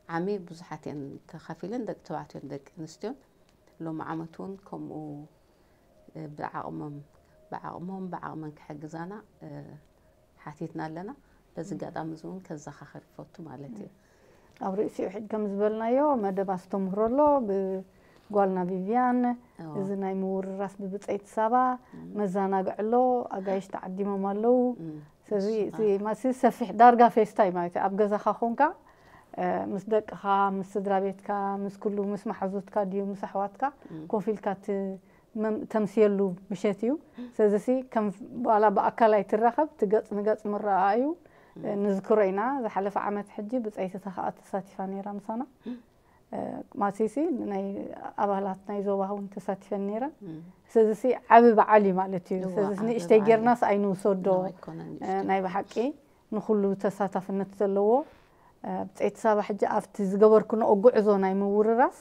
ዓሚ ብዙሓት እየን ተኻፊለን፣ ደቂ ተባዕትዮን ደቂ ኣንስትዮን። ሎሚ ዓመት እውን ከምኡ፣ እ፣ ብዓቕሞም፣ ብዓቕሞም፣ ብዓቕመን ክሕግዛና፣ እ፣ ሓቲትና ኣለና። በዚ ኣጋጣሚ እዚ እውን ከዘኻኸር ይፈቱ ማለት እዩ። ኣብ ርእሲኡ ሕጂ ከም ዝበልናዮ መደብ ኣስተምህሮ ኣሎ ብጓልና ቪቪያን። እዎ። እዚ ናይ ምውርራስ ብብፀይቲ ሳባ እም። መዘናግዒ ኣሎ፣ ኣጋይሽ ተዓዲሞም ኣለዉ። እም። ስለዚ ንሱ እቲ ከዓ ማሲ ሰፊሕ ዳርጋ ፌስታ እዩ ማለት እዩ። ኣብ ገዛኻ ኮንካ፣ እ፣ ምስ ደቅኻ፣ ምስ ስድራ ቤትካ፣ ምስ ኩሉ፣ ምስ መሓዙትካ ድዩ፣ ምስ ኣሕዋትካ እም። ኮፍ ኢልካ ት-፣ መም-፣ ተምስየሉ ምሸት እዩ። ስለዚሲ ከም ዋላ ብኣካል ኣይትራኸብ፣ እቲ ገጽ ንገጽ ምረኣእዩ፣ እም። ንዝክሮ ኢና። ዝሓለፈ ዓመት ሕጂ ብጸይቲ ተኸኣ ተሳቲፋ ነይራ ምሳና። እም። እ፣ ማሲሲ ናይ ኣባላት ናይ ዞባ እውን ተሳቲፈን ነይረን። እም። ስለዚሲ ዓቢ በዓል እዩ ማለት እዩ። እዋ፣ ስለዚሲ ዓቢ ንእሽተይ በዓል ጌርናስ እዩ። ኣይንውሰዶ። ኖ፣ ኣይኮነን እ፣ ንእሽተይ። ናይ ብሓቂ ንኹሉ ተሳታፍነት ዘለዎ፣ እ፣ ብጸይቲ ሳባ ሕጂ ኣብቲ ዝገበርክንኦ ጉዕዞ ናይ ምውርራስ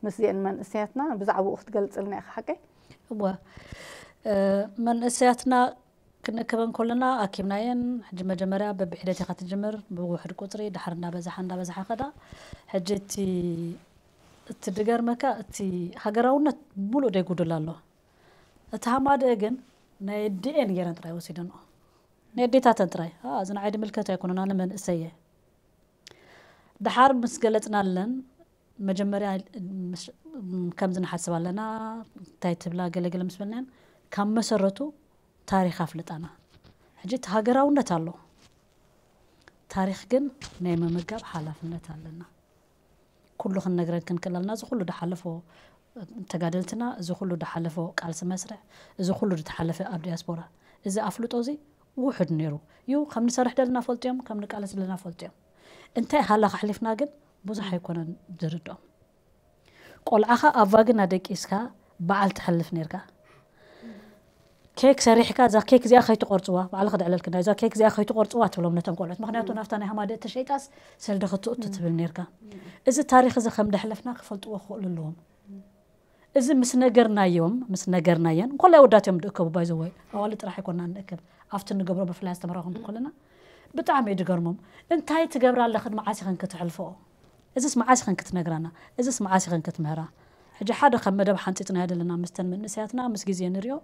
ምስዚአን መንእሰያትና ብዛዕባኡ ክትገልጽልና ኢኻ ሓቀይ? እወ፣ እ፣ መንእሰያትና ክንእክበን ከለና ኣኪብናየን። ሕጂ መጀመርያ በብሒደት ኢኻ ትጅምር፣ ብውሕድ ቁጽሪ፣ ድሓር እንዳበዝሓ፣ እንዳበዝሓ ከዳ። ሕጂ እቲ፣ እቲ ድገርመካ፣ እቲ ሃገራውነት ብሙሉእ ደይጉድል ኣሎ። እቲ ሃማደአ ግን ናይ ኣዲኤን ገይረን ጥራይ ወሲደንኦ። ናይ ኣዴታተን ጥራይ። አ፣ እዚ ንዓይ ድምልከት ኣይኮነን፣ ኣነ መንእሰየ። ድሓር ምስ ገለጽናለን፣ መጀመርያ ምስ-፣ ከምዚ ንሓስብ ኣለና፣ እንታይ ትብላ፣ ገለ ገለ ምስ በልናየን፣ ካብ መሰረቱ ታሪኽ ኣፍልጣና። ሕጂ እቲ ሃገራውነት ኣሎ። ታሪኽ ግን ናይ ምምጋብ ሓላፍነት ኣለና። ኩሉ ክንነግረን ክንክእል ኣለና። እዚ ኩሉ ድሓለፎ ተጋደልትና፣ እዚ ኩሉ ድሓለፎ ቃልሲ መስርዕ፣ እዚ ኩሉ ድተሓለፈ ኣብ ዲያስፖራ፣ እዚ ኣፍልጦ እዚ ውሑድ ነይሩ እዩ። ከም ንሰርሕ ደለና ፈልጡ እዮም፣ ከም ንቃለስ ደለና ፈልጡ እዮም። እንታይ ሃላ ከሕሊፍና ግን ብዙሕ ኣይኮነን ዝርድኦም። ቆልዓኻ ኣብ ቫግና ደቂስካ በዓል ትሕልፍ ነይርካ። ኬክ ሰሪሕካ፣ "እዛ ኬክ እዚኣ ከይትቆርጽዋ፣ ባዕልኺ ድዕለልክና፣ እዛ ኬክ እዚኣ ከይትቆርጽዋ" ትብሎም ነቶም ቆልዑት። ምኽንያቱ ናብታ ናይ ሃማደእ ተሸይጣስ ሰልዲ ክትእቱ ትብል ነይርካ። እዚ ታሪኽ እዚ ከም ደሕለፍና ክፈልጥዎ ክኽእሉ ኣለዎም። እዚ ምስ ነገርናዮም፣ ምስ ነገርናየን፣ እንኮላይ ወዳት እዮም ድእከቡ፣ ባይ ዘ ወይ፣ ኣዋልድ ጥራሕ ኣይኮንና ንእከብ። ኣብቲ ንገብሮ ብፍላይ ኣስተምህሮ ክንብል ከለና ብጣዕሚ እዩ ድገርሞም። "እንታይ ትገብራ ኣለኽን መዓስ ኢኽን ክትሕልፈኦ? እዚስ መዓስ ኢኽን ክትነግራና? እዚስ መዓስ ኢኽን ክትምህራ?" ሕጂ ሓደ ካብ መደብ ሓንፂፅናዮ ዘለና ምስተን መንእሰያትና ምስ ግዜ ንሪኦ፣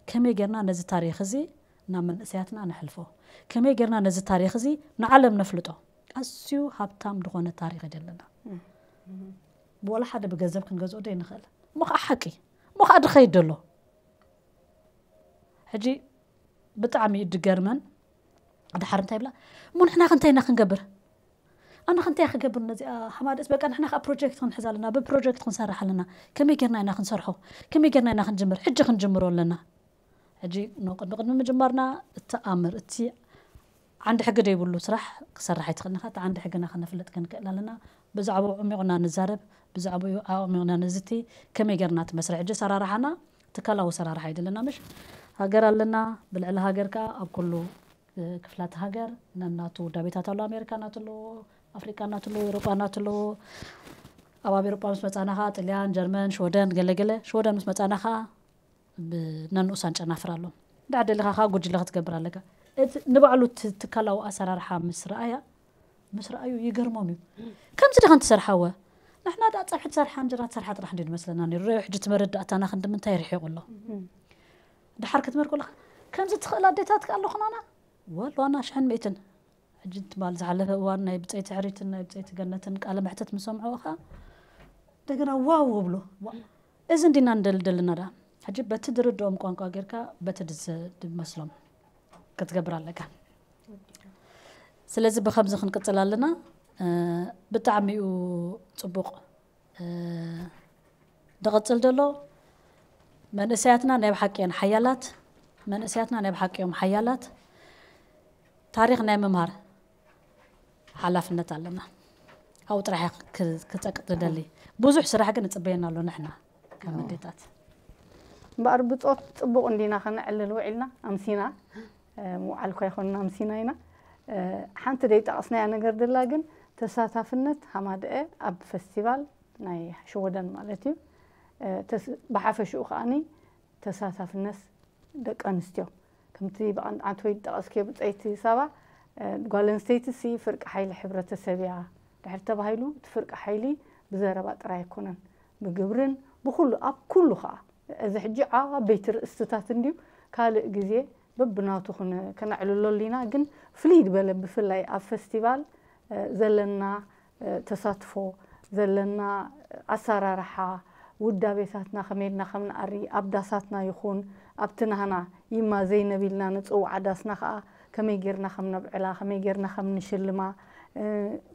ከመይ ጌርና ነዚ ታሪኽ እዚ ናብ መንእሰያትና ነሕልፎ? ከመይ ጌርና ነዚ ታሪኽ እዚ ንዓለም ነፍልጦ? ኣዝዩ ሃብታም ዝኾነ ታሪኽ እዩ ዘለና። እም። ወላ ሓደ ብገንዘብ ክንገዝኦ ዶ ይንኽእል? እሞ ኸዓ ሓቂ፣ እሞ ኸዓ ድኸይድ ደሎ። ሕጂ ብጣዕሚ እዩ ድገርመን። ድሓር እንታይ ይብላ? "እሞ ንሕና ከ እንታይ ኢና ክንገብር? ንሕና እንታይ ክገብር ነዚኣ ሓማደስ በቃ ንሕና ከዓ ፕሮጀክት ክንሕዝ ኣለና፣ ብፕሮጀክት ክንሰርሕ ኣለና። ከመይ ጌርና ኢና ክንሰርሖ? ከመይ ጌርና ኢና ክንጅምር? ሕጂ ክንጅምሮ ኣለና። ሕጂ ንቅድሚ ቅድሚ ምጅማርና እቲ ኣምር እቲ ዓንዲ ሕጊ ዘይብሉ ስራሕ ክሰርሕ ኣይትኽእልን ኢኻ። እቲ ዓንዲ ሕግና ከነፍልጥ ክንክእል ኣለና። ብዛዕባኡ ዓሚቑና ንዛረብ፣ ብዛዕባኡ ኣዕሚቑና ንዝቲ፣ ከመይ ጌርና እቲ መስርሕ ሕጂ ኣሰራርሓና ትካላዊ ኣሰራርሓ ኣይደለና ምሽ ሃገር ኣለና። ብልዕሊ ሃገር ከዓ ኣብ ኩሉ ክፍላት ሃገር ነናቱ ውዳቤታት ኣሎ። ኣሜሪካ ናቱ ኣለዎ፣ ኣፍሪቃ ናቱ ኣለዎ፣ ኤውሮጳ ናቱ ኣለዎ። ኣብ ኣብ ኤውሮጳ ምስ መጻና ከዓ ጥልያን፣ ጀርመን፣ ሽወደን ገለገለ። ሽወደን ምስ መጻና ከዓ ብነንኡሳን ጨናፍር ኣሎ። እንዳ ደሊኻ ከዓ ጉጅለ ክትገብር ኣለካ። እቲ ንባዕሉ እቲ ትካላዊ ኣሰራርሓ ምስ ረኣያ ምስ ረኣዩ ይገርሞም እዩ። ከምዚ ዲኻ እንትሰርሓወ ንሕና ዳ ፀብሒ ትሰርሓ እንጀራ ትሰርሓ ጥራሕ እንዲ ዝመስለና ነይሩ። ረዮ ሕጂ እቲ መረዳእታና ክንዲ ምንታይ ርሒቑ ኣሎ። ድሓር ክትመር ከለኻ ከምዚ ትኽእል ኣዴታት ከኣ ኣለኹናና ወል ዋና ሽሕን ሚእትን። ሕጂ ትማል ዝሓለፈ እዋን ናይ ብፀይቲ ሕሪትን ናይ ብፀይቲ ገነትን ቃለ መሕተት ምስ ሰምዑ ከዓ እንደገና ዋው እብሉ። ዋ- እዚ እንዲና ንደልደልና ዳ ሕጂ በቲ ድርድኦም ቋንቋ ጌርካ በቲ ድዘ- ድመስሎም ክትገብር ኣለካ። ስለዚ ብከምዚ ክንቅጽል ኣለና። ብጣዕሚ እዩ ጽቡቕ ዝቕጽል ዘሎ። መንእሰያትና ናይ ብሓቂ እዮም ሓያላት። መንእሰያትና ናይ ብሓቂ እዮም ሓያላት። ታሪኽ ናይ ምምሃር ሓላፍነት ኣለና። ኣብኡ ጥራሕ ክጸቅጥ ንደሊ። ብዙሕ ስራሕ ግን ንጽበየና ኣሎ ንሕና ከም ኣዴታት። እምበኣር ብጾት ጽቡቕ እንዲና ከነዕልል ውዒልና ኣምሲና። ምውዓል እኳ ኣይኮንና ኣምሲና ኢና። ሓንቲ ደይጠቐስናያ ነገር ደላ ግን ተሳታፍነት ሃማደኤ ኣብ ፈስቲቫል ናይ ሽወደን ማለት እዩ። ብሓፈሽኡ ከዓኒ ተሳታፍነት ደቂ ኣንስትዮ ከምቲ ብቐንጣንት ወይ ጠቐስክዮ ብፀይቲ ሳባ ጓል ኣንስተይቲ ሲ ፍርቂ ሓይሊ ሕብረተሰብ እያ ድሕር ተባሂሉ እቲ ፍርቂ ሓይሊ ብዘረባ ጥራይ ኣይኮነን ብግብርን ብኩሉ ኣብ ኩሉ ከዓ እዚ ሕጂ ዓበይቲ ርእስትታት እንድዩ ካልእ ግዜ በብናቱ ከነዕልሎ ኣሊና ግን ፍልይ ዝበለ ብፍላይ ኣብ ፈስቲቫል ዘለና ተሳትፎ ዘለና ኣሰራርሓ ውዳቤታትና ከመይ ኢልና ከም ንኣሪ ኣብ ዳሳትና ይኹን ኣብቲ ናህና ይማ ዘይነብ ኢልና ንፅውዓ ዳስና ከዓ ከመይ ጌርና ከም ነብዕላ ከመይ ጌርና ከም ንሽልማ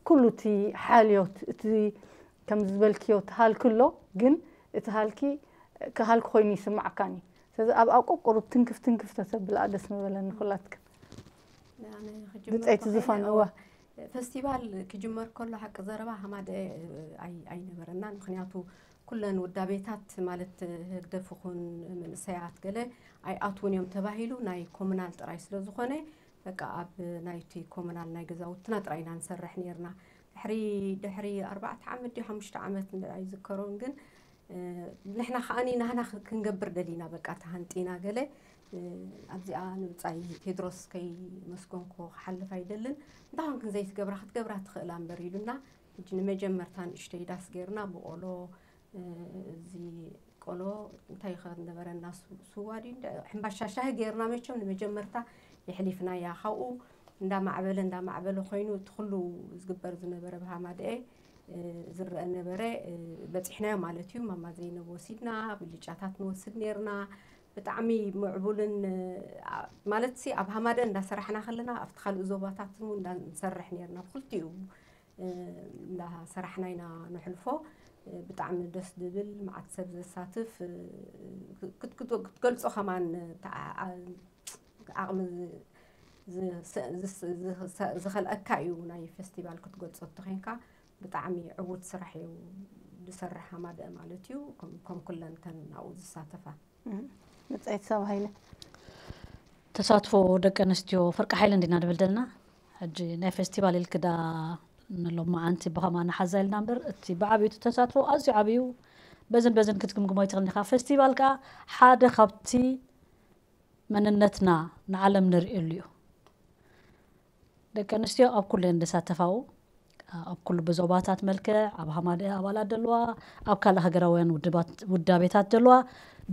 ኩሉ እቲ ሓልዮት እቲ ከም ዝበልክዮ እቲ ሃልኪ ኣሎ ግን እቲ ሃልኪ ከሃልኪ ኮይኑ ይስማዓካኒ ስለዚ ኣብ ኣቆቁሩብ ትንክፍ ትንክፍ ተተብልኣ ደስ ምበለኒ ኩላትክን ብፀይቲ ዝፋን እዋ ፈስቲቫል ክጅመር ከሎ ሓቂ ዘረባ ሃማደ ኣይነበረና ምክንያቱ ኩለን ውዳቤታት ማለት ህግደፍ ኹን መንእሰያት ገለ ኣይኣትውን እዮም ተባሂሉ ናይ ኮሙናል ጥራይ ስለ ዝኾነ በቃ ኣብ ናይቲ ኮሙናል ናይ ገዛውትና ጥራይ ኢና ንሰርሕ ነርና ድሕሪ ድሕሪ ኣርባዕተ ዓመት ድዩ ሓሙሽተ ዓመት ኣይዝከሮን ግን ንሕና ከዓኒ ናህና ክንገብር ደሊና በቃ ተሃንጢና ገለ ኣብዚኣ ንብፃይ ቴድሮስ ከይመስገንኮ ክሓልፍ ኣይደልን እንታይ ኮንክን ዘይትገብራ ክትገብራ ትኽእላ እምበር ኢሉና ሕጂ ንመጀመርታ ንእሽተይ ዳስ ገይርና ብቆሎ እዚ ቆሎ እንታይ ይኸድ ነበረና ስዋ ድዩ ሕምባሻ ሻሂ ገይርና መቸም ንመጀመርታ የሕሊፍናያ ካብኡ እንዳማዕበለ እንዳማዕበለ ኮይኑ እቲ ኩሉ ዝግበር ዝነበረ ብሃማደኤ ዝረአ ነበረ በፂሕናዮ ማለት እዩ ማማ ዘይነብ ወሲድና ብልጫታት ንወስድ ነርና ብጣዕሚ ምዕቡልን ማለት ሲ ኣብ ሃማደ እንዳሰራሕና ከለና ኣብቲ ካልእ ዞባታት እንዳንሰርሕ ነርና ብክልቲኡ እንዳሰራሕና ኢና ንሕልፎ ብጣዕሚ ደስ ዝብል መዓት ሰብ ዘሳትፍ ክትገልፆ ከማን ዓቕሚ ዝኸልአካ እዩ ናይ ፌስቲቫል ክትገልፆ እንተኮይንካ ብጣዕሚ ዕዉት ስራሕ እዩ ዝሰርሕ ሃማደአ ማለት እዩ ከም ኩለን ተን ኣብኡ ዝሳተፋ ብፀይቲ ሰብ ሃይለ ተሳትፎ ደቂ ኣንስትዮ ፍርቂ ሓይሊ እንዲና ንብል ዘለና ሕጂ ናይ ፌስቲቫል ኢልክዳ ንሎማዓንቲ ብኸማ ንሓዛ ኢልና እምበር እቲ ብዓብዩ ተሳትፎ ኣዝዩ ዓብዩ በዝን በዝን ክትግምግሞ ኣይትኽእልን ኢኻ ፌስቲቫል ከዓ ሓደ ካብቲ መንነትና ንዓለም ንርእየሉ እዩ ደቂ ኣንስትዮ ኣብ ኩሉ እየን ዝሳተፋ ኣብኡ ኣብ ኩሉ ብዞባታት መልክዕ ኣብ ሃማደኤ ኣባላት ደለዋ ኣብ ካልእ ሃገራውያን ውዳቤታት ደለዋ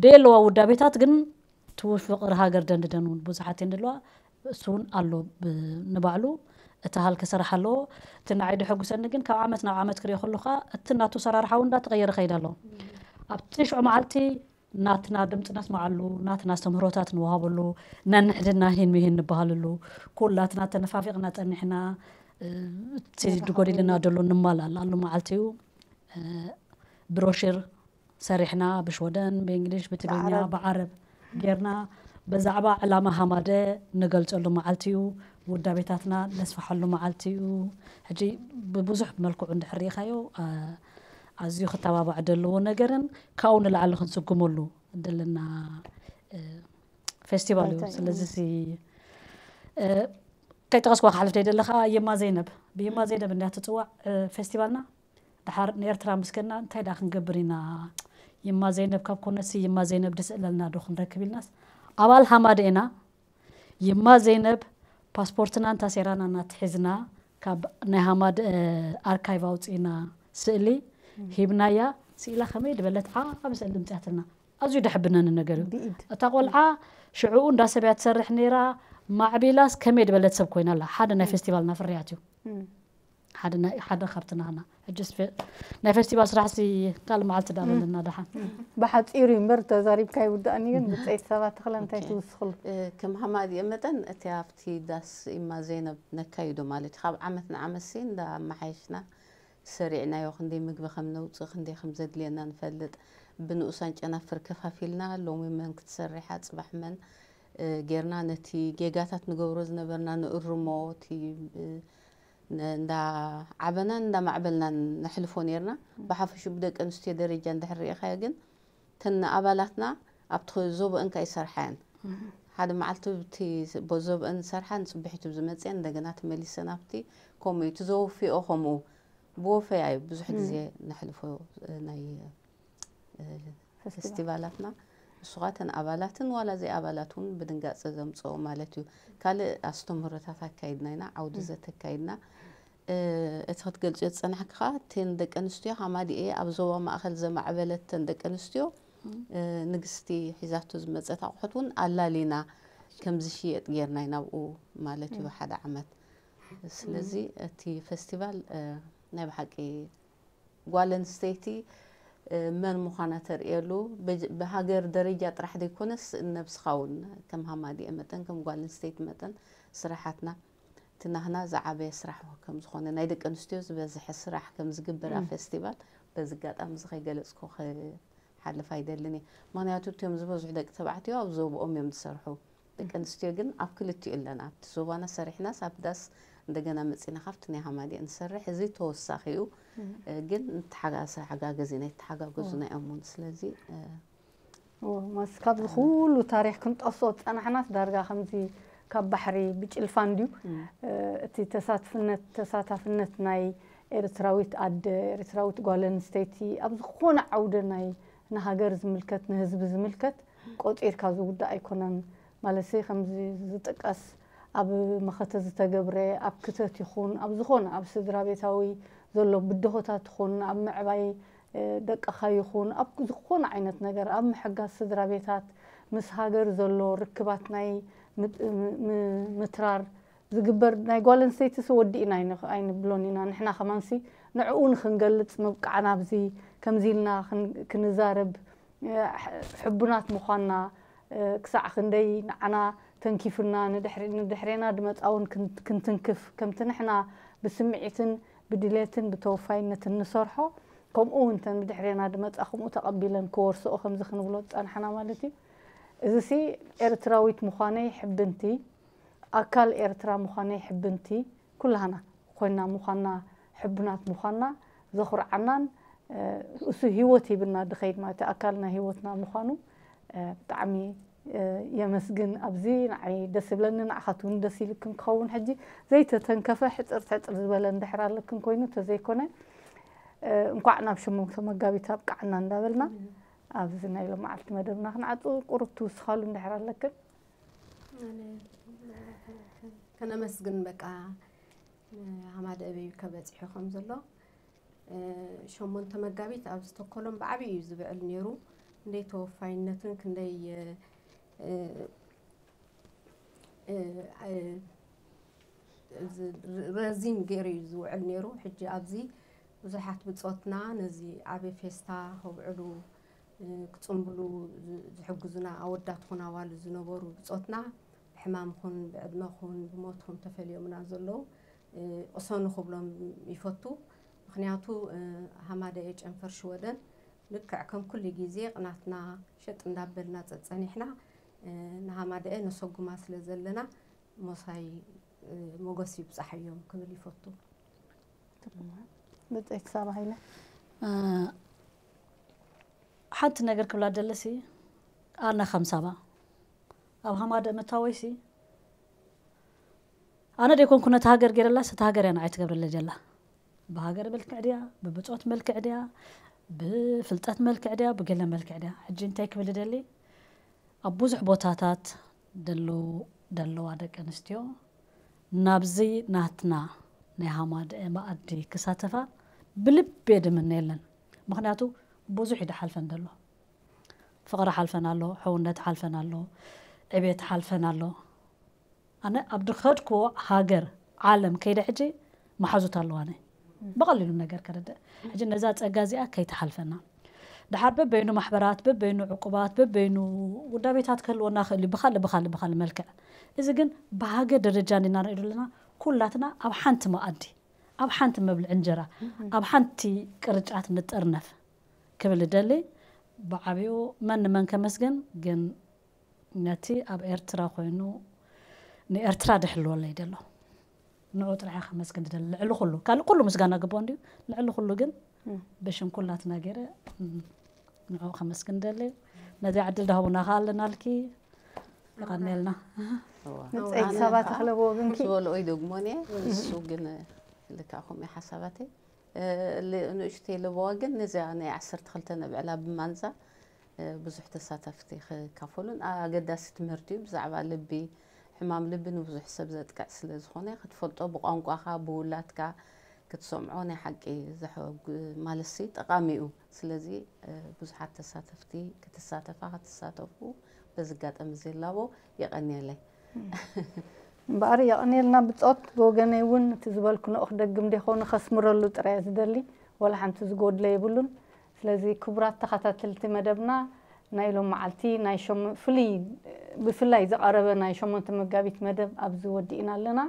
ደየለዋ ውዳቤታት ግን ትውፍቅር ሃገር ደንድደን እውን ብዙሓት እየን ደለዋ እሱ እውን ኣሎ ንባዕሉ እቲ ሃልኪ ስራሕ ኣለዎ እቲ ንዓይ ደሐጉሰኒ ግን ካብ ዓመት ናብ ዓመት ክሪኦ ከለካ እቲ ናቱ ሰራርሓ እውን እንዳተቀየረ ከይድ ኣሎ ኣብቲ ሽዑ መዓልቲ ናትና ድምፂ ነስማዓሉ ናትና ኣስተምህሮታት ንወሃበሉ ነንሕድና ሂን ምሂን ንበሃለሉ ኩላትና ተነፋፊቕና ፀኒሕና እቲ ድጎዲልና ደሎ ንማላላሉ መዓልቲ እዩ። ብሮሽር ሰሪሕና ብሽወደን ብእንግሊሽ ብትግርኛ ብዓረብ ጌርና ብዛዕባ ዕላማ ሃማደ ንገልጸሉ መዓልቲ እዩ። ውዳቤታትና ነስፍሓሉ መዓልቲ እዩ። ሕጂ ብብዙሕ መልክዑ እንድሕር ርኢኻዮ ኣዝዩ ክተባባዕ ዘለዎ ነገርን ካብኡ ንላዕሊ ክንስጉመሉ ዘለና ፌስቲቫል እዩ። ስለዚ ከይጠቐስኳ ክሓልፍ ደይደለ ከዓ የማ ዘይነብ ብየማ ዘይነብ እንዳ ትፅዋዕ ፌስቲቫልና ድሓር ንኤርትራ ምስ ከድና እንታይ ደኣ ክንገብር ኢና? የማ ዘይነብ ካብ ኮነሲ የማ ዘይነብ ድስእለልና ዶ ክንረክብ ኢልናስ ኣባል ሃማደ ኢና። የማ ዘይነብ ፓስፖርትና እንታሴራና እናትሒዝና ካብ ናይ ሃማደ ኣርካይቭ ኣውፅእና ስእሊ ሂብናያ። ስኢላ ከመይ ድበለት ዓብ ስእሊ ምፅያትልና ኣዝዩ ደሕብነኒ ነገር እዩ። እታ ቆልዓ ሽዕኡ እንዳ ሰብ እያ ትሰርሕ ነይራ። ማዕቢላስ ከመይ ድበለት ሰብ ኮይና ኣላ። ሓደ ናይ ፌስቲቫልና ፍርያት እዩ። ሓደ ካብቲ ናህና ሕጅስ ናይ ፌስቲቫል ስራሕሲ ካልእ መዓልቲ ዳበለና ደሓን። ብሓፂሩ እዩ እምበር ተዛሪብካ ይውዳእኒ። ግን ብፀይቲ ሰባት ተኽለ እንታይ ትውስኽሉ? ከም ሃማዲኤ መጠን እቲ ኣብቲ ዳስ ኢማ ዘይነብ ነካይዶ ማለት እዩ። ካብ ዓመት ንዓመት ሲ እንዳ ኣመሓየሽና ሰሪዕናዮ ክንደይ ምግቢ ከም ነውፅእ ክንደይ ከም ዘድልየና ንፈልጥ። ብንኡሳን ጨናፍር ከፋፊልና ሎሚ መን ክትሰርሓ ፅባሕ መን ጌርና ነቲ ጌጋታት ንገብሮ ዝነበርና ንእርሞ። እቲ እንዳዓበናን እንዳማዕበልናን ነሕልፎ ኔርና። ብሓፈሽኡ ብደቂ ኣንስትዮ ደረጃ እንድሕር ርኢኻዮ ግን እተን ኣባላትና ኣብቲ ዞብአን ከኣ ይሰርሓ እየን። ሓደ መዓልቲ እቲ ዞብአን ዝሰርሓ ንፅብሒቱ ዝመፅአን እንደገና ተመሊሰን ኣብቲ ከምኡ እዩ እቲ ዘወፍኦ ከምኡ ብወፈያ እዩ ብዙሕ ግዜ ነሕልፎ ናይ ፌስቲቫላትና። ንሱ ኸዓ እተን ኣባላትን ዋላ ዘይኣባላት እውን ብድንጋፀ ዘምፅኦ ማለት እዩ። ካልእ ኣስተምህሮታት ኣካይድና ኢና፣ ዓውዲ ዘተ ኣካይድና። እቲ ክትገልፅዮ ዝፀናሕኪ ከዓ እተን ደቂ ኣንስትዮ ሃማዲኤ ኣብ ዞባ ማእኸል ዘማዕበለተን ደቂ ኣንስትዮ ንግስቲ ሒዛቶ ዝመፀት ኣቑሑት እውን ኣላሊና ከም ዝሽየጥ ጌርና ኢና ኣብኡ ማለት እዩ ሓደ ዓመት። ስለዚ እቲ ፌስቲቫል ናይ ብሓቂ ጓል ኣንስተይቲ መን ምዃና ተርእየሉ ብሃገር ደረጃ ጥራሕ ዘይኮነስ ነብስኻ እውን ከም ሃማዲኤ መጠን ከም ጓል ኣንስተይቲ መጠን ስራሓትና እቲ ናህና ዝዓበየ ስራሕ ከም ዝኾነ ናይ ደቂ ኣንስትዮ ዝበዝሐ ስራሕ ከም ዝግበር ኣብ ፌስቲቫል በዚ ኣጋጣሚ እዚ ከይገለፅኩ ክሓልፍ ኣይደልን እየ። ምኽንያቱ እቲኦም ዝበዝሑ ደቂ ተባዕትዮ ኣብ ዞብኦም እዮም ዝሰርሑ። ደቂ ኣንስትዮ ግን ኣብ ክልቲኡ ኣለና። ኣብቲ ዞባና ሰሪሕናስ ኣብ ዳስ እንደገና መፂና ካብቲ ናይ ሃማዲኤ ንሰርሕ። እዚ ተወሳኺ እዩ። ግን ንተሓጋገዝ ኢና ይተሓጋገዙና እዮም እውን። ስለዚ ማስ ካብዚ ኩሉ ታሪክ ክንጠፍሶ ዝፀናሕናስ ዳርጋ ከምዚ ካብ ባሕሪ ብጭልፋ እንድዩ። እቲ ተሳትፍነት ተሳታፍነት ናይ ኤርትራዊት ኣደ ኤርትራዊት ጓል ኣንስተይቲ ኣብ ዝኾነ ዓውደ ናይ ንሃገር ዝምልከት ንህዝቢ ዝምልከት ቆፂርካ ዝውዳእ ኣይኮነን። ማለትሲ ከምዚ ዝጥቀስ ኣብ መኸተ ዝተገብረ ኣብ ክተት ይኹን ኣብ ዝኾነ ኣብ ስድራ ቤታዊ ዘሎ ብድሆታት ይኹን ኣብ ምዕባይ ደቅኻ ይኹን ኣብ ዝኾነ ዓይነት ነገር ኣብ ምሕጋዝ ስድራ ቤታት ምስ ሃገር ዘሎ ርክባት ናይ ምትራር ዝግበር ናይ ጓል ኣንስተይትስ ወዲእና ኣይንብሎን ኢና። ንሕና ከማንሲ ንዕኡ ንክንገልፅ ምብቃዕና ኣብዚ ከምዚ ኢልና ክንዛረብ ሕቡናት ምዃንና ክሳዕ ክንደይ ንዓና ተንኪፉና ንድሕሬና ድመፃ እውን ክንትንክፍ ከምቲ ንሕና ብስምዒትን ብድሌትን ብተወፋይነትን ንሰርሖ ከምኡ እውን ተን ብድሕሬና ድመፃ ከምኡ ተቐቢለን ክወርስኦ ከምዚ ክንብሎ ዝፀናሕና ማለት እዩ። እዚሲ ኤርትራዊት ምዃነይ ሕብንቲ ኣካል ኤርትራ ምዃነይ ሕብንቲ ኩላህና ኮይና ምዃንና ሕቡናት ምዃንና ዘኹርዓናን እሱ ህይወት ሂብና ድኸይድ ማለት ኣካልና ህይወትና ምዃኑ ብጣዕሚ የመስግን። ኣብዚ ንዓይ ደስ ይብለኒ ንዓኻት እውን ደስ ኢልክን ክኸውን ሕጂ ዘይተተንከፈ ሕፅር ሕፅር ዝበለ እንድሕር ኣለክን ኮይኑ ተዘይኮነ እንኳዕ ናብ ሸሞንተ መጋቢት ኣብቅዓና እንዳበልና ኣብዚ ናይ ሎመዓልቲ መደብና ክንዓፁ ቁሩብ ትውስኻሉ እንድሕር ኣለክን ከነመስግን በቃ ሃማደ ኣበይ ከበፂሑ ከም ዘሎ ሸሞንተ መጋቢት ኣብ ስቶኮሎም ብዓብዪ እዩ ዝብዕል ነይሩ። ክንደይ ተወፋይነትን ክንደይ ረዚን ገይሩ እዩ ዝውዕል ነይሩ። ሕጂ ኣብዚ ብዙሓት ብፆትና ነዚ ዓቢ ፌስታ ከብዕሉ ክፅምብሉ ዝሕግዙና ኣወዳት ኹን ኣዋልድ ዝነበሩ ብፆትና ብሕማም ኹን ብዕድመ ኹን ብሞት ኹን ተፈልዮምና ዘለዉ ቅሰኑ ክብሎም ይፈቱ። ምኽንያቱ ሃማደኤ ጨንፈር ሽወደን ልክዕ ከም ኩሉ ግዜ ቅናትና ሸጥ እንዳበልና ጸጸኒሕና ንሃማደኤ ነሰጉማ ስለ ዘለና ሞሳይ ሞገስ ይብጻሓዮም ክብል ይፈቱ። ብጽሕቲ ሳባ ሃይለ ሓንቲ ነገር ክብላ ደለሲ ኣነ ከም ሳባ ኣብ ሃማደ መታወይሲ ኣነ ደይኮንኩ ነቲ ሃገር ገይረላስ እቲ ሃገር እያ ንዓይ ትገብረለ ጀላ። ብሃገር መልክዕ ድያ፣ ብብጾት መልክዕ ድያ፣ ብፍልጠት መልክዕ ድያ፣ ብገለ መልክዕ ድያ። ሕጂ እንታይ ክብል ደሊ ኣብ ብዙሕ ቦታታት ደለዉ ደለዋ ደቂ ኣንስትዮ ናብዚ ናትና ናይ ሃማደ መኣዲ ክሳተፋ ብልቤ ድምነ የለን። ምኽንያቱ ብዙሕ እዩ ድሓልፈን ደሎ። ፍቕሪ ሓልፈን ኣሎ፣ ሕውነት ሓልፈን ኣሎ፣ ዕቤት ሓልፈን ኣሎ። ኣነ ኣብ ድኸድክዎ ሃገር ዓለም ከይደ ሕጂ መሓዙት ኣለዋነ ብቐሊሉ ነገር ከረድእ። ሕጂ ነዛ ጸጋ እዚኣ ከይተሓልፈና ድሓር በበይኑ ማሕበራት በበይኑ ዕቁባት በበይኑ ውዳቤታት ክህልወና ክእል እዩ ብካልእ ብካልእ ብካልእ መልክዕ። እዚ ግን ብሃገር ደረጃ እንዲና ንሪኦ ዘለና ኩላትና ኣብ ሓንቲ መኣዲ ኣብ ሓንቲ መብልዕ እንጀራ ኣብ ሓንቲ ቅርጫት ንጥርነፍ ክብል እደሊ። ብዓብኡ መን ንመን ከመስግን ግን ነቲ ኣብ ኤርትራ ኮይኑ ንኤርትራ ድሕልወለይ ደሎ ንዑ ጥራሕ ከመስግን ደሊ። ልዕሊ ኩሉ ካልእ ኩሉ ምስጋና ግቦ እንዲዩ። ልዕሊ ኩሉ ግን ብሽም ኩላትና ገይረ ንዑ ከመስግን ደሊ። ነዚ ዕድል ዳህቡና ከኣ ኣለናልኪ ይቐንየልና። ንፀይት ሰባት ክለብዎ ግንኪ ዝበልኦ ይደግሞን እየ። እሱ ግን ልካ ከምኡ ሓሳባተይ ንእሽተይ ለበዋ ግን ነዚኣ ናይ ዓሰርተ ክልተ ነብዕላ ብማንዛ ብዙሕ ተሳተፍቲ ክካፈሉን ኣገዳሲ ትምህርቲ እዩ። ብዛዕባ ልቢ ሕማም ልቢ ንብዙሕ ሰብ ዘጥቅዕ ስለ ዝኾነ ክትፈልጦ ብቋንቋኻ ብውላትካ ክትሰምዖ ናይ ሓቂ ዘሐጉ ማለትሲ ጠቓሚ እዩ። ስለዚ ብዙሓት ተሳተፍቲ ክትሳተፋ ክትሳተፉ በዚ ኣጋጣሚ እዚ ላቦ የቐንየለይ። እምበኣር የቐንየልና ብጾት። ብወገነይ እውን እቲ ዝበልክንኦ ክደግም ደይኮነ ከስምረሉ ጥራይ ዝደሊ፣ ወላ ሓንቲ ዝጎድለ የብሉን። ስለዚ ክቡራት ተኸታተልቲ መደብና ናይ ሎም መዓልቲ ናይ ሸሞ- ፍሉይ ብፍላይ ዝቐረበ ናይ ሸሞንተ መጋቢት መደብ ኣብዚ ወዲእና ኣለና።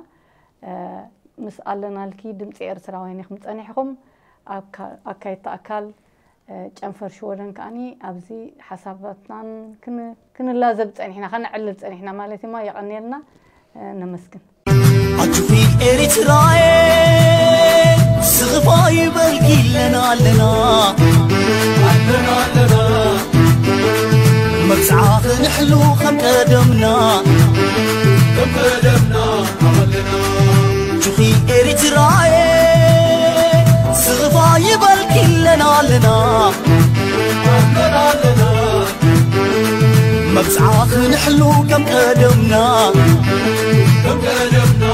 ምስ ኣለናልኪ ድምፂ ኤርትራውያን ኢኹም ጸኒሕኹም። ኣካየድቲ ኣካል ጨንፈር ሽወደን ከኣኒ ኣብዚ ሓሳባትናን ክንላዘብ ጸኒሕና ከነዕልል ጸኒሕና ማለት እማ የቐንየልና። ነመስግን። ኣትኺ ኤሪትራየ ስኽፋ ይበልኪ ኣለና ኣለና ኣለና ኣለና መብጽዓ ክንሕሉ ከም ቀደምና ከም ቀደምና ኣለና ኣትኺ ኤሪትራየ ስኽፋ ይበልኪ ኣለና ኣለና ኣለና ኣለና መብጽዓ ክንሕሉ ከም ቀደምና ከም ቀደምና